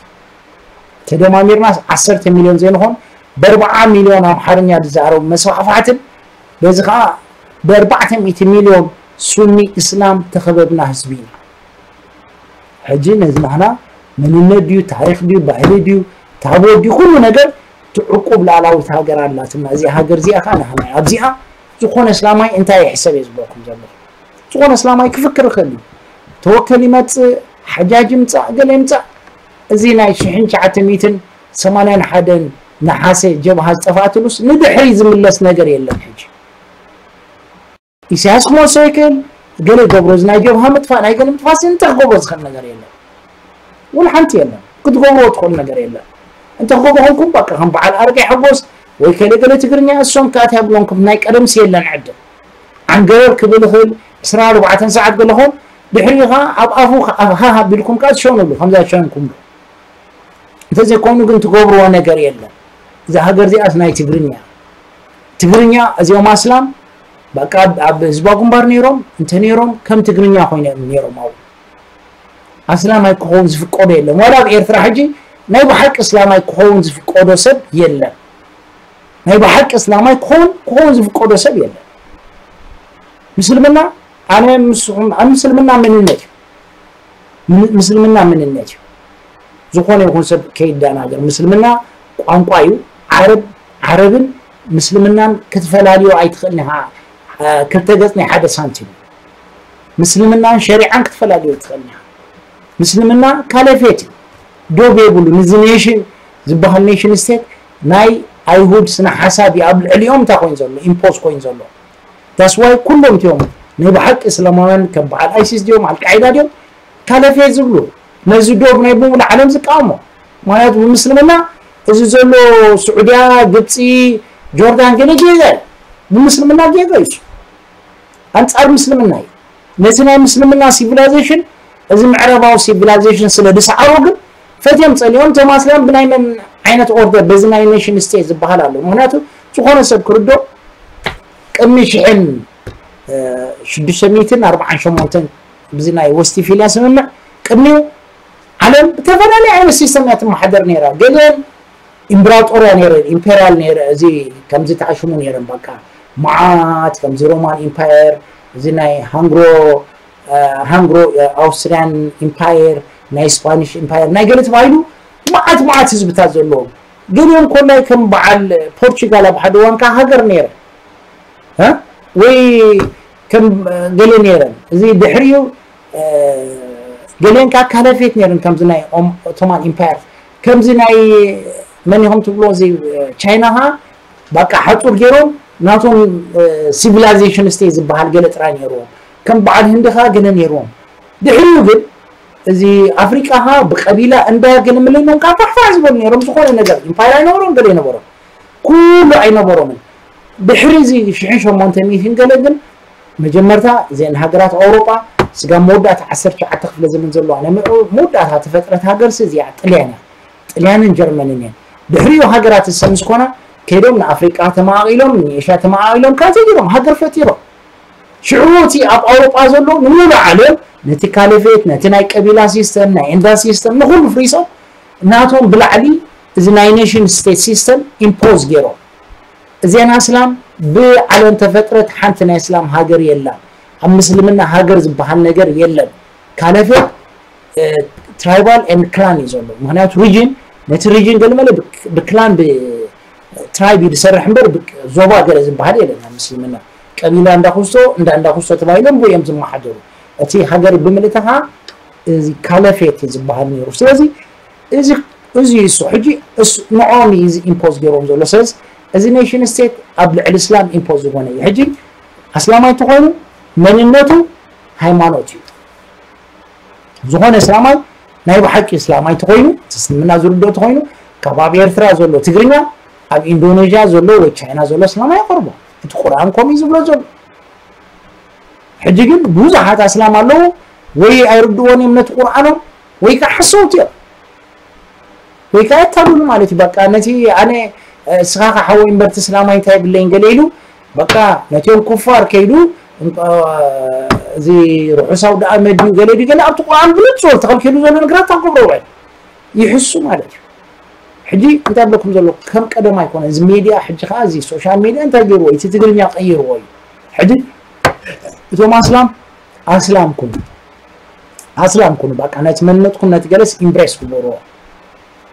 ተደማሚርናስ ዓሰርተ ሚልዮን ዘይንኾን በርብዓ ሚልዮን ኣምሓርኛ ዝዛረቡ መስፋሕፋሕትን በዚ ከዓ ብኣርባዕተ ሚእቲ ሚልዮን ሱኒ እስላም ተኸበብና ህዝቢ ኢና ሕጂ ነዚ ናህና መንነት ድዩ ታሪክ ድዩ ባህሊ ድዩ ታቦት ድዩ ኩሉ ነገር ትዕቁብ ላዕላዊት ሃገር ኣላትና እዚኣ ሃገር እዚኣ ከዓ ናህና ኣብዚኣ ዝኾነ እስላማይ እንታይ ይሕሰብ እየ ዝብለኩም ዘለኹ ዝኾነ እስላማይ ክፍክር ይኽእል እዩ ተወከል ይመፅእ ሓጃጅ ይምፃእ ገለ ይምፃእ እዚ ናይ ሽሕን ትሽዓተ ሚእትን ሰማንያን ሓደን ነሓሰ ጀብሃ ዝጠፋእትሉስ ንድሕሪ ዝምለስ ነገር የለን ሕጂ ኢሳያስ ክመልሶ ይክእል ገለ ይገብሮ እዚ ናይ ጀብሃ ምጥፋእ ናይ ገለ ምጥፋእ እንታይ ክገብሮ ዝኽእል ነገር የለን ወላ ሓንቲ የለን ክትገብርዎ ትኽእሉ ነገር የለን እንተ ክገብሩ ኮንኩም በቃ ከም በዓል ኣረጋይ ሓጎስ ወይ ከለ ገለ ትግርኛ እሶም ከኣ እንታይ ብሎንኩም ናይ ቀደምሲ የለን ዕድል ዓንገረር ክብል ይኽእል ዕስራን ኣርባዕተን ሰዓት ገለኹም ድሕሪኡ ከኣ ኣብ ኣፉ ሃሃ ኣቢልኩም ከኣ ትሸኑሉ ከምዛ ዝሸንኩምሉ እንተዘይኮይኑ ግን ትገብርዎ ነገር የለን እዛ ሃገር እዚኣስ ናይ ትግርኛ ትግርኛ እዚኦም ኣስላም በቃ ኣብ ህዝባ ግንባር ነይሮም እንተ ነይሮም ከም ትግርኛ ኮይነ ነይሮም ኣብኡ ኣስላማይ ክኸውን ዝፍቀዶ የለን ዋላ ኣብ ኤርትራ ሕጂ ናይ ብሓቂ እስላማይ ክኸውን ዝፍቀዶ ሰብ የለን ናይ ብሓቂ እስላማይ ክኸውን ክኸውን ዝፍቀዶ ሰብ የለን ምስልምና ኣነ ምስኹም ኣብ ምስልምና መንነት እዩ ምስልምና መንነት እዩ ዝኾነ ይኹን ሰብ ከይደናገር ምስልምና ቋንቋ እዩ ዓረብ ዓረብን ምስልምናን ክትፈላልዮ ኣይትኽእልን ኢኻ ክልተ ገጽ ናይ ሓደ ሳንቲም ምስልምናን ሸሪዓን ክትፈላልዮ ኣይትኽእልን ኢኻ ምስልምና ካለፌት እዩ ዶብ የብሉ ንዚ ኔሽን ዝበሃል ኔሽን ስቴት ናይ ኣይሁድ ስነ ሓሳብ እዩ ኣብ ልዕሊኦም እንታይ ኮይኑ ዘሎ ኢምፖዝ ኮይኑ ዘሎ that's why ኩሎም እቲኦም ናይ ብሓቂ እስላማውያን ከም በዓል ኣይሲስ ድዮም ኣልቃዒዳ ድዮም ካለፌ ዝብሉ ነዚ ዶብ ናይ ብምሉ ዓለም ዝቃወሞ ምክንያቱ ብምስልምና እዚ ዘሎ ስዑድያ ግብፂ ጆርዳን ገለ ጌጋ እዩ ብምስልምና ጌጋ እዩ ኣንፃር ምስልምና እዩ ነቲ ናይ ምስልምና ሲቪላይዜሽን እዚ ምዕራባዊ ሲቪላይዜሽን ስለ ዝሰዓሮ ግን ፈትዮም ፀሊኦም እቶም ኣስላም ብናይ መን ዓይነት ኦርደር በዚ ናይ ኔሽን ስቴት ዝበሃል ኣሎ ምክንያቱ ዝኾነ ሰብ ክርዶ ቅድሚ ሽሕን ሽዱሽተ ሚእትን ኣርባዓን ሸሞንተን ብዚ ናይ ወስቲፊልያ ስምምዕ ቅድሚኡ ዓለም ብተፈላለየ ዓይነት ሲስተም እያ ትመሓደር ነይራ ገሊአን ኢምብራጦርያ ነይረን ኢምፔሪያል ነይረ እዚ ከምዚ ተዓሽሙ ነይረን በቃ መዓት ከምዚ ሮማን ኢምፓየር እዚ ናይ ሃንግሮ ሃንግሮ ኣውስትሪያን ኢምፓየር ናይ ስፓኒሽ ኢምፓየር ናይ ገለ ተባሂሉ መዓት መዓት ህዝብታት ዘለዎም ገሊኦም ኮላይ ከም በዓል ፖርቹጋል ኣብ ሓደ እዋን ከዓ ሃገር ነይረ ወይ ከም ገለ ነይረን እዚ ድሕሪኡ ገሊአን ከዓ ካለፌት ነይረን ከምዚ ናይ ኦቶማን ኢምፓየር ከምዚ ናይ መን ኢኹም ትብሎ እዚ ቻይና ከዓ በቃ ሓፁር ገይሮም ናቶም ሲቪላይዜሽን ስቴት ዝበሃል ገለ ጥራይ ነይርዎም ከም በዓል ህንዲ ከዓ ገለ ነይርዎም ድሕሪኡ ግን እዚ ኣፍሪቃ ከዓ ብቀቢላ እምበር ገለ ምልሎም ከዓ ፋሕፋሕ ዝበሉ ነይሮም ዝኾነ ነገር ኢምፓየር ኣይነበሮም ገለ ኣይነበሮም ኩሉ ኣይነበሮምን ድሕሪ እዚ ሽሕን ሸሞንተ ሚእትን ገለ ግን መጀመርታ እዘን ሃገራት ኣውሮጳ ስጋብ መወዳእታ ዓሰርተ ትሽዓተ ክፍለ ዘመን ዘለዋ ናይ መወዳእታ ተፈጥረት ሃገርሲ እዚኣ ጥልያን እያ ጥልያንን ጀርመንን እየን ድሕሪኡ ሃገራት እሰ ምስ ኮና ከይዶም ንኣፍሪቃ ተማቒሎም ንኤሽያ ተማቒሎም ካልተ ገይሮም ሃገር ፈጢሮም። ሽዑ እቲ ኣብ ኣውሮጳ ዘሎ ንሙሉ ዓለም ነቲ ካለፌት ነቲ ናይ ቀቢላ ሲስተም ናይ ኤንዳ ሲስተም ንኩሉ ፍሪሶም ናቶም ብላዕሊ እዚ ናይ ኔሽን ስቴት ሲስተም ኢምፖዝ ገይሮም። እዚኣን ኣስላም ብዓለም ተፈጥረት ሓንቲ ናይ እስላም ሃገር የላን። ኣብ ምስልምና ሃገር ዝበሃል ነገር የለን። ካለፌት ትራይባል ኤንድ ክላን እዩ ዘሎ። ምክንያቱ ሪጅን ነቲ ሪጅን ገለመለ ብክላን ብትራይብ እዩ ዝሰርሕ እምበር ዞባ ገለ ዝበሃል የለን ኣብ ምስልምና። ቀቢላ እንዳኩስቶ እንዳ እንዳኩስቶ ተባሂሎም ብኡ እዮም ዝመሓደሩ። እቲ ሃገር ብምልእቲ ከዓ እዚ ካለፌት ዝበሃል ነይሩ። ስለዚ እዚ እዚ እሱ ሕጂ ንዖም እዩ ኢምፖዝ ገይሮም ዘሎ። ስለዚ እዚ ኔሽን ስቴት ኣብ ልዕሊ እስላም ኢምፖዝ ዝኾነ እዩ። ሕጂ ኣስላማይ ተኾይኑ መንነቱ ሃይማኖት እዩ። ዝኾነ እስላማይ ናይ ብሓቂ እስላማይ ተኾይኑ እቲ እስልምና ዝርድኦ ተኾይኑ ካብ ኣብ ኤርትራ ዘሎ ትግርኛ ኣብ ኢንዶኔዥያ ዘሎ ወይ ቻይና ዘሎ እስላማይ ይቐርቦ። እቲ ቁርኣን ከምኡ እዩ ዝብሎ ዘሎ። ሕጂ ግን ብዙሓት ኣስላም ኣለዉ ወይ ኣይርድዎን እዮም ነቲ ቁርኣኖም ወይ ከዓ ሓሰውቲ እዮም ወይ ከዓ የታልሉ ማለት እዩ። በቃ ነቲ ኣነ እስኻ ከዓ ሓወይ እምበርቲ እስላማይ እንታይ የብለይን ገለ ኢሉ በቃ ነቲኦም ኩፋር ከይዱ እዚ ርሑሳው ደኣ መድዩ ገለ ድዩ ገለ ኣብቲ ቁርኣን ብንጹር ተኸልኪሉ ዘሎ ነገራት ኣብ ገብረ ውዕል ይሕሱ ማለት እዩ። ሕጂ እንታይ ብለኩም ዘሎ ከም ቀደም ኣይኮነ እዚ ሜድያ ሕጂ ከዓ እዚ ሶሻል ሜድያ እንታይ ገይርዎ እቲ ትግርኛ ቀይርዎ እዩ። ሕጂ እቶም ኣስላም ኣስላም ኩኑ ኣስላም ኩኑ በቃ ነቲ መንነትኩም ነቲ ገለስ ኢምብሬስ ግበርዎ።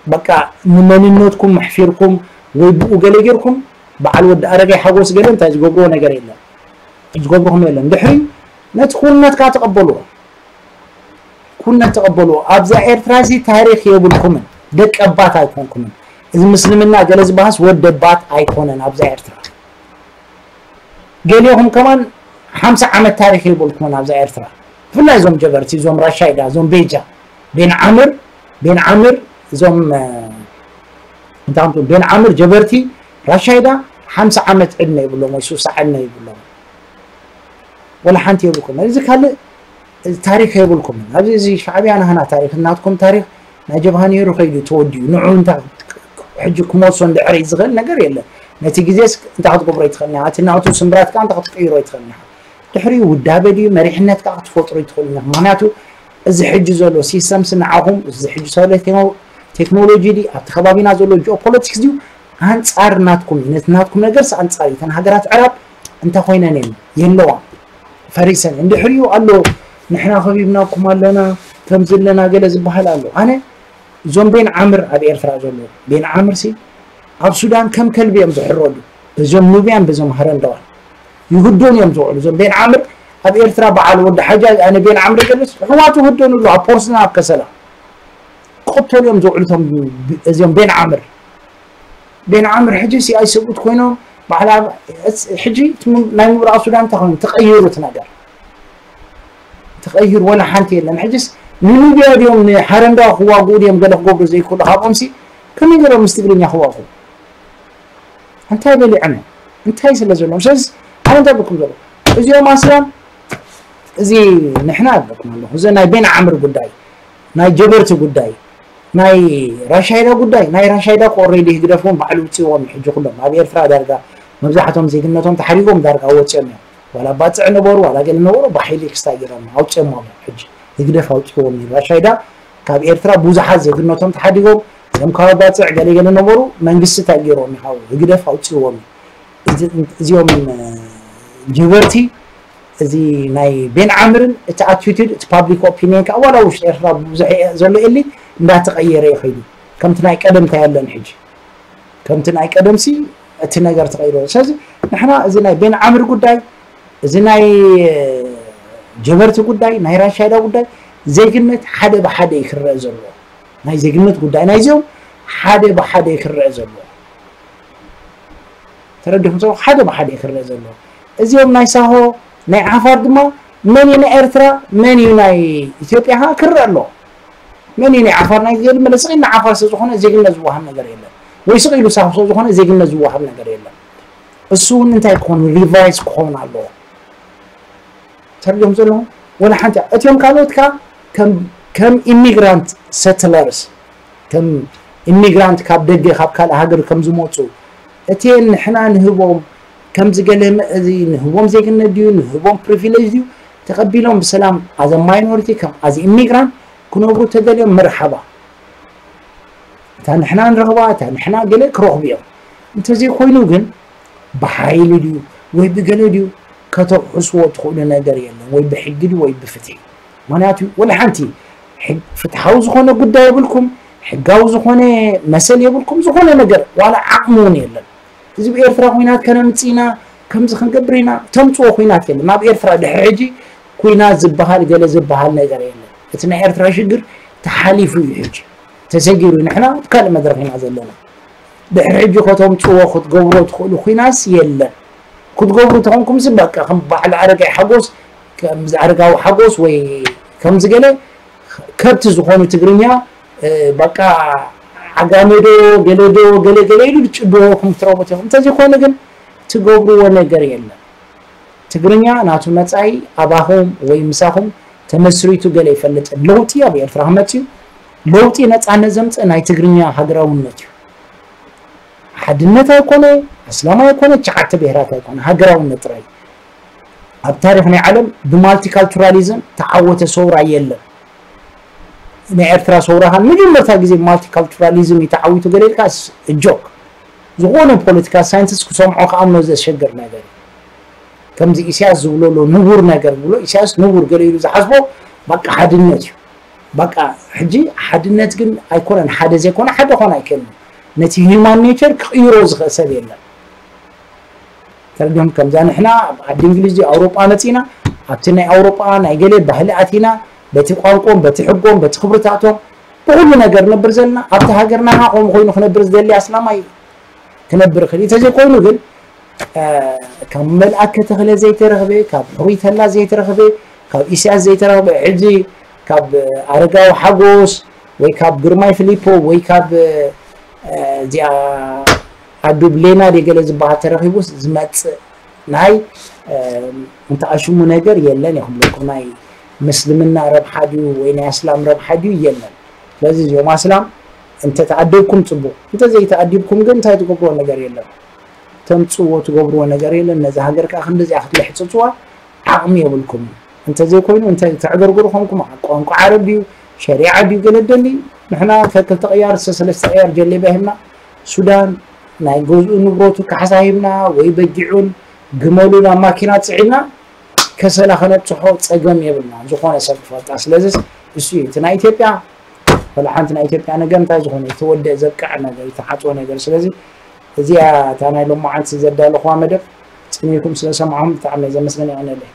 በቃ ንመንነትኩም ኣሕፊርኩም ወይ ብኡ ገለ ጌርኩም በዓል ወዲ ኣረጋይ ሓጎስ ገለ እንታይ ዝገብርዎ ነገር የለን ዝገብርኩም የለን። ድሕሪ ነቲ ኩንነት ከዓ ተቐበልዎ። ኩነት ተቐበልዎ። ኣብዛ ኤርትራ እዚ ታሪኽ የብልኩምን። ደቀባት ኣይኮንኩምን። እዚ ምስልምና ገለ ዝበሃስ ወደባት ኣይኮነን ኣብዛ ኤርትራ። ገሊኹም ከማን ሓምሳ ዓመት ታሪኽ የብልኩምን ኣብዛ ኤርትራ። ብፍላይ እዞም ጀበርቲ እዞም ራሻይዳ እዞም ቤጃ ቤን ዓምር ቤን ዓምር እዞም እንታምቱ ቤን ዓምር ጀበርቲ ራሻይዳ ሓምሳ ዓመት ዕድመ ይብሎም ወይ ሱሳ ዕድመ ይብሎም። ወላ ሓንቲ የብልኩም። እዚ ካልእ ታሪኽ የብልኩም። ኣብዚ እዚ ሻዕብያ ናህና ታሪኽ እናትኩም ታሪኽ ናይ ጀብሃ ነይሩ ከይዱ ተወዲኡ ንዑ እንታ ሕጂ ክመልሶ እንድሕር ዝኽእል ነገር የለን። ነቲ ግዜስ እንታይ ክትገብሮ ይትኽእል ኢኻ? እቲ ናቱ ስምብራት ከዓ እንታይ ክትቅይሮ ይትኽእል ኢኻ? ድሕሪኡ ውዳበ ድዩ መሪሕነት ከዓ ክትፈጥሩ ይትኽእሉ ኢኹም። ምክንያቱ እዚ ሕጂ ዘሎ ሲስተምስ ንዓኹም እዚ ሕጂ ዘሎ ቴክኖሎጂ ድዩ ኣብቲ ከባቢና ዘሎ ጂኦፖለቲክስ ድዩ ኣንጻር ናትኩም እዩ። ነቲ ናትኩም ነገርስ ኣንጻር እዩ። እተን ሃገራት ዕራብ እንታይ ኮይነን እየን የለዋን ፈሪሰን እየን። ድሕሪኡ ኣሎ ንሕና ከቢብናኩም ኣለና ከምዚ ኣለና ገለ ዝበሃል ኣሎ። ኣነ እዞም ቤን ዓምር ኣብ ኤርትራ ዘሎ ቤን ዓምር ሲ ኣብ ሱዳን ከም ከልቢ እዮም ዝሕረዱ። በዞም ኑብያን በዞም ሃረንደዋን ይህደኑ እዮም ዝውዕሉ። እዞም ቤን ዓምር ኣብ ኤርትራ በዓል ወዲ ሓጃ ኣነ ቤን ዓምር ገልስ ሕዋቱ ህደኑ ኣሎ ኣብ ፖርስና ኣብ ከሰላ ክቕተሉ እዮም ዝውዕሉ እቶም እዚኦም ቤን ዓምር ቤን ዓምር ሕጂ ሲ ኣይሰብኡት ኮይኖም በዓል ሕጂ ናይ ምብራቕ ሱዳን እንታይ ኮይኑ ተቐይሩ እቲ ነገር ተቐይሩ ወላ ሓንቲ የለን። ሕጅስ ንኑብያ ድዮም ንሓረንዳ ክዋግኡ ድዮም ገለ ክገብሩ ዘይክእሉ ካብኦም ሲ ከመይ ገይሮም ምስ ትግርኛ ክዋግኡ እንታይ በሊዖም እዮም እንታይ ስለ ዘለዎም ስለዚ ኣነ እንታይ ብልኩም ዘሎ እዚኦም ኣስላም እዚ ንሕና ኣለኩም ኣለኹ እዚ ናይ ቤን ዓምር ጉዳይ ናይ ጀበርቲ ጉዳይ ናይ ራሻይዳ ጉዳይ ናይ ራሻይዳ ኮ ኦሬዲ ህግደፍ እውን ባዕሉ ውፅዎም እዩ ሕጂ ኩሎም ኣብ ኤርትራ ዳርጋ መብዛሕቶም ዜግነቶም ተሓሪጎም ዳርጋ ወፅኦም እዮም ዋላ ባፅዕ ነበሩ ዋላ ገለ ነበሩ ብሓይሊ ክስታይ ገይሮም ኣውፅኦሞም እዮም ሕጂ ህግደፍ ኣውፅዎም እዩ ራሻይዳ ካብ ኤርትራ ብዙሓት ዜግነቶም ተሓዲጎም እዞም ካብ ባፅዕ ገለ ገለ ነበሩ መንግስቲ እንታይ ገይሮም ይሃው ህግደፍ ኣውፅዎም እዩ እዚኦም ጀበርቲ እዚ ናይ ቤን ዓምርን እቲ ኣቲቱድ እቲ ፓብሊክ ኦፒኒየን ከዓ ዋላ ውሽጢ ኤርትራ ብዙሕ ዘሎ ኤሊ እንዳተቐየረ ይኸይዱ ከምቲ ናይ ቀደም እንታይ ኣለን ሕጂ ከምቲ ናይ ቀደም ሲ እቲ ነገር ተቐይሩ ስለዚ ንሕና እዚ ናይ ቤን ዓምር ጉዳይ እዚ ናይ ጀበርቲ ጉዳይ ናይ ራሻይዳ ጉዳይ ዜግነት ሓደ ብሓደ ይክረአ ዘሎ ናይ ዜግነት ጉዳይ ናይዚኦም ሓደ ብሓደ ይክረአ ዘሎ ተረዲኹም ሰው ሓደ ብሓደ ክረአ ዘሎ እዚኦም ናይ ሳሆ ናይ ዓፋር ድማ መን እዩ ናይ ኤርትራ መን እዩ ናይ ኢትዮጵያ ካ ክረአ ኣሎ መን እዩ ናይ ዓፋር ናይ ገል መለስቂ ናይ ዓፋር ስለ ዝኾነ ዜግነት ዝወሃብ ነገር የለን ወይ ስቕ ኢሉ ሳሆ ስለ ዝኾነ ዜግነት ዝወሃብ ነገር የለን እሱ እውን እንታይ ክኾን ሪቫይዝ ክኾን ኣለዎ ተሪኦም ዘለኹም ወላ ሓንቲ እቲኦም ካልኦት ካ ከም ኢሚግራንት ሰትለርስ ከም ኢሚግራንት ካብ ደገ ካብ ካልእ ሃገር ከም ዝመፁ እቲ ንሕና ንህቦም ከምዚ ገለ እዚ ንህቦም ዜግነት ድዩ ንህቦም ፕሪቪሌጅ ድዩ ተቐቢሎም ብሰላም ኣዘ ማይኖሪቲ ከም ኣዘ ኢሚግራንት ክነብሩ ተደልዮም መርሓባ። እታ ንሕና ንረኽባ እታ ንሕና ገለ ክረኽቡ እዮም። እንተዘይኮይኑ ግን ብሓይሊ ድዩ ወይ ብገለ ድዩ ከተውሕስዎ ትኽእሉ ነገር የለን፣ ወይ ብሕጊ ድዩ ወይ ብፍትሒ። ምክንያቱ ወላ ሓንቲ ፍትሓዊ ዝኾነ ጉዳይ የብልኩም፣ ሕጋዊ ዝኾነ መሰል የብልኩም፣ ዝኾነ ነገር ዋላ ዓቕሚ እውን የለን። እዚ ብኤርትራ ኩናት ከነምፅእ ኢና፣ ከምዚ ክንገብር ኢና፣ ተምፅዎ ኩናት የለን። ኣብ ኤርትራ ድሕሪ ሕጂ ኩናት ዝበሃል ገለ ዝበሃል ነገር የለን። እቲ ናይ ኤርትራ ሽግር ተሓሊፉ እዩ። ሕጂ ተሰጊሩ፣ ንሕና ኣብ ካልእ መድረኽ ኢና ዘለና። ድሕሪ ሕጂ ከተምፅዎ ክትገብሮ ትኽእሉ ኩናስ የለን። ክትገብሩ ተኾንኩም ሲ በቃ ከም ባዕሉ ኣረጋይ ሓጎስ ከምዚ ኣረጋዊ ሓጎስ ወይ ከምዚ ገለ ከብቲ ዝኾኑ ትግርኛ በቃ ዓጋመዶ ገለዶ ገለ ገለ ኢሉ ድጭድወኩም ትረቡ ኢኹም። እንተዘይኮነ ግን ትገብርዎ ነገር የለን። ትግርኛ ናቱ መጻኢ ኣባኹም ወይ ምሳኹም ተመስሪቱ ገለ ይፈልጥን። ለውጢ ኣብ ኤርትራ ክመጽእ እዩ። ለውጢ ነጻነት ዘምጽእ ናይ ትግርኛ ሃገራውነት እዩ። ሓድነት ኣይኮነ፣ ኣስላም ኣይኮነ፣ ትሽዓተ ብሄራት ኣይኮነ፣ ሃገራውነት ጥራይ። ኣብ ታሪኽ ናይ ዓለም ብማልቲካልቱራሊዝም ተዓወተ ሰውራ የለን። ናይ ኤርትራ ሰውራ ኻን መጀመርታ ግዜ ብማልቲካልቱራሊዝም እዩ ተዓዊቱ ገለ ኢልካ ጆክ። ዝኾነ ፖለቲካ ሳይንቲስት ክሰምዖ ክኣምኖ ዘሸግር ነገር እዩ። ከምዚ ኢሳያስ ዝብሎ ኣሎ ንቡር ነገር ዝብሎ ኢሳያስ ንቡር ገለ ኢሉ ዝሓስቦ በቃ ሓድነት እዩ። በቃ ሕጂ ሓድነት ግን ኣይኮነን፣ ሓደ ዘይኮነ ሓደ ኾነ ኣይክእልን። ነቲ ሂዩማን ኔቸር ክቕይሮ ዝኽእል ሰብ የለን። ተረዲኦም ከምዛ ንሕና ኣብ ዓዲ እንግሊዝ ኣውሮጳ መጺና ኣብቲ ናይ ኣውሮጳ ናይ ገለ ባህሊ ኣቲና በቲ ቋንቆም በቲ ሕጎም በቲ ክብርታቶም ብኩሉ ነገር ነብር ዘለና ኣብቲ ሃገርና ኻ ከምኡ ኮይኑ ክነብር ዝደሊ ኣስላማይ ክነብር ይኽእል እዩ። እንተዘይኮይኑ ግን ካብ መልኣከ ተኽለ ዘይተረኽበ ካብ ሕሩይ ተላ ዘይተረኽበ ካብ ኢሳያስ ዘይተረኽበ ሕጂ ካብ ኣረጋዊ ሓጎስ ወይ ካብ ግርማይ ፊሊፖ ወይ ካብ እዚኣ ኣዱብ ሌና ደገለ ዝበሃል ተረኺቡስ ዝመጽእ ናይ እንተኣሽሙ ነገር የለን ይኽብለኩም። ናይ ምስልምና ረብሓ ድዩ ወይ ናይ ኣስላም ረብሓ ድዩ የለን። ስለዚ እዚኦም ኣስላም እንተተኣደብኩም ጽቡቕ፣ እንተዘይተኣዲብኩም ግን እንታይ ትገብርዎ ነገር የለን። ተምጽእዎ ትገብርዎ ነገር የለን። ነዚ ሃገር ከኣ ክንድዚኣ ክትልሕጽጽዋ ዓቕሚ የብልኩም። እንተዘይኮይኑ እንታይ ተዕገርግሩ ኮንኩም ቋንቋ ዓረብ ድዩ ሸሪዓ ድዩ ገለ ደሊ ንሕና ከክልተ ቅያር ሰለስተ ቅያር ጀሌባ ሂብና ሱዳን ናይ ገዝኡ ንብረቱ ካሕሳ ሂብና ወይ በጊዑን ግመሉን ኣብ ማኪና ጽዒና ከሰላ ከነብጽሖ ጸገም የብልና ዝኾነ ሰብ ክፈልጣ። ስለዚ እሱ እዩ እቲ ናይ ኢትዮጵያ ወላ ሓንቲ ናይ ኢትዮጵያ ነገር እንታይ ዝኾነ ዝተወደአ ዘብቅዐ ነገር ዝተሓጽወ ነገር። ስለዚ እዚኣ እታ ናይ ሎማዓንቲ ዘዳለኹዋ መደብ ጽኒልኩም ስለ ሰማዕኹም ብጣዕሚ ዘመስገን ይቐነለይ።